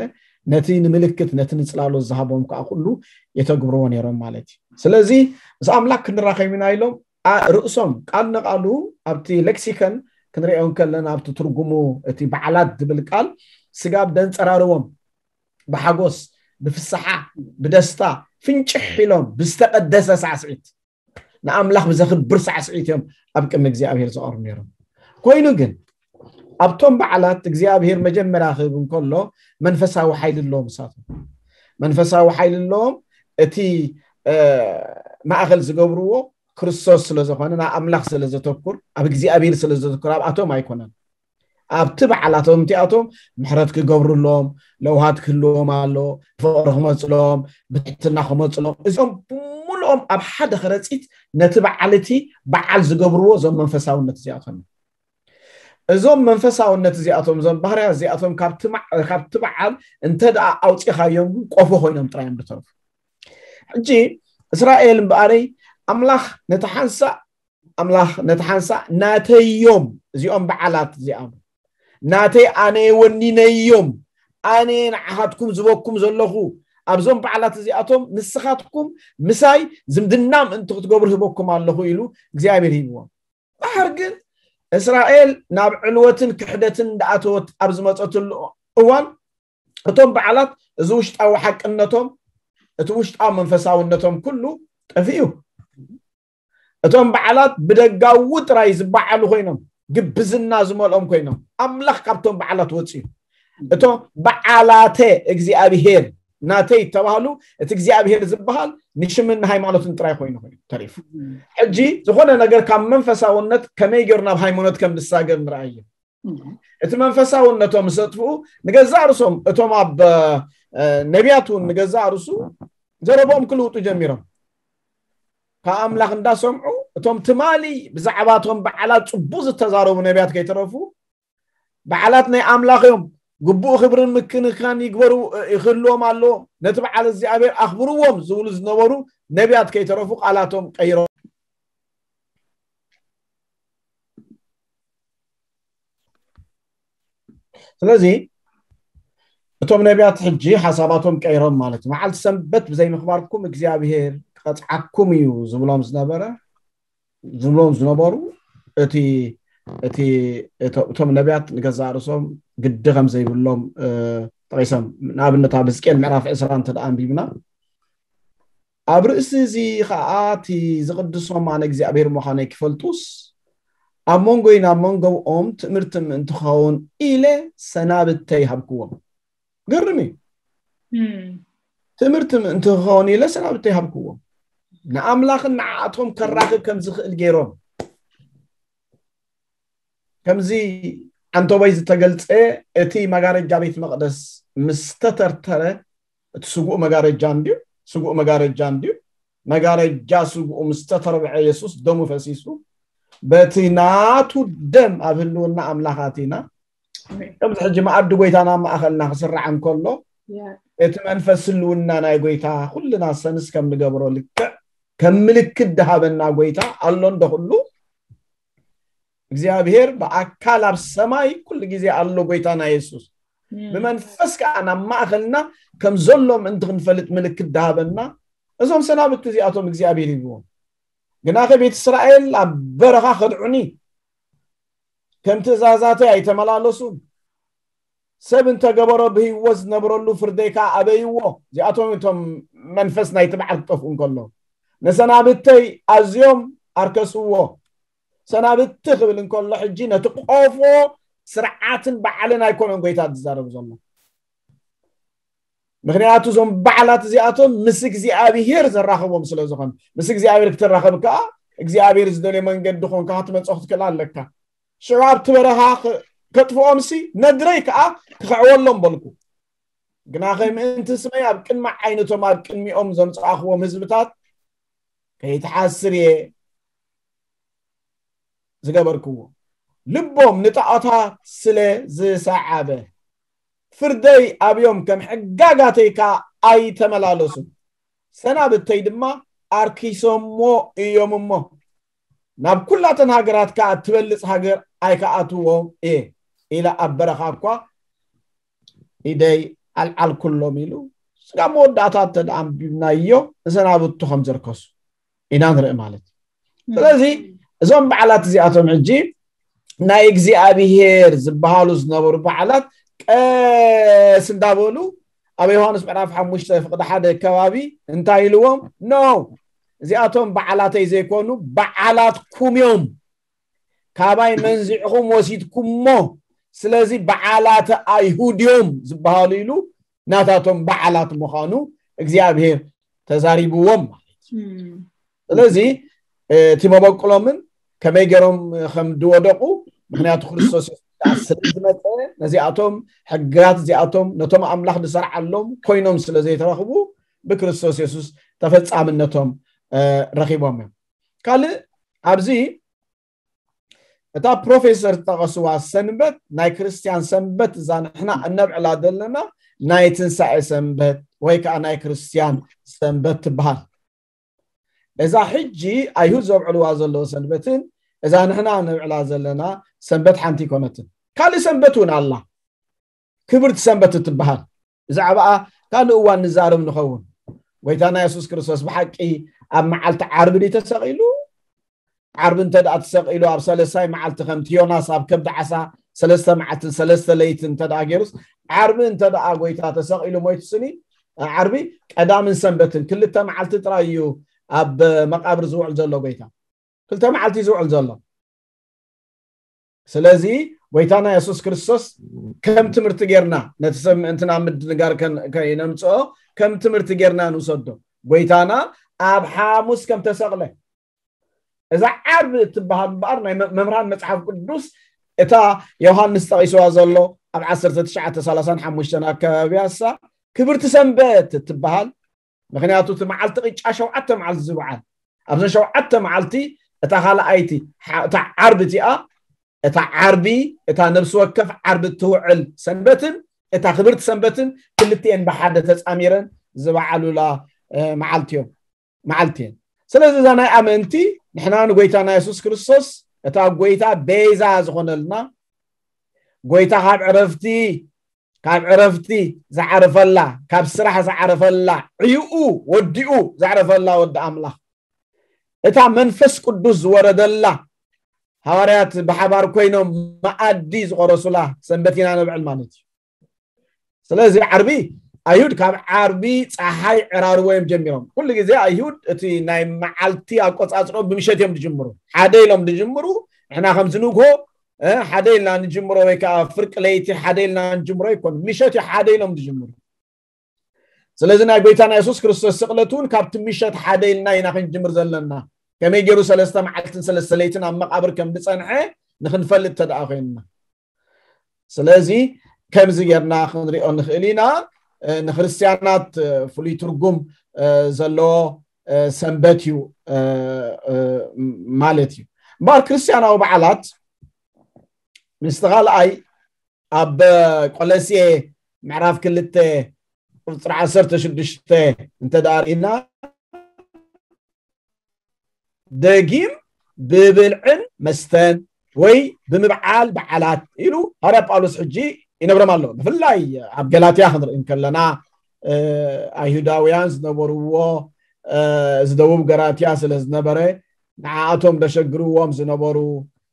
ነቲ ንምልክት ነቲ ንፅላሎት ዝሃቦም ከዓ ኩሉ የተግብርዎ ነይሮም ማለት እዩ። ስለዚ ምስ ኣምላክ ክንራኸብ ኢና ኢሎም ርእሶም ቃል ንቃሉ ኣብቲ ሌክሲከን ክንሪኦ ከለና ኣብቲ ትርጉሙ እቲ በዓላት ዝብል ቃል ስጋብ ደንፀራርዎም ብሓጎስ ብፍስሓ ብደስታ ፍንጭሕ ኢሎም ብዝተቀደሰ ሳዕስዒት ንኣምላኽ ብዘኽብር ሳዕስዒት እዮም ኣብ ቅድሚ እግዚኣብሔር ዝቐርቡ ነይሮም። ኮይኑ ግን ኣብቶም በዓላት እግዚኣብሔር መጀመርያ ክህብ እንከሎ መንፈሳዊ ሓይሊ ኣለዎም። እሳቶም መንፈሳዊ ሓይሊ ኣለዎም። እቲ ማእኸል ዝገብርዎ ክርስቶስ ስለ ዝኾነ ናብ ኣምላኽ ስለ ዘተኩር ኣብ እግዚኣብሔር ስለ ዘተኩር ኣብኣቶም ኣይኮነን። ኣብቲ በዓላቶም እቲኣቶም ምሕረት ክገብሩሎም ለውሃት ክህልዎም ኣሎ። ፍቕሪ ክመፅሎም ብትሕትና ክመፅሎም እዚኦም ብምልኦም ኣብ ሓደ ከረፂት ነቲ በዓል እቲ በዓል ዝገብርዎ እዞም መንፈሳውነት እዚኣቶም እዞም መንፈሳውነት እዚኣቶም እዞም ባህርያ እዚኣቶም ካብቲ በዓል እንተ ደኣ ኣውፂኻዮም ግን ቆፎ ኮይኖም ጥራዮም ዝተረፉ። ሕጂ እስራኤል እምበኣረይ ኣምላኽ ነቲ ሓንሳእ ኣምላኽ ነቲ ሓንሳእ ናተዮም እዚኦም በዓላት እዚኣም ናተይ ኣነ ወኒነዮም ኣነ ንዓኻትኩም ዝበኩም ዘለኹ ኣብዞም በዓላት እዚኣቶም ንስኻትኩም ምሳይ ዝምድና ምእንቲ ክትገብሩ ህበኩም ኣለኹ ኢሉ እግዚኣብሔር ሂብዎም። ድሓር ግን እስራኤል ናብ ዕልወትን ክሕደትን እንዳኣተወት ኣብ ዝመፀትሉ እዋን እቶም በዓላት እዚ ውሽጣዊ ሓቅነቶም እቲ ውሽጣዊ መንፈሳውነቶም ኩሉ ጠፊኡ። እቶም በዓላት ብደጋዊ ጥራይ ዝበዓሉ ኮይኖም ግብዝና ዝመልኦም ኮይኖም ኣምላኽ ካብቶም በዓላት ወፅዩ። እቶም በዓላተ እግዚኣብሄር ናተይ ተባህሉ እቲ እግዚኣብሄር ዝበሃል ንሽምን ሃይማኖትን ጥራይ ኮይኑ ኮይኑ ተሪፉ። ሕጂ ዝኾነ ነገር ካብ መንፈሳውነት ከመይ ገይሩ ናብ ሃይማኖት ከም ዝሳገር ንርኣየ። እቲ መንፈሳውነቶም ሰጥፍኡ ንገዛእ ርሶም እቶም ኣብ ነቢያት እውን ንገዛእ ርሱ ዘረቦም ክልውጡ ጀሚሮም። ካብ ኣምላኽ እንዳሰምዑ እቶም ትማሊ ብዛዕባቶም በዓላት ጽቡቅ ዝተዛረቡ ነቢያት ከይተረፉ በዓላት ናይ ኣምላኽ እዮም፣ ግቡእ ክብርን ምክንኻን ይግበሩ ይክህልዎም ኣለዎም፣ ነቲ በዓል እግዚኣብሔር ኣኽብርዎም ዝብሉ ዝነበሩ ነቢያት ከይተረፉ ቃላቶም ቀይሮም። ስለዚ እቶም ነቢያት ሕጂ ሓሳባቶም ቀይሮም ማለት እዩ። መዓልቲ ሰንበት ብዘይምኽባርኩም እግዚኣብሔር ክቐፅዓኩም እዩ ዝብሎም ዝነበረ ዝብሎም ዝነበሩ እቲ እቲ እቶም ነቢያት ንገዛእ ርእሶም ግዲ ከም ዘይብሎም ጠቂሶም። ንኣብነት ኣብ ሕዝቅኤል ምዕራፍ ዕስራ እንተ ደኣ ኣንቢብና ኣብ ርእሲ እዚ ኸዓ እቲ ዝቕድሶም ኣነ እግዚኣብሔር ምዃነይ ክፈልጡስ ኣብ መንጎይን ኣብ መንጎኦም ትእምርቲ ምእንቲ ክኸውን ኢለ ሰናብተይ ሃብክዎም። ገርም እዩ። ትእምርቲ ምእንቲ ክኸውን ኢለ ሰናብተይ ሃብክዎም። ንኣምላኽን ንዓኣቶም ከራኽብ ከም ዝኽእል ገይሮም ከምዚ ዓንተቦይ ዝተገልጸ እቲ መጋረጃ ቤት መቕደስ ምስ ተተርተረ እቲ ስጉእ መጋረጃ እንድዩ ስጉእ መጋረጃ እንድዩ መጋረጃ ስጉኡ ምስ ተተርብዐ የሱስ ደሙ ፈሲሱ በቲ ናቱ ደም ኣብ ህልውና ኣምላኽ ኣቲና ከምዚ ሕጂ መኣዲ ጎይታና ማእኸልና ክስራዕ እንከሎ እቲ መንፈስ ህልውና ናይ ጎይታ ኩልና ሰንስ ከም ንገብሮ ልክዕ ከም ምልክት ድሃበና ጎይታ ኣሎ እንዶ ኩሉ እግዚኣብሔር ብኣካል ኣብ ሰማይ ኩሉ ግዜ ኣሎ ጎይታና የሱስ ብመንፈስ ከዓ ናብ ማእኸልና ከም ዘሎ ምእንቲ ክንፈልጥ ምልክት ድሃበና እዞም ሰናብቲ እዚኣቶም እግዚኣብሔር ሂብዎም ግናኸ ቤት እስራኤል ኣብ በረኻ ከድዑኒ ከም ትእዛዛተይ ኣይተመላለሱን ሰብ እንተገበሮ ብህይወት ዝነብረሉ ፍርደይ ከዓ ኣበይዎ እዚኣቶም እቶም መንፈስ ናይቲ በዓል ክጠፍኡ እንከሎ ንሰናብተይ ኣዝዮም ኣርከስዎ ሰናብቲ ክብል እንከሎ ሕጂ ነቲ ቆፎ ስርዓትን በዓልን ኣይኮነን ጎይታ ዝዛረብ ዘሎ ምክንያቱ እዞም በዓላት እዚኣቶም ምስ እግዚኣብሄር ዘራኽቦም ስለ ዝኾነ ምስ እግዚኣብሄር ክትራኸብ ከዓ እግዚኣብሄር ዝደልዮ መንገዲ ኮንካ ክትመፅኦ ክትክእል ኣለካ ሽዑ ኣብቲ በረኻ ከጥፍኦም ሲ ነድረይ ከዓ ክኸዕወሎም በልኩ ግናኸ ምእንቲ ስመይ ኣብ ቅድሚ ዓይነቶም ኣብ ቅድሚኦም ዘምፃእኽዎም ህዝብታት ከይትሓስር እየ ዝገበርክዎ፣ ልቦም ንጣዖታት ስለ ዝሰዓበ፣ ፍርደይ ኣብዮም ከም ሕጋጋተይ ከኣ ኣይተመላለሱን። ሰናብተይ ድማ ኣርኪሶሞ እዮም እሞ፣ ናብ ኩላተን ሃገራት ከኣ እትበልጽ ሃገር ኣይከኣትዎም እየ ኢለ ኣብ በረኻ እኳ ኢደይ ኣልዓልኩሎም ኢሉ። ስጋብ መወዳእታ እንተ ደኣ ኣንቢብናዮ፣ ንሰናብቱ ከም ዘርከሱ ኢና ንርኢ ማለት እዩ። ስለዚ እዞም በዓላት እዚኣቶም ሕጂ ናይ እግዚኣብሄር ዝበሃሉ ዝነበሩ በዓላት ቀስ እንዳበሉ ኣብ ዮሃንስ ምዕራፍ ሓሙሽተ ፍቕዲ ሓደ ከባቢ እንታይ ኢልዎም? ኖ፣ እዚኣቶም በዓላተይ ዘይኮኑ በዓላትኩም እዮም፣ ካባይ መንዚዕኹም ወሲድኩሞ፣ ስለዚ በዓላተ ኣይሁድ እዮም ዝበሃሉ ኢሉ ናታቶም በዓላት ምዃኑ እግዚኣብሄር ተዛሪብዎም ማለት እዩ። ስለዚ እቲ መበቁሎምን ከመይ ገይሮም ከም ዝወደቁ፣ ምክንያቱ ክርስቶስ የሱስ ስለ ዝመፀ፣ ነዚኣቶም ሕግጋት እዚኣቶም ነቶም ኣምላኽ ዝሰርዓሎም ኮይኖም ስለ ዘይተረኽቡ፣ ብክርስቶስ የሱስ ተፈጻምነቶም ረኺቦም እዮም። ካልእ ኣብዚ እታ ፕሮፌሰር ዝጠቐስዋ ሰንበት፣ ናይ ክርስትያን ሰንበት፣ እዛ ንሕና እነብዕላ ዘለና ናይ ትንሳኤ ሰንበት ወይ ከዓ ናይ ክርስትያን ሰንበት ትበሃል። እዛ ሕጂ ኣይሁድ ዘብዕልዋ ዘለዉ ሰንበትን እዛ ንሕና እነብዕላ ዘለና ሰንበት ሓንቲ ኣይኮነትን። ካልእ ሰንበት እውን ኣላ፣ ክብርቲ ሰንበት እትበሃል። ብዛዕባኣ ካልእ እዋን ንዛረብ ንኸውን። ጎይታና የሱስ ክርስቶስ ብሓቂ ኣብ መዓልቲ ዓርቢ ድዩ ተሰቒሉ? ዓርቢ እንተ ደኣ ተሰቒሉ፣ ኣብ ሰለሳይ መዓልቲ ከምቲ ዮናስ ኣብ ከብዲ ዓሳ ሰለስተ መዓልትን ሰለስተ ለይትን እንተ ደኣ ገይሩስ፣ ዓርቢ እንተ ደኣ ጎይታ ተሰቒሉ ሞይቱ ስኒ፣ ዓርቢ፣ ቀዳምን ሰንበትን ክልተ መዓልቲ ጥራይ እዩ ኣብ መቃብር ዝውዕል ዘሎ ጎይታ። ክልተ መዓልቲ እዩ ዝውዕል ዘሎ። ስለዚ ጎይታና የሱስ ክርስቶስ ከም ትምህርቲ ጌርና ነቲ ሰብ ምእንትና ምድንጋር ከይነምፅኦ ከም ትምህርቲ ጌርና ንውሰዶ። ጎይታና ኣብ ሓሙስ ከም ተሰቕለ፣ እዛ ዓርቢ እትበሃል እምበኣር ናይ መምህራን መፅሓፍ ቅዱስ እታ ዮሃንስ ጠቒስዋ ዘሎ ኣብ ዓሰርተ ትሽዓተ ሰላሳን ሓሙሽተን ኣከባቢ ኣሳ ክብርቲ ሰንበት እትበሃል። ምክንያቱ እቲ መዓልቲ ቅጫ ሸውዓተ መዓልቲ ዝበዓል፣ ኣብዘን ሸውዓተ መዓልቲ እታ ካልኣይቲ እታ ዓርቢ እቲኣ፣ እታ ዓርቢ፣ እታ ነብሲ ወከፍ ዓርቢ እትውዕል ሰንበትን እታ ክብርቲ ሰንበትን ክልቲኤን ብሓደ ተፃሚረን ዝበዓሉላ መዓልቲ እዮም፣ መዓልቲ እየን። ስለዚ እዛ ናይ ኣመንቲ ንሕና ንጎይታና የሱስ ክርስቶስ እታ ጎይታ ቤዛ ዝኾነልና፣ ጎይታ ካብ ዕረፍቲ ካብ ዕረፍቲ ዝዓረፈላ፣ ካብ ስራሕ ዝዓረፈላ፣ ዕይኡ ወዲኡ ዘዕረፈላ ወዲ ኣምላኽ፣ እታ መንፈስ ቅዱስ ዝወረደላ፣ ሃዋርያት ብሓባር ኮይኖም መኣዲ ዝቆረሱላ ሰንበት ኢና ነብዕል ማለት እዩ። ስለዚ ዓርቢ ኣይሁድ ካብ ዓርቢ ፀሓይ ዕራርቦ እዮም ጀሚሮም። ኩሉ ግዜ ኣይሁድ እቲ ናይ መዓልቲ ኣቆፃፅሮ ብምሸት እዮም ዝጅምሩ። ሓደ ኢሎም ዝጅምሩ፣ ንሕና ከምዚ ንግሆ ሓደ ኢልና ንጅምሮ ወይ ከዓ ፍርቂ ለይቲ ሓደ ኢልና ንጅምሮ ይኮኑ፣ ምሸት እዩ ሓደ ኢሎም ዝጅምሩ። ስለዚ ናይ ጎይታና የሱስ ክርስቶስ ስቕለት እውን ካብቲ ምሸት ሓደ ኢልና ኢና ክንጅምር ዘለና። ከመይ ገይሩ ሰለስተ መዓልትን ሰለስተ ለይትን ኣብ መቃብር ከም ዝፀንሐ ንክንፈልጥ ተደኣ ኮይንና፣ ስለዚ ከምዚ ጌርና ክንሪኦ ንኽእል ኢና። ንክርስትያናት ፍሉይ ትርጉም ዘለዎ ሰንበት እዩ ማለት እዩ። እምበኣር ክርስትያናዊ በዓላት ምስቲ ካልኣይ ኣብ ቆለስየ ምዕራፍ ክልተ ቁፅሪ ዓሰርተ ሽዱሽተ እንተ ደኣ ርኢና፣ ደጊም ብብልዕን መስተን ወይ ብምብዓል በዓላት ኢሉ ሃዋርያ ጳውሎስ ሕጂ ይነግሮም ኣሎ። ብፍላይ ኣብ ገላትያ ክንርኢ እንከለና፣ ኣይሁዳውያን ዝነበርዎ፣ እዚ ደቡብ ገላትያ ስለ ዝነበረ፣ ንዓኣቶም ደሸግርዎም ዝነበሩ፣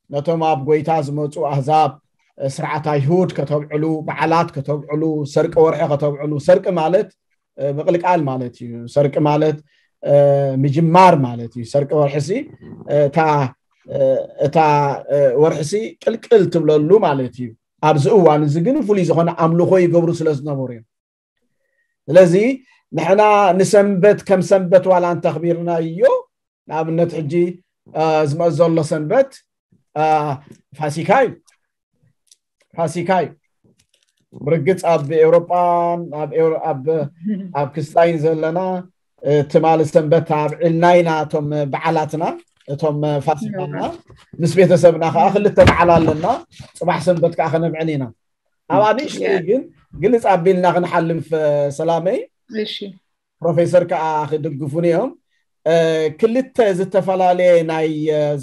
ነቶም ኣብ ጎይታ ዝመፁ ኣህዛብ ስርዓት ኣይሁድ ከተብዕሉ፣ በዓላት ከተብዕሉ፣ ሰርቂ ወርሒ ከተብዕሉ። ሰርቂ ማለት ምቕልቃል ማለት እዩ። ሰርቂ ማለት ምጅማር ማለት እዩ። ሰርቂ ወርሒ ሲ እታ እታ ወርሒ ሲ ቅልቅል ትብለሉ ማለት እዩ። ኣብዚ እዋን እዚ ግን ፍሉይ ዝኾነ ኣምልኾ ይገብሩ ስለ ዝነበሩ እዮም። ስለዚ ንሕና ንሰንበት ከም ሰንበት ዋላ እንተኽቢርናዮ፣ ንኣብነት ሕጂ ዝመፅ ዘሎ ሰንበት ፋሲካ እዩ። ፋሲካ እዩ። ብርግፅ ኣብ ኤውሮጳን ኣብ ክስታይን ዘለና ትማሊ ሰንበት ኣብዒልና ኢና እቶም በዓላትና። እቶም ፋሲካና ምስ ቤተሰብና ከዓ ክልተ በዓል ኣለና። ፅባሕ ሰንበት ከዓ ከነብዕል ኢና። ኣብ ኣንእሽተይ ግን ግልፅ ኣቢልና ክንሓልፍ ሰላመይ፣ ፕሮፌሰር ከዓ ክድግፉን እዮም። ክልተ ዝተፈላለየ ናይ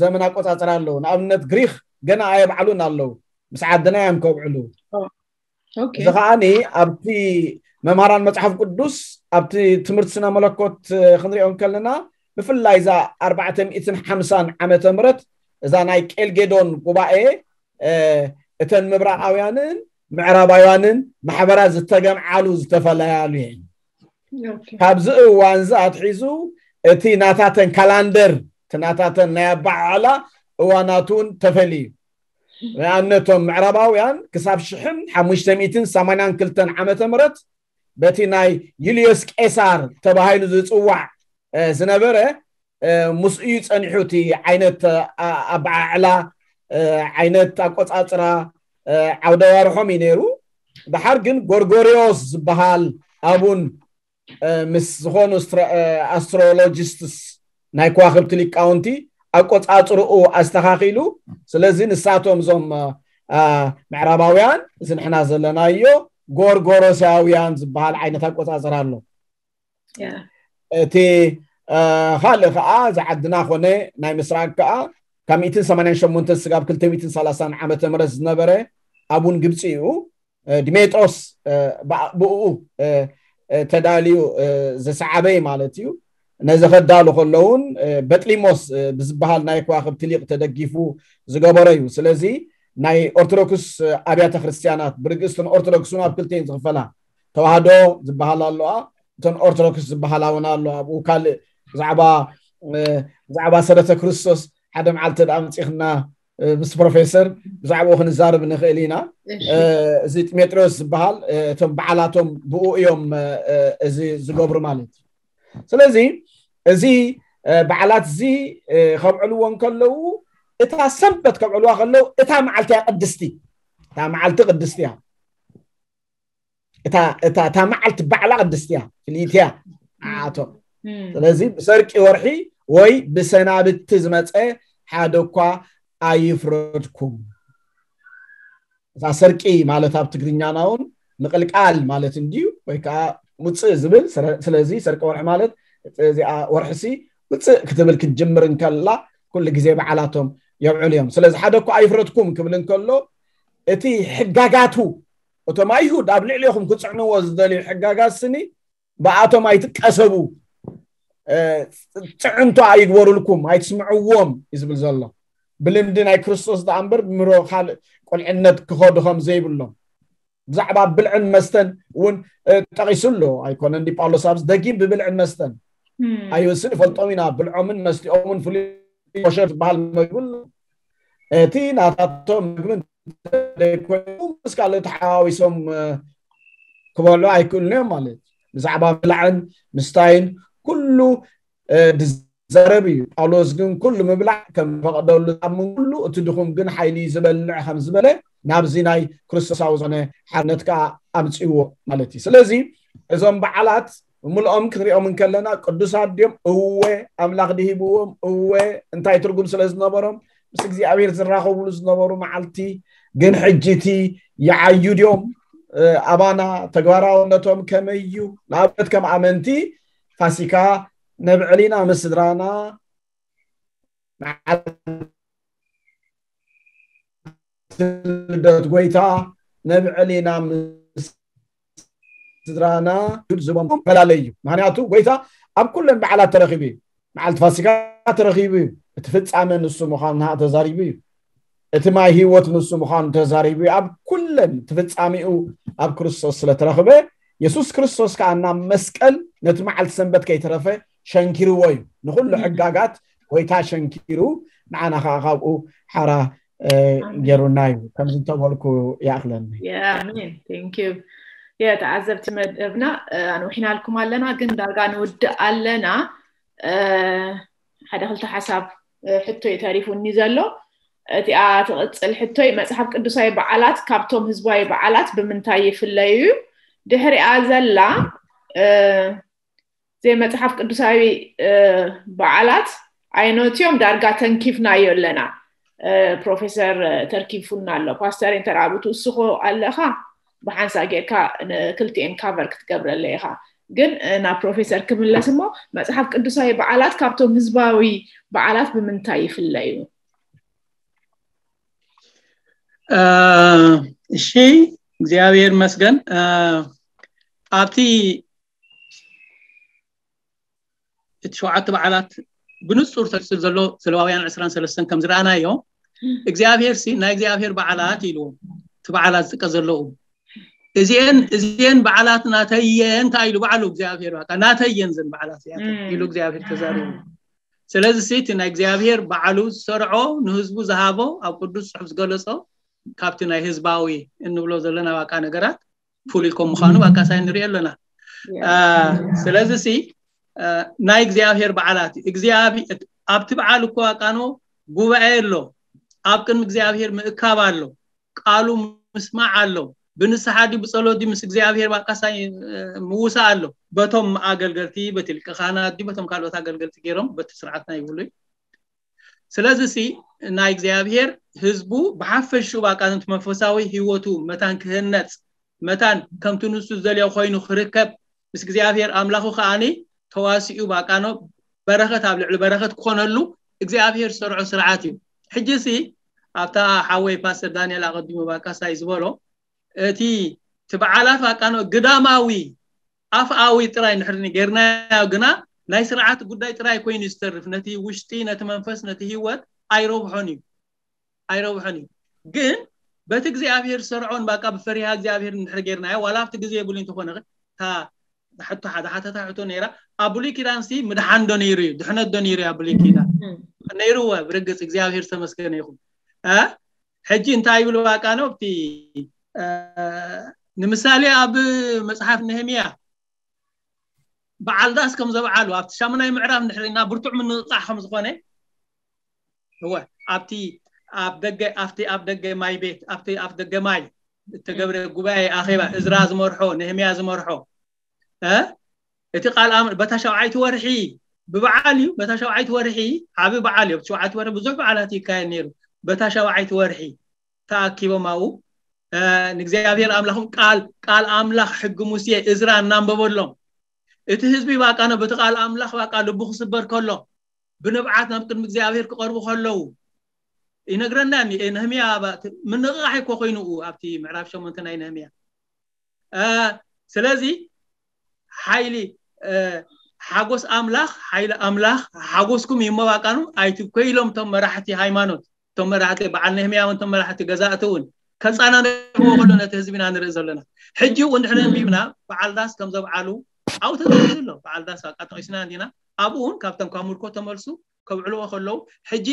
ዘመን ኣቆፃፅራ ኣለዉ። ንኣብነት ግሪክ ገና ኣየብዓሉን ኣለዉ፣ ምስ ዓድና እዮም ከብዕሉ። እዚ ከዓኒ ኣብቲ መምሃራን መፅሓፍ ቅዱስ ኣብቲ ትምህርቲ ስነ መለኮት ክንሪኦ ከለና ብፍላይ እዛ ኣርባዕተ ሚእትን ሓምሳን ዓመተ ምህረት እዛ ናይ ቄልጌዶን ጉባኤ እተን ምብራቃውያንን ምዕራባውያንን ማሕበራት ዝተገምዓሉ ዝተፈለያሉ እየን። ካብዚ እዋን እዚ ኣትሒዙ እቲ ናታተን ካላንደር እቲ ናታተን ናይ ኣባዓዕላ እዋናት እውን ተፈልዩ። ንኣብነቶም ምዕራባውያን ክሳብ ሽሕን ሓሙሽተ ሚእትን ሰማንያን ክልተን ዓመተ ምህረት በቲ ናይ ዩልዮስ ቄሳር ተባሂሉ ዝፅዋዕ ዝነበረ ምስ እዩ ፀኒሑ። እቲ ዓይነት ኣበዓዕላ ዓይነት ኣቆፃፅራ ዓውደ ዋርሖም እዩ ነይሩ። ድሓር ግን ጎርጎሪዮስ ዝበሃል ኣቡን ምስ ዝኾኑ ኣስትሮሎጂስትስ ናይ ከዋክብቲ ሊቃውንቲ ኣቆፃፅርኡ ኣስተኻኺሉ። ስለዚ ንሳቶም እዞም ምዕራባውያን እዚ ንሕና ዘለናዮ ጎርጎሮሳውያን ዝበሃል ዓይነት ኣቆፃፅራ ኣሎ። እቲ ካልእ ከዓ እዚ ዓድና ኮነ ናይ ምስራቅ ከዓ ካብ ሚእትን ሰማንያን ሸሞንተን ስጋብ ክልተ ሚእትን ሰላሳን ዓመተ ምህረት ዝነበረ ኣቡን ግብፂ እዩ። ዲሜጥሮስ ብኡ ተዳልዩ ዝሰዓበ ማለት እዩ። ነዚ ከዳሉ ከለውን በጥሊሞስ ብዝበሃል ናይ ከዋክብቲ ሊቅ ተደጊፉ ዝገበሮ እዩ። ስለዚ ናይ ኦርቶዶክስ ኣብያተ ክርስትያናት ብርግእስትን ኦርቶዶክስን ኣብ ክልተን ዝኽፈላ ተዋህዶ ዝበሃል ኣለዋ፣ እተን ኦርቶዶክስ ዝበሃላ እውን ኣለዋ። ኣብኡ ካልእ ብዛዕባ ብዛዕባ ሰረተ ክርስቶስ ሓደ መዓልቲ ደኣ መፂኽና ምስ ፕሮፌሰር ብዛዕባኡ ክንዛረብ ንኽእል ኢና። እዚ ጢሜጥሮስ ዝበሃል እቶም በዓላቶም ብኡ እዮም እዚ ዝገብሩ ማለት እዩ። ስለዚ እዚ በዓላት እዚ ከብዕልዎ እንከለዉ እታ ሰንበት ከብዕልዋ ከለዉ እታ መዓልቲ እያ ቅድስቲ፣ እታ መዓልቲ ቅድስቲ እያ። እታ መዓልቲ ባዕላ ቅድስቲ እያ፣ ፍልይቲ እያ ንዓቶም። ስለዚ ብሰርቂ ወርሒ ወይ ብሰናብቲ ዝመፀ ሓደ እኳ ኣይፍረድኩም። እዛ ሰርቂ ማለት ኣብ ትግርኛና እውን ምቕልቃል ማለት እንድዩ፣ ወይ ከዓ ውፅእ ዝብል። ስለዚ ሰርቂ ወርሒ ማለት እዚኣ ወርሒሲ ውፅእ ክትብል ክትጅምር እንከላ ኩሉ ግዜ በዓላቶም የብዕሉ እዮም። ስለዚ ሓደ እኳ ኣይፍረድኩም ክብል እንከሎ እቲ ሕጋጋቱ እቶም ኣይሁድ ኣብ ልዕሌኹም ክፅዕንዎ ዝደልዩ ሕጋጋት ስኒ ብኣቶም ኣይትቀሰቡ፣ ፅዕንቶ ኣይግበሩልኩም፣ ኣይትስምዕዎም እዩ ዝብል ዘሎ። ብልምዲ ናይ ክርስቶስ ደኣ እምበር ብምሮ ካልእ ቁልዕነት ክኸዱ ከም ዘይብሎም ብዛዕባ ብልዕን መስተን እውን ጠቒሱ ኣሎ። ኣይኮነን ዲ ጳውሎስ ኣብዚ ደጊም ብብልዕን መስተን ኣይውስን ይፈልጦም ኢና፣ ብልዖምን መስቲኦምን ፍሉይ ኮሸር ዝበሃል መግቢ ኣሎ። እቲ ናታቶም መግቢ እንተደይኮይኑ ምስ ካልእ ተሓዋዊሶም ክበልዑ ኣይክእሉን እዮም ማለት እዩ። ብዛዕባ ብላዕን ምስታይን ኩሉ ዝዛረብ እዩ። ጳውሎስ ግን ኩሉ ምብላዕ ከም ፈቐደሉ ዝኣምን ኩሉ እቲ ድኹም ግን ሓይሊ ዝበልዕ ከም ዝበለ ናብዚ ናይ ክርስቶሳዊ ዝኾነ ሓርነት ከዓ ኣምፅዎ ማለት እዩ። ስለዚ እዞም በዓላት ብምልኦም ክንሪኦም እንከለና ቅዱሳት ድዮም? እወ። ኣምላኽ ድሂብዎም? እወ። እንታይ ትርጉም ስለ ዝነበሮም? ምስ እግዚኣብሔር ዝራኸብሉ ዝነበሩ መዓልቲ ግን ሕጂ እቲ ይዓዩ ድዮም? ኣባና ተግባራውነቶም ከመይ እዩ? ንኣብነት ከም ኣመንቲ ፋሲካ ነብዕል ኢና ምስ ስድራና፣ መዓልቲ ልደት ጎይታ ነብዕል ኢና ምስ ስድራና ዝቦም ፈላለ እዩ። ምክንያቱ ጎይታ ኣብ ኩለን በዓላት ተረኺቡ እዩ። መዓልቲ ፋሲካ ተረኺቡ እዩ። እቲ ፍጻመ ንሱ ምዃኑ ንዓ ተዛሪቡ እዩ። እቲ ማይ ህይወት ንሱ ምዃኑ ተዛሪቡ እዩ። ኣብ ኩለን እቲ ፍጻሜኡ ኣብ ክርስቶስ ስለተረኽበ የሱስ ክርስቶስ ከዓ ናብ መስቀል ነቲ መዓልቲ ሰንበት ከይተረፈ ሸንኪርዎ እዩ። ንኹሉ ሕጋጋት ጎይታ ሸንኪሩ ንዓና ከዓ ካብኡ ሓራ ገይሩና እዩ። ከምዚ እንተበልኩ ይኣኽለኒ። ኣሜን። ቴንኪዩ። የተዓዘብቲ መደብና ኣንዊሕናልኩም ኣለና፣ ግን ዳርጋ ንውድእ ኣለና። ሓደ ክልተ ሓሳብ ሕቶይ ተሪፉኒ ዘሎ። እቲኣ ትቕፅል ሕቶይ መፅሓፍ ቅዱሳዊ በዓላት ካብቶም ህዝባዊ በዓላት ብምንታይ ይፍለዩ እዩ? ድሕሪኣ ዘላ ዘይመፅሓፍ ቅዱሳዊ በዓላት ኣይኖትዮም ዳርጋ ተንኪፍናዮ ኣለና። ፕሮፌሰር ተርኪፉና ኣሎ። ፓስተር እንተራብቱ እስኾ ኣለኻ ብሓንሳ ጌርካ ንክልቲኤን ካቨር ክትገብረለ ኢኻ። ግን ናብ ፕሮፌሰር ክምለስ እሞ፣ መጽሓፍ ቅዱሳዊ በዓላት ካብቶም ህዝባዊ በዓላት ብምንታይ ይፍለዩ? እሺ፣ እግዚኣብሔር ይመስገን። ኣብቲ እቲ ሸውዓተ በዓላት ብንጹር ተልጽል ዘሎ ዘለዋውያን ዕስራን ሰለስተን ከም ዝረኣናዮ፣ እግዚኣብሔር ሲ ናይ እግዚኣብሔር በዓላት ኢሉ እቲ በዓላት ዝጥቀ ዘለዉ እዚኤን እዚኤን በዓላት ናተየን እንታይ ኢሉ ባዕሉ እግዚኣብሔር በቃ ናተየን ዘን በዓላት እዚኣተን ኢሉ እግዚኣብሔር ተዛሪቡ። ስለዚ ሲ እቲ ናይ እግዚኣብሔር ባዕሉ ዝሰርዖ ንህዝቡ ዝሃቦ ኣብ ቅዱስ ጽሑፍ ዝገለጾ ካብቲ ናይ ህዝባዊ እንብሎ ዘለና በቃ ነገራት ፍሉይ ከም ምዃኑ በቃ ሳይ ንሪኦ ኣለና። ስለዚ ሲ ናይ እግዚኣብሔር በዓላት ኣብቲ በዓል እኮ በቃ ኖ ጉባኤ ኣሎ፣ ኣብ ቅድሚ እግዚኣብሔር ምእካብ ኣሎ፣ ቃሉ ምስማዕ ኣሎ፣ ብንስሓ ድዩ ብጸሎት ድዩ ምስ እግዚኣብሔር በቃ ሳይ ምውሳእ ኣሎ። በቶም ኣገልገልቲ በቲ ሊቀ ካህናት ድዩ በቶም ካልኦት ኣገልገልቲ ገይሮም በቲ ስርዓትና ይብሉ እዩ። ስለዚ ሲ ናይ እግዚኣብሔር ህዝቡ ብሓፈሽኡ በቃ ነቲ መንፈሳዊ ህይወቱ መታን ክህነጽ መታን ከምቲ ንሱ ዝደልዮ ኮይኑ ክርከብ ምስ እግዚኣብሔር ኣምላኹ ከኣኒ ተዋሲኡ በቃ ኖ በረኸት ኣብ ልዕሊ በረኸት ክኾነሉ እግዚኣብሔር ዝሰርዖ ስርዓት እዩ። ሕጂ ሲ ኣብታ ሓወይ ፓስተር ዳንኤል ኣቐዲሙ በቃ ሳይ ዝበሎ እቲ እቲ በዓላት በቃ ኖ ግዳማዊ ኣፍኣዊ ጥራይ ንሕርኒ ጌርናዮ ግና ናይ ስርዓት ጉዳይ ጥራይ ኮይኑ ዝተርፍ ነቲ ውሽጢ ነቲ መንፈስ ነቲ ህይወት ኣይረብሖን እዩ ኣይረብሖን እዩ። ግን በቲ እግዚኣብሔር ሰርዖን በቃ ብፈሪሃ እግዚኣብሔር እንድሕር ጌርናዮ ዋላ ኣብቲ ግዜ የብሉ እንተኾነ እታ ሕቶ ሓደ ሓተታ ሕቶ ነይራ ኣብ ብሉይ ኪዳን ሲ ምድሓን ዶ ነይሩ እዩ ድሕነት ዶ ነይሩ እዩ ኣብ ብሉይ ኪዳን? ነይሩ እወ ብርግጽ እግዚኣብሔር ዝተመስገነ ይኹን። ሕጂ እንታይ ይብሉ በቃ ነው እቲ ንምሳሌ ኣብ መጽሓፍ ነህምያ በዓል ዳስ ከም ዘብዓሉ ኣብቲ ሻሙናይ ምዕራፍ እንድሕር ኢና ብርቱዕ ምንቕቃሕ ከም ዝኾነ እወ ኣብቲ ኣብ ደገ ኣብቲ ኣብ ደገ ማይ ቤት ኣብቲ ኣብ ደገ ማይ እተገብረ ጉባኤ ኣኼባ እዝራ ዝመርሖ ነህምያ ዝመርሖ እ እቲ ቃል ኣም በታ ሸውዓይቲ ወርሒ ብበዓል እዩ በታ ሸውዓይቲ ወርሒ ዓቢ በዓል እዩ ሸውዓይቲ ወርሒ ብዙሕ በዓላት ይካየድ ነይሩ በታ ሸውዓይቲ ወርሒ ተኣኪቦም ኣብኡ ንእግዚኣብሔር ኣምላኽም ቃል ቃል ኣምላኽ ሕጊ ሙሴ እዝራ እናንበበሎም እቲ ህዝቢ ባቃ ነው በቲ ቃል ኣምላኽ ባቃ ልቡ ክስበር ከሎ ብንብዓት ናብ ቅድሚ እግዚኣብሔር ክቐርቡ ከለዉ ይነግረና ነህምያ ምንቕቓሕ እኮ ኮይኑኡ ኣብቲ ምዕራፍ ሸሞንተ ናይ ነህምያ ስለዚ ሓይሊ ሓጎስ ኣምላኽ ሓይሊ ኣምላኽ ሓጎስኩም ይመባቃኑ ኣይትብኮ ኢሎም እቶም መራሕቲ ሃይማኖት እቶም መራሕቲ በዓል ነህምያ እውን እቶም መራሕቲ ገዛእቲ እውን ከፃናንዎ ከሎ ነቲ ህዝቢና ንርኢ ዘለና ሕጂ እውን ድሕሪ ኣንቢብና በዓል ዳስ ከም ዘብዓሉ ኣብኡ ተጠቂሱ ኣሎ በዓል ዳስ በቃ ጠቂስና እንዲና ኣብኡ እውን ካብቶም ካብ ምርኮ ተመልሱ ከብዕልዎ ከለዉ ሕጂ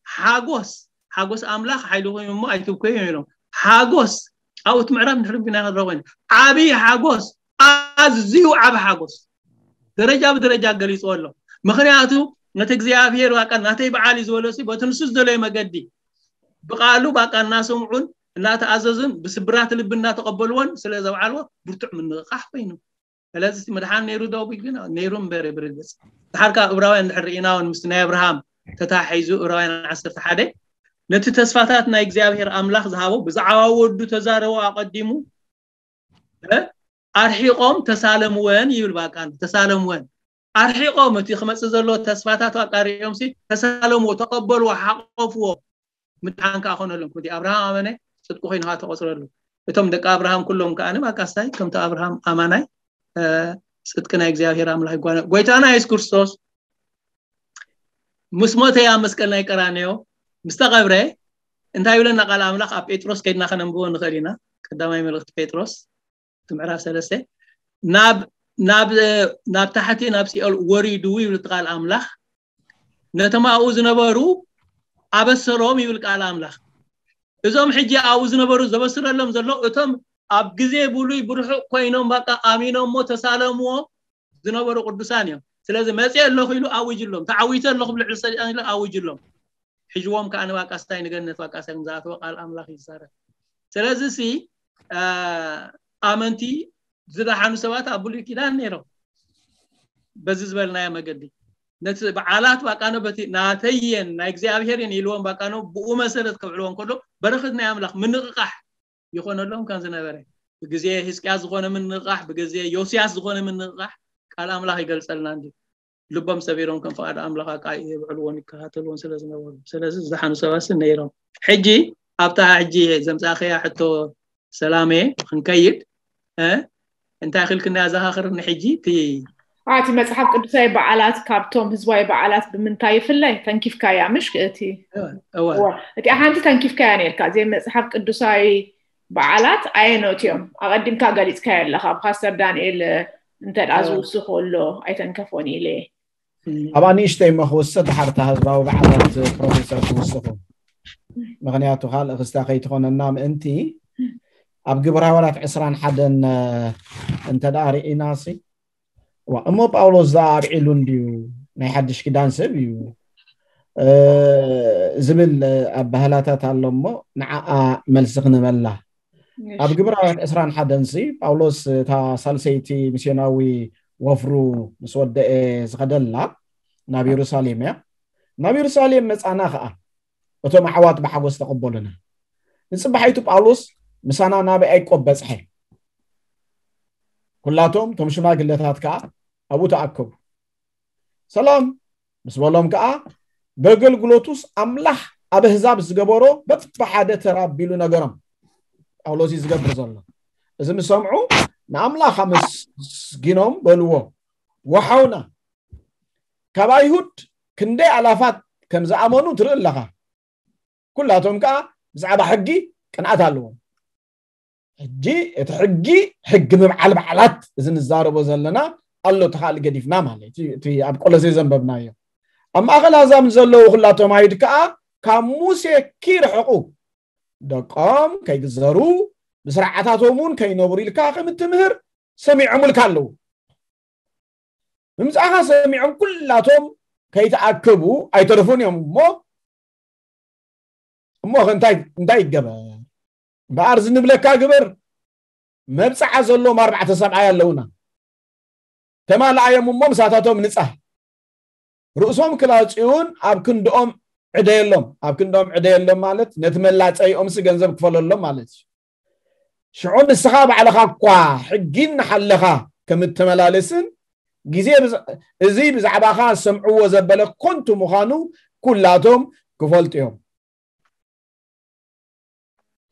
ሓጎስ ሓጎስ ኣምላኽ ሓይልኹም እሞ ኣይትብኮ እዮም ኢሎም ሓጎስ ኣብኡ እቲ ምዕራፍ ንድሕሪ ቢና ክንረኽቦ ኢና ዓብዪ ሓጎስ ኣዝዩ ዓቢ ሓጎስ ደረጃ ብደረጃ ገሊፅዎ ኣሎ ምክንያቱ ነቲ እግዚኣብሔር ባቃ ናተይ በዓል እዩ ዝበለሲ በቲ ንሱ ዝደለዩ መገዲ ብቃሉ ባቃ እናሰምዑን እናተኣዘዙን ብስብራት ልቢ እናተቀበልዎን ስለ ዘብዓልዎ ብርቱዕ ምንቕቃሕ ኮይኑ ስለዚ መድሓን ነይሩ ዶ ግን ነይሩ እምበር ብርግፅ ድሓር ካብ እብራውያን ድሕር ርኢና እውን ምስቲ ናይ ኣብርሃም ተታሒዙ እብራውያን ዓሰርተ ሓደ ነቲ ተስፋታት ናይ እግዚኣብሔር ኣምላኽ ዝሃቦ ብዛዕባ ወዱ ተዛረቦ ኣቐዲሙ ኣርሒቆም ተሳለምወን ይብል ባቃ ተሳለምወን ኣርሒቆም እቲ ክመፅእ ዘሎ ተስፋታት ኣቃሪኦም ሲ ተሳለምዎ ተቀበልዎ ሓቆፍዎ ምድሓን ከዓ ኮነሎም ከምቲ ኣብርሃም ኣመነ ፅድቂ ኮይኑ ከዓ ተቆፅረሉ እቶም ደቂ ኣብርሃም ኩሎም ከዓ ባቃ ሳይ ከምቲ ኣብርሃም ኣማናይ ፅድቂ ናይ እግዚኣብሔር ኣምላኽ ይጓነ ጎይታና የሱስ ክርስቶስ ምስ ሞተ ኣብ መስቀል ናይ ቀራንዮ ምስ ተቐብረ እንታይ ይብለና ቃል ኣምላኽ ኣብ ጴጥሮስ ከይድና ከነንብቦ ንኽእል ኢና ቀዳማይ መልእኽቲ ጴጥሮስ እቲ ምዕራፍ ሰለስተ ናብ ናብ ናብ ታሕቲ ናብ ሲኦል ወሪዱ ይብል እቲ ቃል ኣምላኽ ነቶም ኣብኡ ዝነበሩ ኣበሰሮም ይብል ቃል ኣምላኽ እዞም ሕጂ ኣብኡ ዝነበሩ ዘበስረሎም ዘሎ እቶም ኣብ ግዜ ብሉይ ብርሑቕ ኮይኖም በቃ ኣሚኖሞ ተሳለምዎ ዝነበሩ ቅዱሳን እዮም ስለዚ መፅእ ኣለኹ ኢሉ ኣውጅሎም ተዓዊተ ኣለኹ ብልዕሊ ሰይጣን ኢሉ ኣውጅሎም ሕጅዎም ከዓ ንባቃስታይ ንገነት ባቃስታይ ዝኣተወ ቃል ኣምላኽ ይዛረብ ስለዚ ሲ ኣመንቲ ዝደሓኑ ሰባት ኣብ ብሉይ ኪዳን ነይሮም በዚ ዝበልናዮ መገዲ ነቲ በዓላት ባቃኖ በቲ ናተየን ናይ እግዚኣብሔር እየን ኢልዎም ባቃኖ ብኡ መሰረት ከብዕልዎም ከሎ በረኸት ናይ ኣምላኽ ምንቕቓሕ ይኾነሎም ከም ዝነበረ፣ ብግዜ ህዝቅያስ ዝኾነ ምንቕቓሕ፣ ብግዜ ዮስያስ ዝኾነ ምንቕቓሕ ቃል ኣምላኽ ይገልጸልና እንዲ። ልቦም ሰቢሮም ከም ፍቓድ ኣምላኽ ኣቃ የብዕልዎን ይከታተልዎን ስለ ዝነበሩ፣ ስለዚ ዝደሓኑ ሰባት ነይሮም። ሕጂ ኣብታ ሕጂ ዘምጻእኸያ ሕቶ ሰላሜ ክንከይድ፣ እ፣ እንታይ ክልክና ያዘኻኽርኒ ሕጂ እቲ እቲ መጽሓፍ ቅዱሳዊ በዓላት ካብቶም ህዝባዊ በዓላት ብምንታይ ይፍለ? ተንኪፍካያ ምሽ እቲ እወ እወ፣ እቲኣ ሓንቲ ተንኪፍካያ ነርካ። እዚ መጽሓፍ ቅዱሳዊ በዓላት ኣየኖት እዮም? ኣቐዲምካ ገሊጽካዮ ኣለኻ። ፓስተር ዳንኤል እንተ ደኣ ዝውስኽ ኣሎ ኣይተንከፎን ኢለ። ኣብ ኣንእሽተይ እሞ ክውስኽ፣ ድሓር እታ ህዝባዊ በዓላት ፕሮፌሰር ክውስኹ። ምኽንያቱ ካልእ ክስታ ከይትኾነና ምእንቲ፣ ኣብ ግብረ ሃዋርያት ዕስራን ሓደን እንተ ደኣ ርኢና ሲ፣ እዋ፣ እሞ ጳውሎስ ዝኣ ኣብዒሉ እንድዩ፣ ናይ ሓድሽ ኪዳን ሰብ እዩ፣ እ፣ ዝብል ኣባህላታት ኣሎ እሞ፣ ንዓኣ መልሲ ክንበላ። ኣብ ግብረ ሃዋርያት ዕስራን ሓደን ሲ፣ ጳውሎስ እታ ሳልሰይቲ ሚስዮናዊ ወፍሩ ምስ ወደአ ዝኸደላ ናብ የሩሳሌም እያ። ናብ የሩሳሌም መጻና ኸኣ፣ እቶም ኣሕዋት ብሓጎስ ተቐበሉና። ንጽባሒቱ ጳውሎስ ምሳና ናበይ ኣይቆብ በጽሐ። ኩላቶም እቶም ሽማግለታት ከኣ ኣብኡ ተኣከቡ። ሰላም ምስ በሎም ከኣ፣ በገልግሎቱስ ኣምላኽ ኣብ ኣህዛብ ዝገበሮ በብሓደ ተራ ኣቢሉ ነገሮም። ጳውሎስ እዩ ዝገብር ዘሎ። እዚ ምስ ሰምዑ፣ ንኣምላኽ ኣመስጊኖም በልዎ፣ "ወሓውና፣ ካብ ኣይሁድ ክንደይ ኣላፋት ከም ዝኣመኑ ትርኢ ኣለኻ። ኩላቶም ከኣ ብዛዕባ ሕጊ ቅንኣት ኣለዎም።" ሕጂ እቲ ሕጊ፣ ሕጊ ምብዓል በዓላት እዚ ንዛረቦ ዘለና ኣሎ፣ እቲ ካልእ ገዲፍና ማለት እዩ። እቲ ኣብ ቆሎሴ ዘንበብናዮ። ኣብ ማእከል ኣህዛብ ንዘለዉ ኩላቶም ኣይሁድ ከኣ ካብ ሙሴ ኪርሕቑ፣ ደቆም ከይግዘሩ፣ ብስርዓታቶም እውን ከይነብሩ ኢልካ ከም እትምህር ሰሚዖምልካ ኣለዉ። ምምጻእኻ ሰሚዖም ኩላቶም ከይተኣከቡ ኣይተረፉን እዮም እሞ፣ እሞ ከ እንታይ፣ እንታይ ይገበር? እምበኣር ዝንብለካ ግበር። መብጽዓ ዘለዎም ኣርባዕተ ሰብኣይ ኣለዉና። ተማልኣዮም እሞ ምሳታቶም ንጻህ። ርእሶም ክላጽዩን ኣብ ክንድኦም ዕደየሎም። ኣብ ክንድኦም ዕደየሎም ማለት ነቲ መላጸይኦምሲ ገንዘብ ክፈለሎም ማለት እዩ። ሽዑ ንስኻ ባዕልኻ እኳ ሕጊ እናሓለኻ ከም እትመላለስን ግዜ ብዛ-፣ እዚ ብዛዕባኻ ዝሰምዕዎ ዘበለ ኮንቱ ምዃኑ ኩላቶም ክፈልጡ እዮም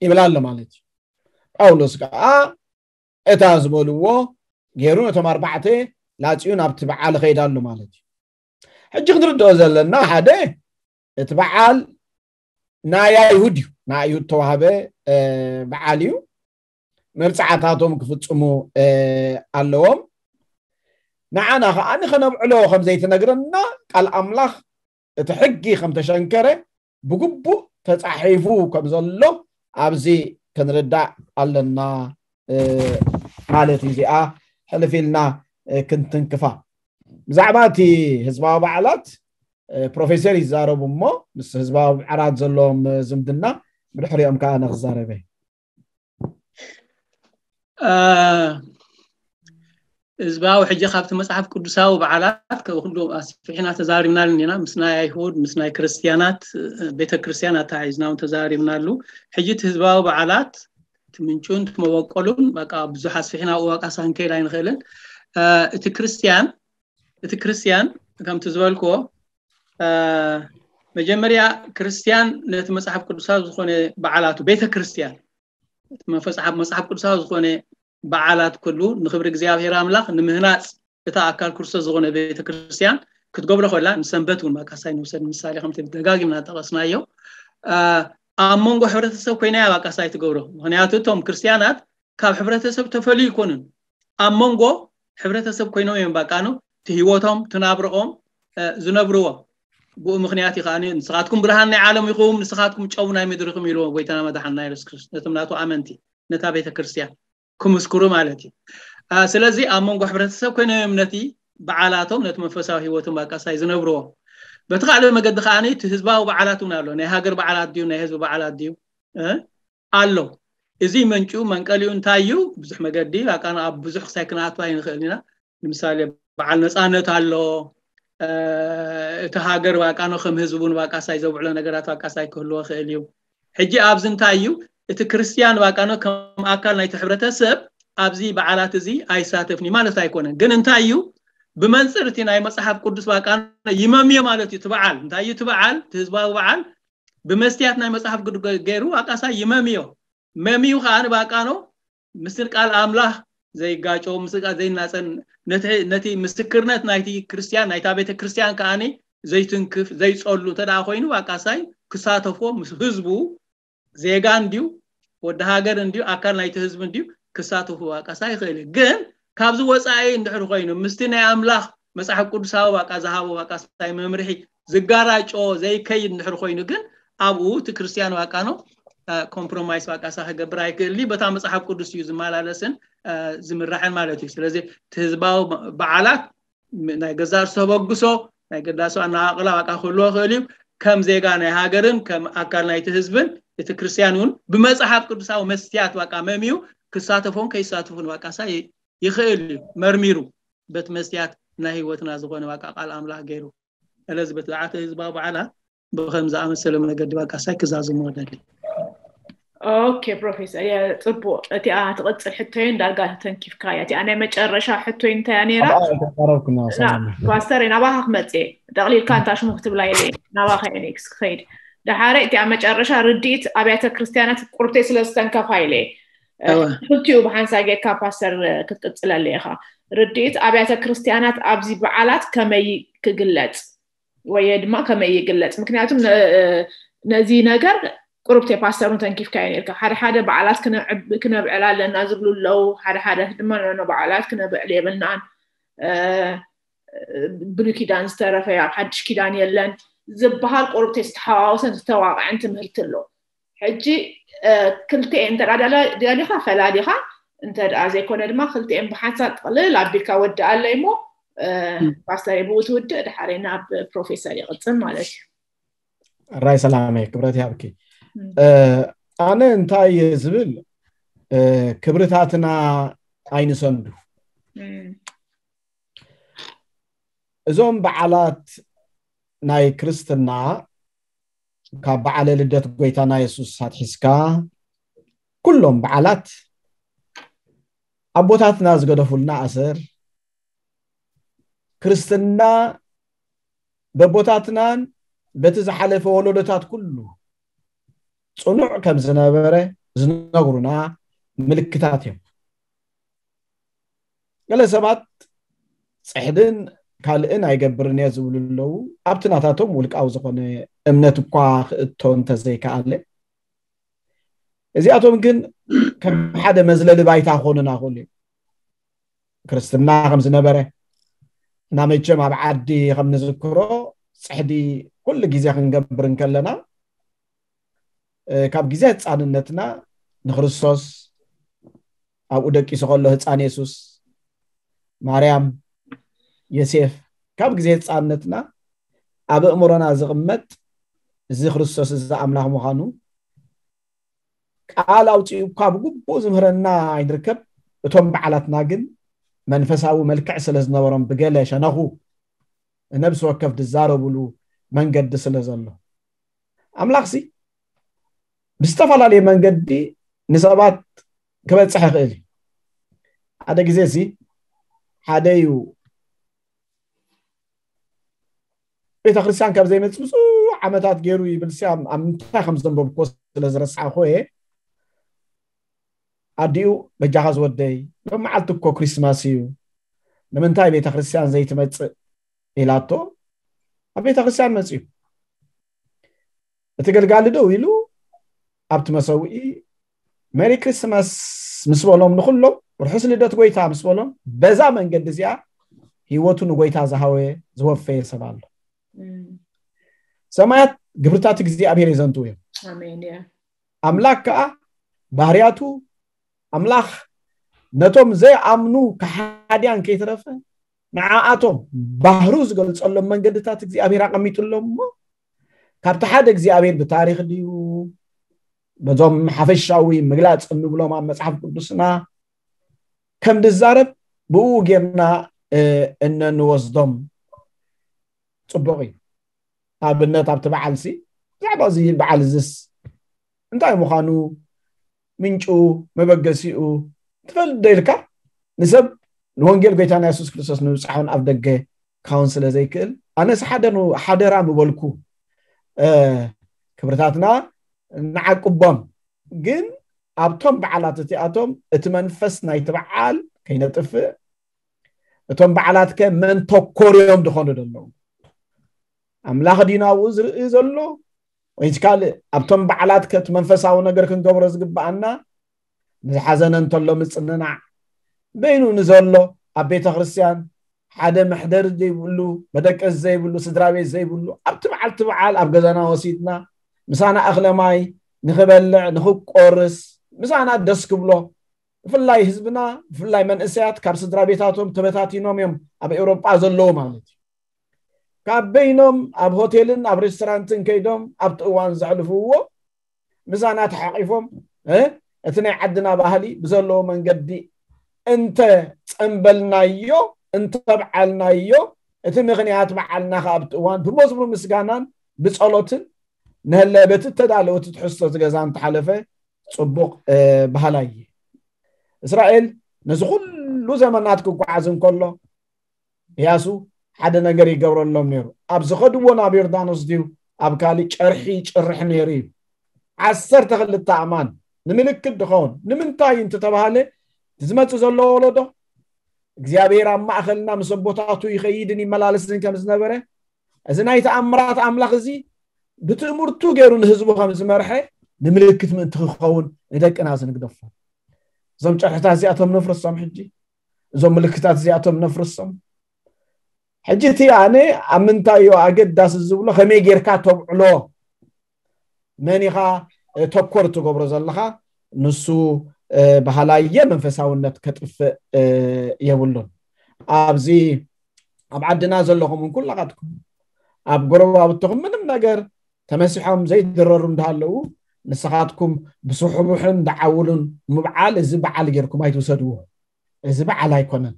ይብል ኣሎ ማለት እዩ። ጳውሎስ ከዓ እታ ዝበልዎ ገይሩ ነቶም ኣርባዕተ ላፅዩ ናብቲ በዓል ኸይድ ኣሎ ማለት እዩ። ሕጂ ክንርድኦ ዘለና ሓደ እቲ በዓል ናይ ኣይሁድ እዩ፣ ናይ ኣይሁድ ተዋህበ፣ እ፣ በዓል እዩ። መብፅዓታቶም ክፍፅሙ፣ እ፣ ኣለዎም። ንዓና ከዓ ንኸነብዕሎ ከም ዘይተነግረና ቃል ኣምላኽ እቲ ሕጊ ከም ተሸንከረ ብግቡእ ተፃሒፉ ከም ዘሎ ኣብዚ ክንርዳእ ኣለና፣ እ፣ ማለት እዩ። እዚኣ ሕልፍ ኢልና፣ እ፣ ክንትንክፋ። ብዛዕባ እቲ ህዝባዊ በዓላት፣ እ፣ ፕሮፌሰር ይዛረቡ እሞ ምስ ህዝባዊ በዓላት ዘለዎም ዝምድና ብድሕሪኦም ከዓ ኣነ ክዛረበ። እ፣ ህዝባዊ ሕጂ ካብቲ መጽሓፍ ቅዱሳዊ በዓላት ከ-፣ ኩሉ ኣስፊሕና ተዛሪብናሉ ኢና። ምስ ናይ ኣይሁድ፣ ምስ ናይ ክርስትያናት፣ እ፣ ቤተ ክርስትያን ኣተሓሒዝና እውን ተዛሪብናሉ። ሕጂ እቲ ህዝባዊ በዓላት፣ እቲ ምንጩን እቲ መበቆሉን፣ በቃ ብዙሕ ኣስፊሕና ኣብኡ በቃ ሳንከይድ ኣይንኽእልን። እ፣ እቲ ክርስትያን፣ እቲ ክርስትያን ከምቲ ዝበልክዎ፣ እ፣ መጀመርያ ክርስትያን ነቲ መጽሓፍ ቅዱሳዊ ዝኾነ በዓላቱ፣ ቤተ ክርስትያን፣ እቲ መፈጽሓ-፣ መጽሓፍ ቅዱሳዊ ዝኾነ በዓላት ኩሉ ንኽብሪ እግዚኣብሔር ኣምላኽ ንምህናጽ እታ ኣካል ክርስቶስ ዝኾነ ቤተ ክርስትያን ክትገብሮ ከላ፣ ንሰንበት እውን መቃሳይ ንውሰድ ምሳሌ ከምቲ ደጋጊምና ጠቐስናዮ፣ እ፣ ኣብ መንጎ ሕብረተሰብ ኮይና እያ መቃሳይ ትገብሮ። ምኽንያቱ እቶም ክርስትያናት ካብ ሕብረተሰብ ተፈልዩ ኣይኮኑን። ኣብ መንጎ ሕብረተሰብ ኮይኖም እዮም በቃ ነው እቲ ህይወቶም፣ እቲ ናብርኦም፣ እ፣ ዝነብርዎ። ብኡ ምኽንያት እዩ ከኣ ንስኻትኩም ብርሃን ናይ ዓለም ኢኹም፣ ንስኻትኩም ጨው ናይ ምድሪ ኢኹም ኢልዎ ጎይታና መድሓንና የሱስ ክርስቶስ ነቶም ናቱ ኣመንቲ፣ ነታ ቤተ ክርስትያን ክምስክሩ ማለት እዩ። እ፣ ስለዚ ኣብ መንጎ ሕብረተሰብ ኮይኖም እዮም ነቲ በዓላቶም፣ ነቲ መንፈሳዊ ህይወቶም በቃ ሳይ ዝነብርዎ። በቲ ካልእ መገዲ ከኣ እቲ ህዝባዊ በዓላት እውን ኣሎ። ናይ ሃገር በዓላት ድዩ፣ ናይ ህዝቢ በዓላት ድዩ? እ? ኣሎ። እዚ መንጭኡ መንቀሊኡ እንታይ እዩ? ብዙሕ መገዲ፣ በቃ ኣብ ብዙሕ ክሳይ ክንኣቱ ኣይንኽእል ኢና። ንምሳሌ በዓል ነፃነት ኣሎ፣ እቲ ሃገር ባቃኖ ከም ህዝቡን ባቃሳይ ዘብዕሎ ነገራት ባቃሳይ ክህልዎ ክእል እዩ። ሕጂ ኣብዚ እንታይ እዩ? እቲ ክርስቲያን ባቃኖ ከም ኣካል ናይቲ ሕብረተሰብ ኣብዚ በዓላት እዚ ኣይሳተፍን ማለት ኣይኮነን። ግን እንታይ እዩ? ብመንፅር እቲ ናይ መፅሓፍ ቅዱስ ባቃኖ ይመምዮ ማለት እዩ። ትበዓል እንታይ እዩ? ትበዓል እቲ ህዝባዊ በዓል ብመስትያት ናይ መፅሓፍ ቅዱስ ገይሩ ኣቃሳይ ይመምዮ። መምዩ ከዓ ንባቃኖ ምስል ቃል ኣምላኽ ዘይጋጮ ምስል ቃል ዘይናፀን ነቲ ምስክርነት ናይቲ ክርስቲያን ናይታ ቤተ ክርስቲያን ከዓ ዘይትንክፍ ዘይፀሉ እንተ ደኣ ኮይኑ ኣቃሳይ ክሳተፎ ምስ ህዝቡ ዜጋ እንዲዩ ወዲ ሃገር እንዲዩ ኣካል ናይቲ ህዝቢ እንዲዩ ክሳተፉ ኣቃሳይ ይኽእል እዩ። ግን ካብዚ ወፃኢ እንድሕር ኮይኑ ምስቲ ናይ ኣምላኽ መፅሓፍ ቅዱሳዊ ባቃ ዝሃቦ ባቃሳይ መምርሒ ዝጋራጮ ዘይከይድ እንድሕር ኮይኑ ግን ኣብኡ እቲ ክርስቲያን ባቃኖ ኮምፕሮማይስ ባቃሳ ክገብር ኣይክእል በታ መፅሓፍ ቅዱስ እዩ ዝመላለስን ዝምራሕን ማለት እዩ። ስለዚ እቲ ህዝባዊ በዓላት ናይ ገዛ ርእሱ ተበግሶ ናይ ገዳሱ ኣነቃቅላ ባቃ ክህልዎ ክእል እዩ። ከም ዜጋ ናይ ሃገርን ከም ኣካል ናይቲ ህዝብን እቲ ክርስቲያን እውን ብመፅሓፍ ቅዱሳዊ መስትያት ባቃ መምዩ ክሳተፎን ከይሳተፉን ባቃሳ ይኽእል እዩ። መርሚሩ በቲ መስትያት ናይ ህይወትና ዝኾነ ባቃ ቃል ኣምላኽ ገይሩ ስለዚ በቲ ዝዓተ ህዝባዊ በዓላት ብከም ዝኣመሰለ መገዲ ባቃሳይ ክዛዝሞ ደሊ። ኦኬ ፕሮፌሰር፣ ጽቡቅ። እቲኣ ትቕጽል ሕቶይን ዳርጋ ተተንኪፍካያ። እቲኣ ናይ መጨረሻ ሕቶይ እንታይ እያ ነይራ? ኣባኣ ተቃረብኩና። ና- ሰላም። ፓስተር፣ ናባኻ ክመጽእ እየ። ጠቕሊልካ እንታ ሽሙ ክትብላ ኢለ እየ። ናባኻ እየ ኔክስት ክኸይድ። ደሓረ እቲኣ መጨረሻ ርድኢት ኣብያተ ክርስቲያናት ቁርብተይ ስለ ዝተንከፋ ኢለ እየ። እ፣ እወ። ክልቲኡ ብሓንሳብ ጌርካ ፓስተር ክትቅጽለለ ኢኻ። ርድኢት ኣብያተ ክርስቲያናት ኣብዚ በዓላት ከመይ ክግለጽ ወይ ድማ ከመይ ይግለጽ? ምክንያቱም ነ- ነዚ ነገር ቁሩብ ቴፓስተሩን ተንኪፍካዮ ነርካ። ሓደ ሓደ በዓላት ክነዕብ- ክነብዕል ኣለና ዝብሉ ኣለዉ። ሓደ ሓደ ድማ ኖ በዓላት ክነብዕል የብልናን፣ እ፣ ብሉይ ኪዳን ዝተረፈ ኣብ ሓድሽ ኪዳን የለን ዝበሃል ቁሩብ ዝተሓዋወሰን ዝተዋቕዐን ትምህርቲ ኣሎ። ሕጂ እ፣ ክልቲኤን እንተ ደኣ ደለ- ደሊኻ ፈላሊኻ፣ እንተ ደኣ ዘይኮነ ድማ ክልቲኤን ብሓንሳብ ጥቕልል ኣቢልካ ወድኣለይ እሞ እ፣ ም። ፓስተር ብኡ ትውድእ፣ ድሓረይ ናብ ፕሮፌሰር ይቕጽል ማለት እዩ። ራይ ሰላመይ፣ ክብረት ይሃብኪ። ም። እ፣ ኣነ እንታይ እየ ዝብል፣ እ፣ ክብርታትና ኣይንሰንዱ። ም። እዞም በዓላት ናይ ክርስትና ካብ በዓለ ልደት ጎይታና የሱስ ኣትሒዝካ ኩሎም በዓላት ኣቦታትና ዝገደፉልና ኣሰር ክርስትና በቦታትናን በቲ ዝሓለፈ ወለዶታት ኩሉ ጽኑዕ ከም ዝነበረ ዝነግሩና ምልክታት እዮም። ገለ ሰባት ጽሕድን ካልእን ኣይገብርን እየ ዝብሉ ኣለዉ። ኣብቲ ናታቶም ውልቃዊ ዝኾነ እምነት እኳ ክእቶ እንተዘይከኣለ፣ እዚኣቶም ግን ከም ሓደ መዝለሊ ባይታ ክኾኑና ይኽእሉ እዮም። ክርስትና ከም ዝነበረ እና መቸም ኣብ ዓዲ ከም ንዝክሮ ጽሕዲ ኩሉ ግዜ ክንገብር እንከለና እ፣ ካብ ግዜ ህፃንነትና ንክርስቶስ ኣብኡ ደቂሱ ከሎ ህፃን የሱስ ማርያም ዮሴፍ ካብ ግዜ ህፃንነትና ኣብ ኣእምሮና ዝቕመጥ እዚ ክርስቶስ እዚ ኣምላኽ ምዃኑ ቃል ኣውፂኡ እኳ ብግቡእ ዝምህረና ኣይንርከብ። እቶም በዓላትና ግን መንፈሳዊ መልክዕ ስለ ዝነበሮም ብገለ ሸነኹ ነብሲ ወከፍ ዝዛረብሉ መንገዲ ስለ ዘሎ ኣምላኽሲ ብዝተፈላለየ መንገዲ ንሰባት ክበፅሕ ይኽእል እዩ። ሓደ ግዜ እዚ ሓደ እዩ ቤተክርስትያን ካብ ዘይመፅእ ብዙሕ ዓመታት ገይሩ ይብል ሲ ኣብ ምንታይ ከም ዘንበብኮ ስለ ዝረሳዕኮ እየ። ኣዲኡ በጃኻ ዝወደይ ሎም መዓልቲ እኮ ክሪስማስ እዩ ንምንታይ ቤተክርስትያን ዘይትመፅእ ኢላቶ ኣብ ቤተክርስትያን መፅዩ። እቲ ገልጋሊ ደው ኢሉ ኣብቲ መሰውኢ ሜሪ ክሪስማስ ምስ በሎም ንኩሎም ርሑስ ልደት ጎይታ ምስ በሎም በዛ መንገዲ እዚኣ ህይወቱ ንጎይታ ዝሃወ ዝወፈየ ሰብ ኣሎ። ሰማያት ግብርታት እግዚኣብሔር የዘንትው እዮም። ኣምላክ ከዓ ባህርያቱ ኣምላኽ ነቶም ዘይኣምኑ ከሓድያን ከይተረፈ ንዓኣቶም ባህሩ ዝገልጸሎም መንገድታት እግዚኣብሔር ኣቐሚጡሎም እሞ ካብቲ ሓደ እግዚኣብሔር ብታሪክ ድዩ በዞም ሓፈሻዊ ምግላፅ እንብሎም ኣብ መፅሓፍ ቅዱስና ከም ዝዛረብ ብኡ ጌርና እነንወስዶም ጽቡቕ እዩ። ኣብነት ኣብቲ በዓል ሲ ብዛዕባ እዚ በዓል እዝስ እንታይ ምዃኑ፣ ምንጩ፣ መበገሲኡ ትፈልጥ ዶ ኢልካ ንሰብ ንወንጌል ጎይታና የሱስ ክርስቶስ ንምብጻሕ እውን ኣብ ደገ ካውን ስለ ዘይክእል ኣነስ ሓደ ሓደራ ምበልኩ። ክብርታትና ንዓቅቦም። ግን ኣብቶም በዓላት እቲኣቶም እቲ መንፈስ ናይቲ በዓል ከይነጥፍእ፣ እቶም በዓላት ከ መን ተኮር እዮም ዝኾኑ ዘለዉ? ኣምላኽ ድዩ ናብኡ ዝርኢ ዘሎ ወይስ ካልእ? ኣብቶም በዓላት ከ እቲ መንፈሳዊ ነገር ክንገብሮ ዝግብኣና ንዝሓዘነ እንተሎ ምጽንናዕ፣ በይኑ ንዘሎ ኣብ ቤተ ክርስቲያን ሓደ መሕደሪ ዘይብሉ፣ መደቀሲ ዘይብሉ፣ ስድራ ቤት ዘይብሉ ኣብቲ በዓልቲ በዓል ኣብ ገዛና ወሲድና ምሳና እኽለ ማይ ንኽበልዕ ንኽቆርስ ምሳና ደስ ክብሎ። ብፍላይ ህዝብና ብፍላይ መንእሰያት ካብ ስድራ ቤታቶም ተበታቲኖም እዮም ኣብ ኤውሮጳ ዘለዉ ማለት እዩ። ካብ በይኖም ኣብ ሆቴልን ኣብ ሬስቶራንትን ከይዶም ኣብቲ እዋን ዘሕልፍዎ ምሳና ተሓቂፎም እቲ ናይ ዓድና ባህሊ ብዘለዎ መንገዲ እንተ ጸንበልናዮ እንተ በዓልናዮ፣ እቲ ምኽንያት በዓልና ከ ኣብቲ እዋን ብመዝሙር ምስጋናን ብጸሎትን ንህለ በቲ እተዳለወ እቲ ትሕዝቶ እቲ ገዛ እንተሓለፈ ጽቡቕ ባህላ እየ። እስራኤል ነዚ ኩሉ ዘመናት ክጓዓዝ እንከሎ እያሱ ሓደ ነገር ይገብረሎም ነይሩ። ኣብ ዝኸድዎ ናብ ዮርዳኖስ ድዩ ኣብ ካሊእ ጨርሒ ይጭርሕ ነይሩ እዩ። ዓሰርተ ክልተ ኣእማን ንምልክት ድኸውን ንምንታይ እንተተባሃለ ዝመጽእ ዘሎ ወለዶ እግዚኣብሔር ኣብ ማእኸልና ምስ ኣቦታቱ ይኸይድን ይመላለስን ከም ዝነበረ፣ እዚ ናይ ተኣምራት ኣምላኽ እዚ ብትእምርቱ ገይሩ ንህዝቡ ከም ዝመርሐ ንምልክት ምእንቲ ክኸውን ንደቅና ዝንግደፎ። እዞም ጨርሕታት እዚኣቶም ነፍርሶም ሕጂ፣ እዞም ምልክታት እዚኣቶም ነፍርሶም። ሕጂ እቲ ኣነ ኣብ ምንታይ እዩ ኣገዳሲ ዝብሎ ከመይ ጌርካ ተብዕሎ፣ መን ኢኻ ተኮር ትገብሮ ዘለኻ፣ ንሱ ባህላየ መንፈሳውነት ከጥፍእ የብሉን። ኣብዚ ኣብ ዓድና ዘለኹም ኩላኻትኩም ኣብ ጎረባብትኹም ምንም ነገር ተመሲሖም ዘይድረሩ እንዳሃለዉ ንስኻትኩም ብስሑቡሕን ደዓውሉን ምብዓል እዚ በዓል ጌርኩም ኣይትውሰድዎ። እዚ በዓል ኣይኮነን።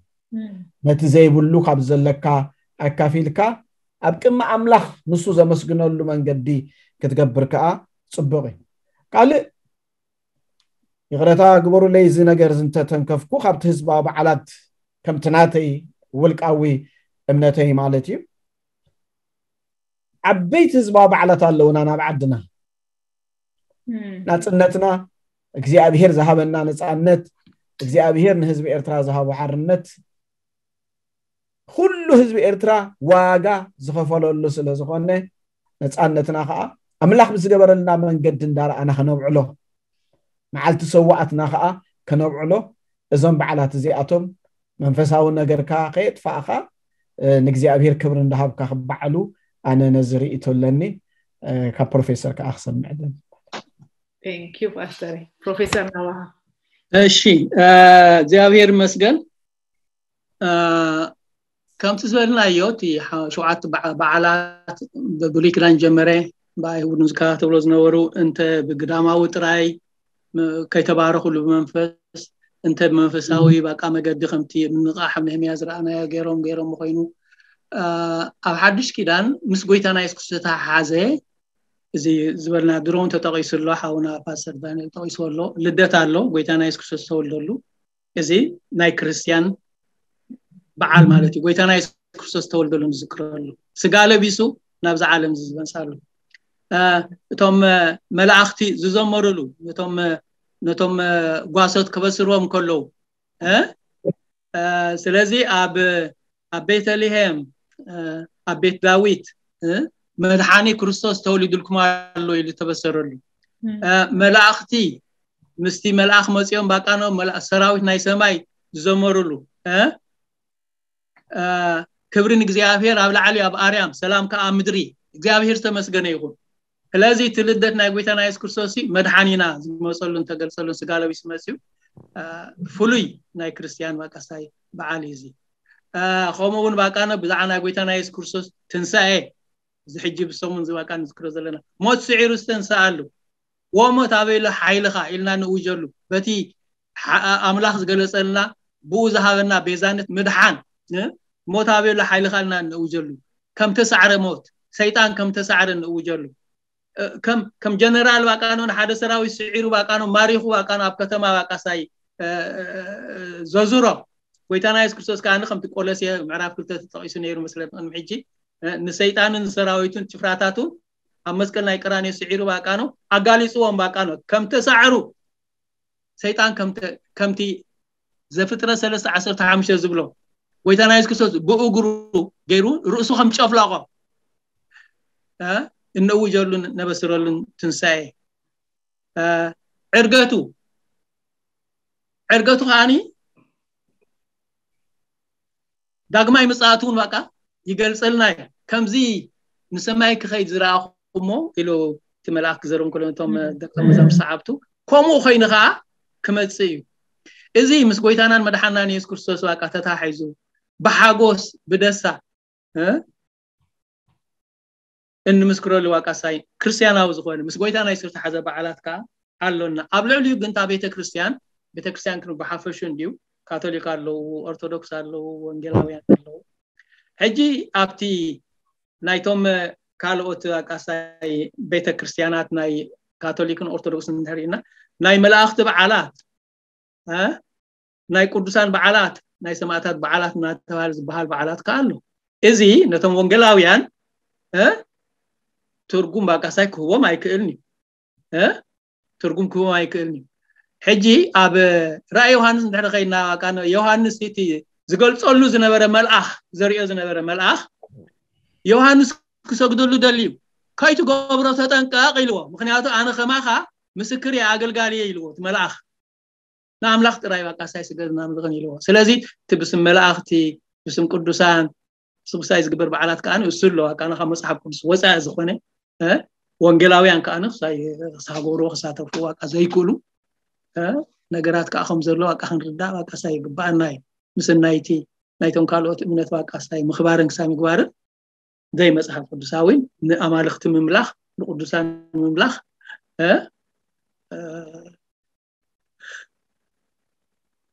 ነቲ ዘይብሉ ካብ ዘለካ ኣካፊልካ ኣብ ቅድሚ ኣምላኽ ንሱ ዘመስግነሉ መንገዲ ክትገብር ከኣ ጽቡቕ እዩ። ካልእ ይቕረታ ግበሩለይ፣ እዚ ነገር እዚ እንተተንከፍኩ ካብቲ ህዝባዊ በዓላት ከምቲ ናተይ ውልቃዊ እምነተይ ማለት እዩ። ዓበይቲ ህዝባዊ በዓላት ኣለውና ናብ ዓድና። ናጽነትና፣ እግዚኣብሔር ዝሃበና ነጻነት፣ እግዚኣብሔር ንህዝቢ ኤርትራ ዝሃቦ ሓርነት፣ ኩሉ ህዝቢ ኤርትራ ዋጋ ዝኸፈለሉ ስለ ዝኾነ፣ ነጻነትና ኸኣ ኣምላኽ ብዝገበረልና መንገዲ እንዳረኣና ከነብዕሎ፣ መዓልቲ ሰዋኣትና ኸኣ ከነብዕሎ፣ እዞም በዓላት እዚኣቶም መንፈሳዊ ነገርካ ከየጥፋእኻ ንእግዚኣብሔር ክብሪ እንዳሃብካ ክበዓሉ ኣነ ነዚ ርእይቶ ኣለኒ። ካብ ፕሮፌሰር ከዓ ክሰምዕ ኣለኒ። ፓስተር ፕሮፌሰር ናባኻ። እሺ፣ እግዚኣብሔር ይመስገን። ከምቲ ዝበልናዮ እቲ ሸውዓተ በዓላት ብብሉይ ኪዳን ጀመረ ብኣይሁድ ዝከታተሎ ዝነበሩ እንተ ብግዳማዊ ጥራይ ከይተባረኹሉ ብመንፈስ እንተ ብመንፈሳዊ ባቃ መገዲ ከምቲ ምንቃሕ ኣብ ነህምያ ዝረኣናዮ ገይሮም ገይሮም ኮይኑ ኣብ ሓድሽ ኪዳን ምስ ጎይታና የሱስ ክርስቶስ ተሓሓዘ። እዚ ዝበልና ድሮውን ተጠቂሱ ኣሎ፣ ሓውና ፓስተር ዳንኤል ጠቂሱ ኣሎ። ልደት ኣሎ፣ ጎይታና የሱስ ክርስቶስ ተወልደሉ። እዚ ናይ ክርስቲያን በዓል ማለት እዩ። ጎይታና የሱስ ክርስቶስ ተወልደሉ ንዝክረሉ፣ ስጋ ለቢሱ ናብዛ ዓለም ዝመጻሉ፣ እቶም መላእኽቲ ዝዘመሩሉ፣ ነቶም ነቶም ጓሶት ከበስርዎም ከለዉ ስለዚ ኣብ ኣብ ቤተልሔም ኣብ ቤት ዳዊት መድሓኒ ክርስቶስ ተወሊዱልኩም ኣሎ ኢሉ ተበሰረሉ። መላእኽቲ ምስቲ መልኣኽ መፂኦም ባቃኖም ሰራዊት ናይ ሰማይ ዝዘመሩሉ፣ ክብሪ ንእግዚኣብሔር ኣብ ላዕሊ ኣብ ኣርያም ሰላም ከዓ ምድሪ። እግዚኣብሔር ዝተመስገነ ይኹን። ስለዚ እቲ ልደት ናይ ጎይታና የሱስ ክርስቶስ መድሓኒና ዝመፀሉን ተገልፀሉን ስጋ ለቢሱ መፅዩ ፍሉይ ናይ ክርስትያን ባቃስታይ በዓል እዩ እዚ። ከምኡ እውን ባቃነ ብዛዕባ ናይ ጎይታና የሱስ ክርስቶስ ትንሳኤ እዚ ሕጂ ብሰሙን እዚ ባቃ ንዝክሮ ዘለና ሞት ስዒሩ ዝተንሳኣሉ ወሞት ኣበይሎ ሓይልኻ ኢልና ንእውጀሉ በቲ ኣምላኽ ዝገለፀልና ብኡ ዝሃበና ቤዛነት ምድሓን ሞት ኣበይሎ ሓይልኻ ኢልና ንእውጀሉ። ከም ተሳዕረ ሞት፣ ሰይጣን ከም ተሳዕረ ንእውጀሉ። ከም ከም ጀነራል ባቃኖ ንሓደ ሰራዊት ስዒሩ ባቃኖ ማሪኹ ባቃኖ ኣብ ከተማ ባቃሳይ ዘዙሮ። ጎይታና የሱስ ክርስቶስ ከኣ ከምቲ ቆሎሴ ምዕራፍ ክልተ ተጠቒሱ ነይሩ መስለ ቅድሚ ሕጂ፣ ንሰይጣንን ሰራዊቱን ጭፍራታቱን ኣብ መስቀል ናይ ቀራንዮ ስዒሩ ባቃኖ ኣጋሊጽዎም። ባቃኖ ከም ተሳዕሩ ሰይጣን ከምቲ ዘፍጥረት ሰለስተ ዓሰርተ ሓሙሽተ ዝብሎ ጎይታና የሱስ ክርስቶስ ብእግሩ ገይሩ ርእሱ ከም ጨፍለቆ እነውጀሉን ነበስረሉን ትንሳኤ። ዕርገቱ ዕርገቱ ከዓኒ ዳግማይ ምጽኣቱ እውን በቃ ይገልጸልና እዩ። ከምዚ ንሰማይ ክኸይድ ዝረኣኹ እሞ ኢሉ እቲ መልኣክ ክዘርም ከሎ ነቶም ደቀ መዛሙርት ሰዓብቱ፣ ከምኡ ኮይኑ ከዓ ክመጽእ እዩ። እዚ ምስ ጎይታናን መድሓናን የሱስ ክርስቶስ በቃ ተታሒዙ ብሓጎስ ብደስታ እንምስክረሉ ዋቃሳይ ክርስቲያናዊ ዝኾነ ምስ ጎይታ ናይ ዝተሓዘ በዓላት ከዓ ኣሎና። ኣብ ልዕሊኡ ግን እታ ቤተክርስትያን ቤተክርስትያን ክን ብሓፈሹ እንዲዩ ካቶሊክ ኣለዉ፣ ኦርቶዶክስ ኣለዉ፣ ወንጌላውያን ኣለዉ። ሕጂ ኣብቲ ናይቶም ካልኦት ዋቃሳይ ቤተክርስትያናት ናይ ካቶሊክን ኦርቶዶክስን እንድሕር ኢና ናይ መላእኽቲ በዓላት ናይ ቅዱሳን በዓላት ናይ ሰማእታት በዓላት እናተባሃለ ዝበሃል በዓላት ከዓ ኣሎ። እዚ ነቶም ወንጌላውያን ትርጉም ባቃሳይ ክህቦም ኣይክእልን እዩ። ትርጉም ክህቦም ኣይክእልን እዩ። ሕጂ ኣብ ራእይ ዮሃንስ እንድሕር ከይና ዮሃንስ እቲ ዝገልጸሉ ዝነበረ መልኣኽ ዘሪኦ ዝነበረ መልኣኽ ዮሃንስ ክሰግደሉ ደልዩ ከይትገብሮ ተጠንቀቕ ኢልዎ። ምክንያቱ ኣነ ከማኻ ምስክር እየ ኣገልጋሊ እየ ኢልዎ እቲ መልኣኽ። ንኣምላኽ ጥራይ ባቃሳይ ስገድ እናምልኽን ኢልዎ። ስለዚ እቲ ብስም መላእኽቲ ብስም ቅዱሳን ስጉሳይ ዝግበር በዓላት ከዓ እሱ ኣለዋ ከዓ ካብ መፅሓፍ ቅዱስ ወፃኢ ዝኾነ ወንጌላውያን ከዓ ክሳይ ክሳጎሩ ክሳተፉ ዋቃ ዘይክእሉ ነገራት ከዓ ከም ዘሎ ዋቃ ክንርዳእ ዋቃሳይ ይግባኣና እዩ። ምስናይቲ ናይቶም ካልኦት እምነት ዋቃሳይ ምኽባርን ክሳይ ምግባርን ዘይመፅሓፍ ቅዱሳዊ ንኣማልኽቲ ምምላኽ ንቅዱሳን ምምላኽ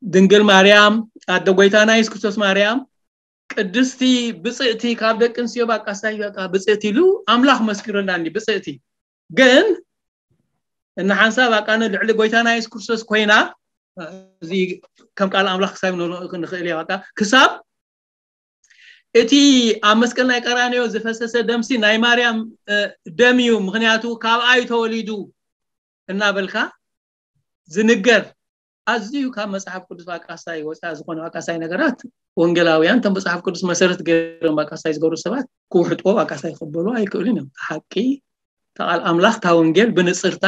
ድንግል ማርያም ኣደ ጎይታና የሱስ ክርስቶስ ማርያም ቅድስቲ ብፅእቲ ካብ ደቂ ኣንስትዮ ባቃሳይ በቃ ብፅእቲ ኢሉ ኣምላኽ መስኪሩላ እንዲ ብፅእቲ ግን እና ሓንሳብ ኣቃነ ልዕሊ ጎይታና የሱስ ክርስቶስ ኮይና እዚ ከም ቃል ኣምላኽ ክሳብ ንኽእል እያ በቃ ክሳብ እቲ ኣብ መስቀል ናይ ቀራንዮ ዝፈሰሰ ደምሲ ናይ ማርያም ደም እዩ፣ ምክንያቱ ካብኣ እዩ ተወሊዱ እናበልካ ዝንገር ኣዝዩ ካብ መፅሓፍ ቅዱስ ኣቃሳይ ወፃኢ ዝኾነ ኣቃሳይ ነገራት ወንጌላውያን እቶም መፅሓፍ ቅዱስ መሰረት ገይሮም ኣቃሳይ ዝገብሩ ሰባት ክውሕጥዎ ኣቃሳይ ክበሉ ኣይክእሉን እዮም። ሓቂ ተቓል ኣምላኽ እታ ወንጌል ብንጽርታ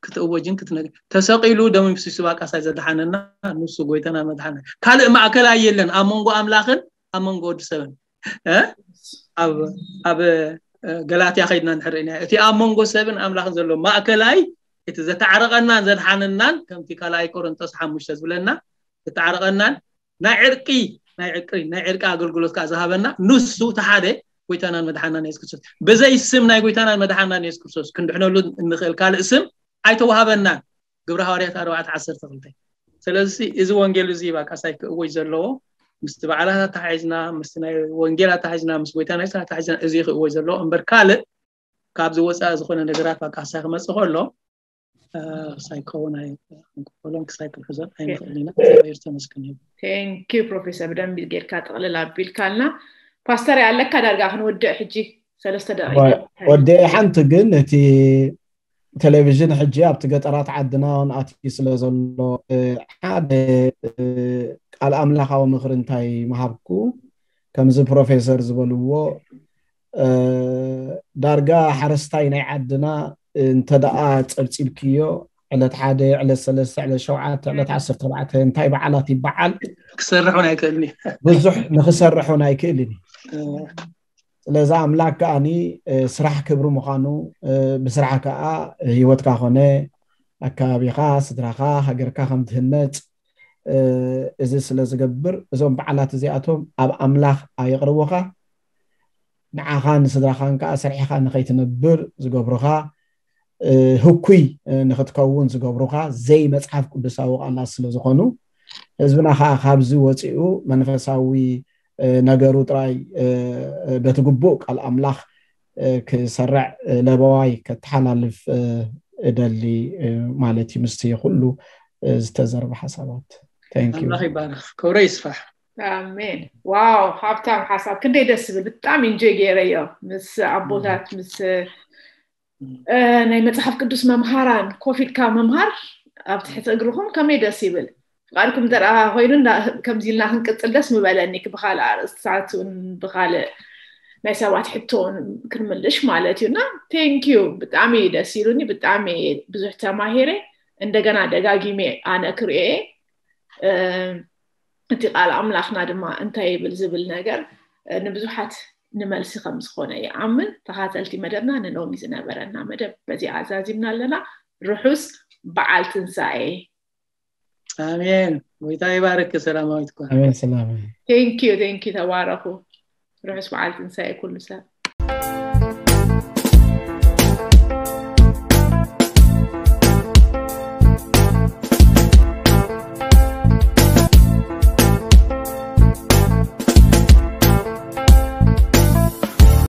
ክትእወጅን ክትነግ ተሰቒሉ ደሙ ፍሲሱ ባቃሳይ ዘድሓነና ንሱ ጎይታና መድሓና ካልእ ማእከላይ የለን ኣብ መንጎ ኣምላኽን ኣብ መንጎ ወዲ ሰብን ኣብ ኣብ ገላትያ ከይድና ንሕርኢና እቲ ኣብ መንጎ ሰብን ኣምላኽን ዘሎ ማእከላይ እቲ ዘተዓረቐናን ዘድሓነናን ከምቲ ካልኣይ ቆሮንጦስ ሓሙሽተ ዝብለና ዘተዓረቐናን ናይ ዕርቂ ናይ ዕርቂ ናይ ዕርቂ ኣገልግሎት ከዓ ዝሃበና ንሱ ተሓደ ጎይታናን መድሓናን የሱስ ክርስቶስ ብዘይ ስም ናይ ጎይታናን መድሓናን የሱስ ክርስቶስ ክንድሕነሉ እንኽእል ካልእ ስም ኣይተዋሃበናን። ግብረ ሃዋርያት ኣርባዕተ ዓሰርተ ክልተ። ስለዚ እዚ ወንጌል እዚ ባቃሳይ ክእወጅ ዘለዎ ምስቲ በዓላት ኣተሓሒዝና ምስቲ ናይ ወንጌል ኣተሓሒዝና ምስ ጎይታ ናይ ኣተሓሒዝና እዚ ክእወጅ ዘለዎ እምበር ካልእ ካብዚ ወፃኢ ዝኾነ ነገራት ባቃሳይ ክመፅእ ከሎ ክሳይ ክኸውን ኣይንክፈሎን ክሳይ ክንሕዞን ኣይንኽእል ኢና። እግዚኣብሔር ተመስገን ይሁን። ቴንኪዩ ፕሮፌሰር ብደንቢ ጌርካ ጥቕልል ኣቢልካልና። ፓስተር ኣለካ ዳርጋ ክንወድእ ሕጂ ሰለስተ ደቂቃ ወደ ሓንቲ ግን እቲ ቴሌቪዥን ሕጂ ኣብቲ ገጠራት ዓድና እውን ኣትዩ ስለ ዘሎ ሓደ ቃል ኣምላኻዊ ምኽሪ እንታይ ምሃብኩ ከምዚ ፕሮፌሰር ዝበልዎ ዳርጋ ሓረስታይ ናይ ዓድና እንተደኣ ፀብፂብክዮ ዕለት ሓደ ዕለት ሰለስተ ዕለት ሸውዓተ ዕለት ዓሰርተ ኣርባዕተ እንታይ በዓላት ይበዓል ክሰርሕ እውን ኣይክእልን እዩ። ብዙሕ ንክሰርሕ እውን ኣይክእልን እዩ። ስለዚ ኣምላክ ከዓኒ ስራሕ ክብሪ ምዃኑ ብስራሕ ከዓ ህይወትካ ኮነ ኣከባቢኻ ስድራኻ ሃገርካ ከም ትህነፅ እዚ ስለ ዝገብር እዞም በዓላት እዚኣቶም ኣብ ኣምላኽ ኣየቕርቡኻ ንዓኻ ንስድራኻን ከዓ ስርሒኻ ንኸይትነብር ዝገብሩኻ ህኩይ ንክትከውን ዝገብሩኻ ዘይመፅሓፍ ቅዱሳዊ ቃላት ስለ ዝኾኑ ህዝብና ከዓ ካብዚ ወፂኡ መንፈሳዊ ነገሩ ጥራይ በቲ ግቡእ ቃል ኣምላኽ ክሰርዕ ለበዋይ ከተሓላልፍ እደሊ ማለት እዩ። ምስቲ ኩሉ ዝተዘርበ ሓሳባት። ኣምላኽ ይባረኽ፣ ክብረ ይስፋሕ። ኣሜን። ዋው፣ ሃብታም ሓሳብ፣ ክንደይ ደስ ዝብል። ብጣዕሚ ኢንጆይ ገይረዮ ምስ ኣቦታት ምስ ናይ መፅሓፍ ቅዱስ መምሃራን ኮፍ ኢልካ ምምሃር ኣብ ትሕቲ እግርኹም ከመይ ደስ ይብል። ፍቃድኩም እንተ ኮይኑ ከምዚ ኢልና ክንቅፅል ደስ ምበለኒ። ብካልእ ኣርእስትታት እውን ብካልእ ናይ ሰባት ሕቶ እውን ክንምልሽ ማለት እዩ። እና ቴንኪዩ፣ ብጣዕሚ ደስ ኢሉኒ፣ ብጣዕሚ ብዙሕ ተማሂረ። እንደገና ደጋጊሜ ኣነ ክርእየ እቲ ቃል ኣምላኽና ድማ እንታይ ይብል ዝብል ነገር ንብዙሓት ንመልሲ ከም ዝኾነ ይኣምን። ተኻተልቲ መደብና ንሎሚ ዝነበረና መደብ በዚ ኣዛዚምና ኣለና። ርሑስ በዓል ትንሳኤ። ኣሜን። ጎይታ ይባርክ ሰላማዊት። ኣሜን። ሰላም። ቴንኪዩ ቴንኪዩ። ተባረኹ። ርሑስ በዓል ትንሳኤ ኩሉ ሰብ።